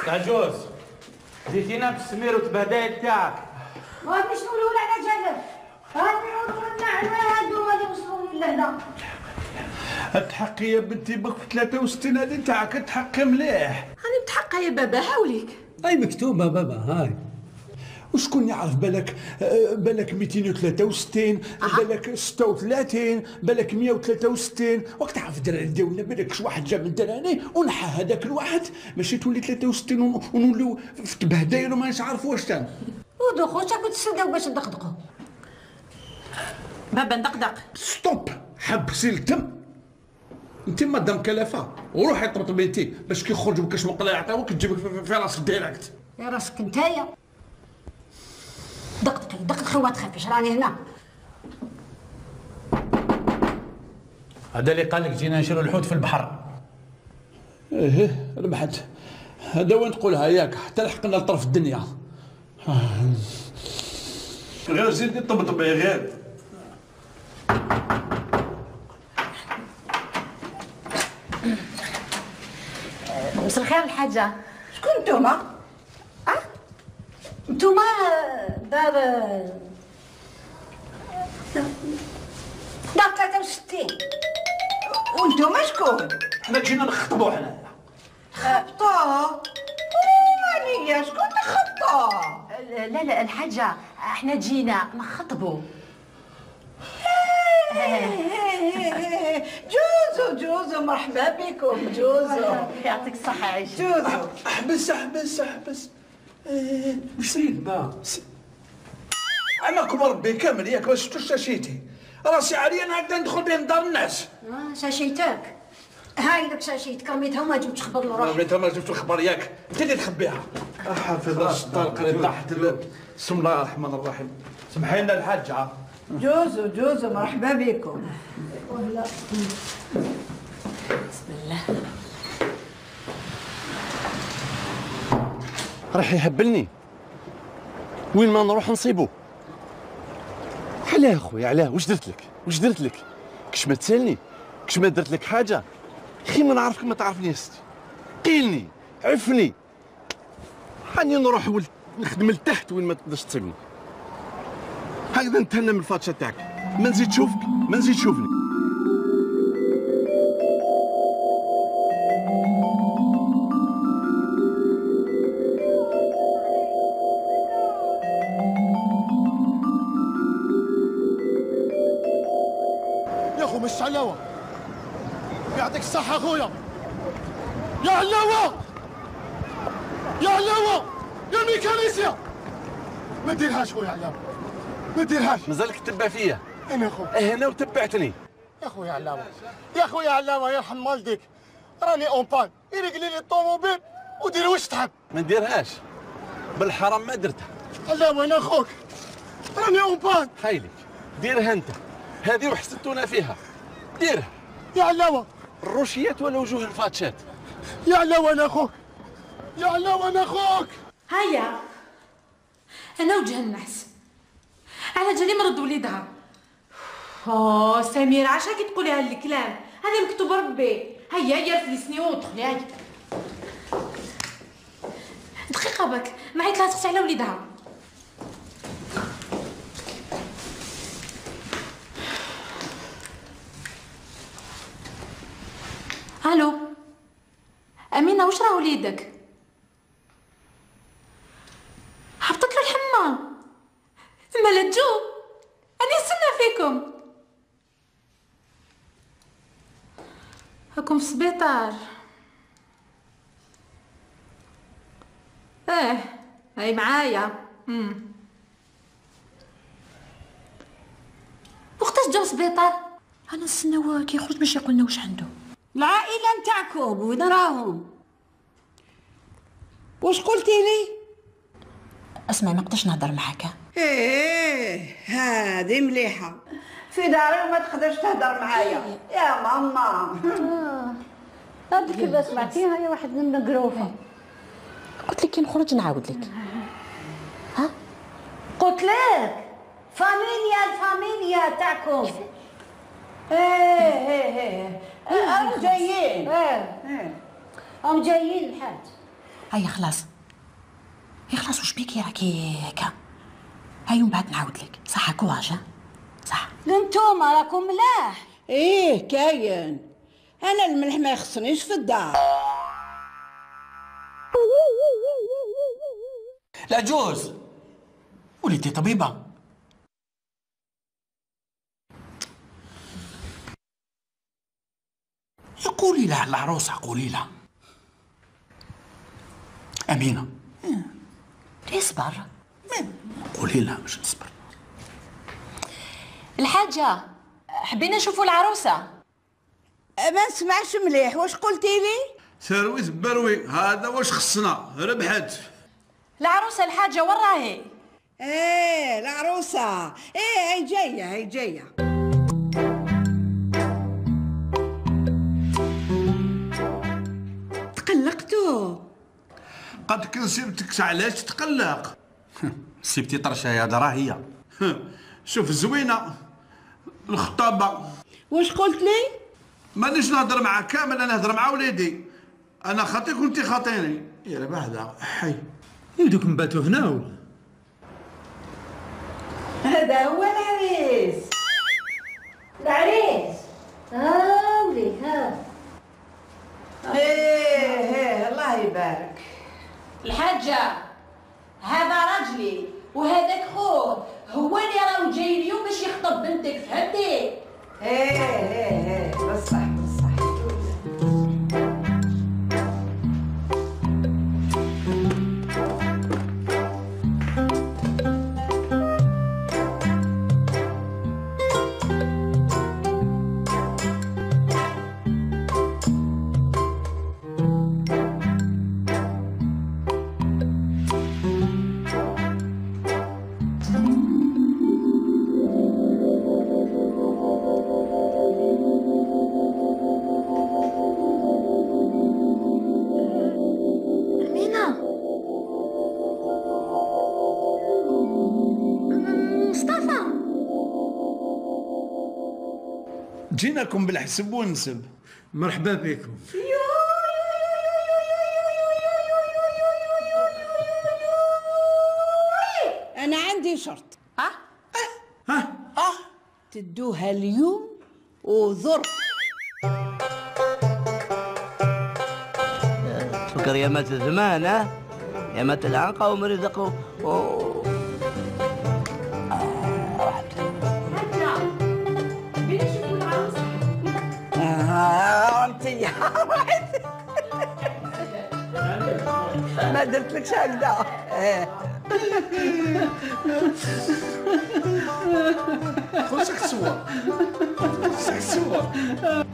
عجوز جيتينا بالسمير وتبهدايل تاعك. غادي شنو الاولى على جابر. غادي نعودوا نعمل هادو غادي نوصلوا للهنا. تحقي يا بنتي بك في 63 هذه تاعك تحقي مليح. راني متحقه يا بابا هاوليك. هاي مكتوبه بابا هاي. وشكون يعرف بالك 263 بالك 36 بالك 163 وقت تعرف الدراري ديالنا بالك شي واحد جا من الدراري ونحى هذاك الواحد ماشي تولي 63 ونوليو في تبهدايل وما نعرفوا واش تان. ودخل كنت تسداو باش ندقدقوا. بابا ندقدق. ستوب، حبسي التم. انت مادام كلافه وروحي طبطبي انت باش كي يخرج بكاش مقله يعطيوك تجيبك في راسك ديريكت. يا راسك نتايا. دقدقي وما تخافيش راني هنا. هذا اللي قال لك جينا نشرو الحوت في البحر. ايه ربحت. هذا وين تقولها ياك حتى لحقنا لطرف الدنيا. غير زيدي طبطبي غير. مساء الخير الحاجة. شكون نتوما؟ نتوما دار 63 وانتوما شكون؟ حنا جينا نخطبوا حنا. خطبوا؟ وانيا شكون تخطبوا؟ لا الحاجة احنا جينا نخطبوا. جوزو مرحبا بكم جوزو. يعطيك الصحة عيش. جوزو احبس. واش سيد با؟ انا كبر بي كامل ياك ما شفتوش شاشيتي راسي عالية انا هكذا ندخل بين دار الناس. شاشيتك هاي لك شاشيتك رميتها وما جبتش خبر روحك. رميتها ما جبتش الخبر ياك انت اللي تخبيها. حافظ راس الطلق اللي تحت بسم الله الرحمن الرحيم. سمحي لنا الحاجة. جوزو مرحبا بكم. بسم الله. راح يهبلني وين ما نروح نصيبو. علاه خويا علاه واش درت لك كش ما تسالني كش ما درت لك حاجه خي ما نعرفك ما تعرفني يا ستي. قيلني عفني حاني نروح نخدم لتحت وين ما تقدرش تصيبني هكذا نتهنى من الفاتشه تاعك ما نزيد تشوفني. مش علاوة يعطيك الصحة أخويا. يا علاوة يا ميكانيسيا ما ديرهاش خويا علاوة ما ديرهاش. مازالك تتبع فيا أنا خويا هنا وتبعتني يا خويا علاوة يرحم والديك راني اون بان يرقلي لي الطوموبيل ودير واش تحب. ما نديرهاش بالحرام ما درتها. علاوة أنا أخوك راني اون بان. خايلك ديرها أنت هذه وحسدتونا فيها ديرها يا علاوة. الروشيات ولا وجوه الفاتشات. يا علاوة أنا أخوك هيا انا وجه النحس على جالي مرض وليدها. سميرة عاش هاكي تقولي هالكلام هذا مكتوب ربي. هيا فلسني ودخلي هيا دقيقة باك ما عيط لها تغسل على وليدها. الو امينه واش راه وليدك؟ حبطت له الحمى مالا تجو انا نستنى فيكم. هاكم في السبيطار. هاي معايا. وقتاش جاو السبيطار؟ انا نستناو كي يخرج باش يقولنا واش عنده. العائلة نتاعكم وين راهم؟ واش قلتي لي؟ اسمع ما نقدرش نهضر معاك. هذه مليحة في داري وما تقدرش تهضر معايا يا ماما. هذيك كذا سمعتيها يا واحد من القروفة. قلت لك كي نخرج نعاود لك. قلت لك الفاميليا تاعكم. هم جايين. هم جايين الحاج. هيا خلاص واش بيكي راكي هكا. هيا ومن بعد نعاود لك. صح كواج صح. انتوما راكم ملاح. كاين. انا الملح ما يخصنيش في الدار. لا جوز وليتي طبيبة. قولي لها العروسة، قولي لها. أمينة اصبر. قولي لها باش نصبر. الحاجة حبينا نشوفوا العروسة. ما نسمعش مليح، واش قلتي لي؟ ثرويت بروي، هذا واش خصنا، ربحت. العروسة الحاجة وين راهي؟ ايه العروسة، ايه هي جاية هي جاية. تقلقتوا؟ قد كنسيبتك علاش تقلق؟ سيبتي طرشة هذا راه هي. شوف زوينة الخطابة. واش قلت لي؟ مانيش نهضر مع كامل، انا نهضر مع وليدي. انا خاطيك وانت خاطيني. يا بعدا حي. يدوك نباتوا هنا ولا؟ هذا هو العريس. العريس ولي ها. ايه الله يبارك. الحاجة هذا راجلي وهذاك خوه، هو اللي راهو جاي اليوم باش يخطب بنتك، فهمتي؟ ايه بصح. جيناكم بالحسب والنسب. مرحبا بكم. انا عندي شرط. تدوها اليوم وظرف. سكر يا مات الزمان، يا مات العنقة ومرزق ما درتلكش هكذا. خذ الصور.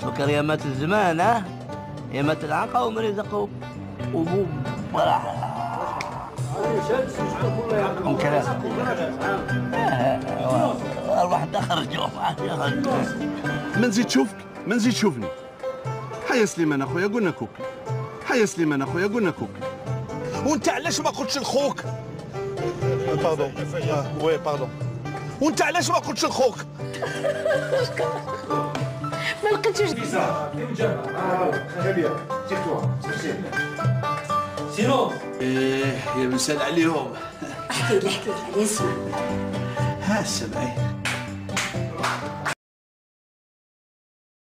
سكر يا مات الزمان، يا مات العنقة ومرزق وبوب الواحد خرجوا. ما نزيد شوفك، ما نزيد شوفني. حيا سليمان اخويا قلنا كوك. حيا سليمان اخويا قلنا كوك. وانت علاش ما قلتش لخوك؟ باردون. وي باردون. وانت علاش ما قلتش لخوك؟ ما لقيتوش. سينو ايه يا مسال عليهم. احكي لي اسمع. ها سمعي.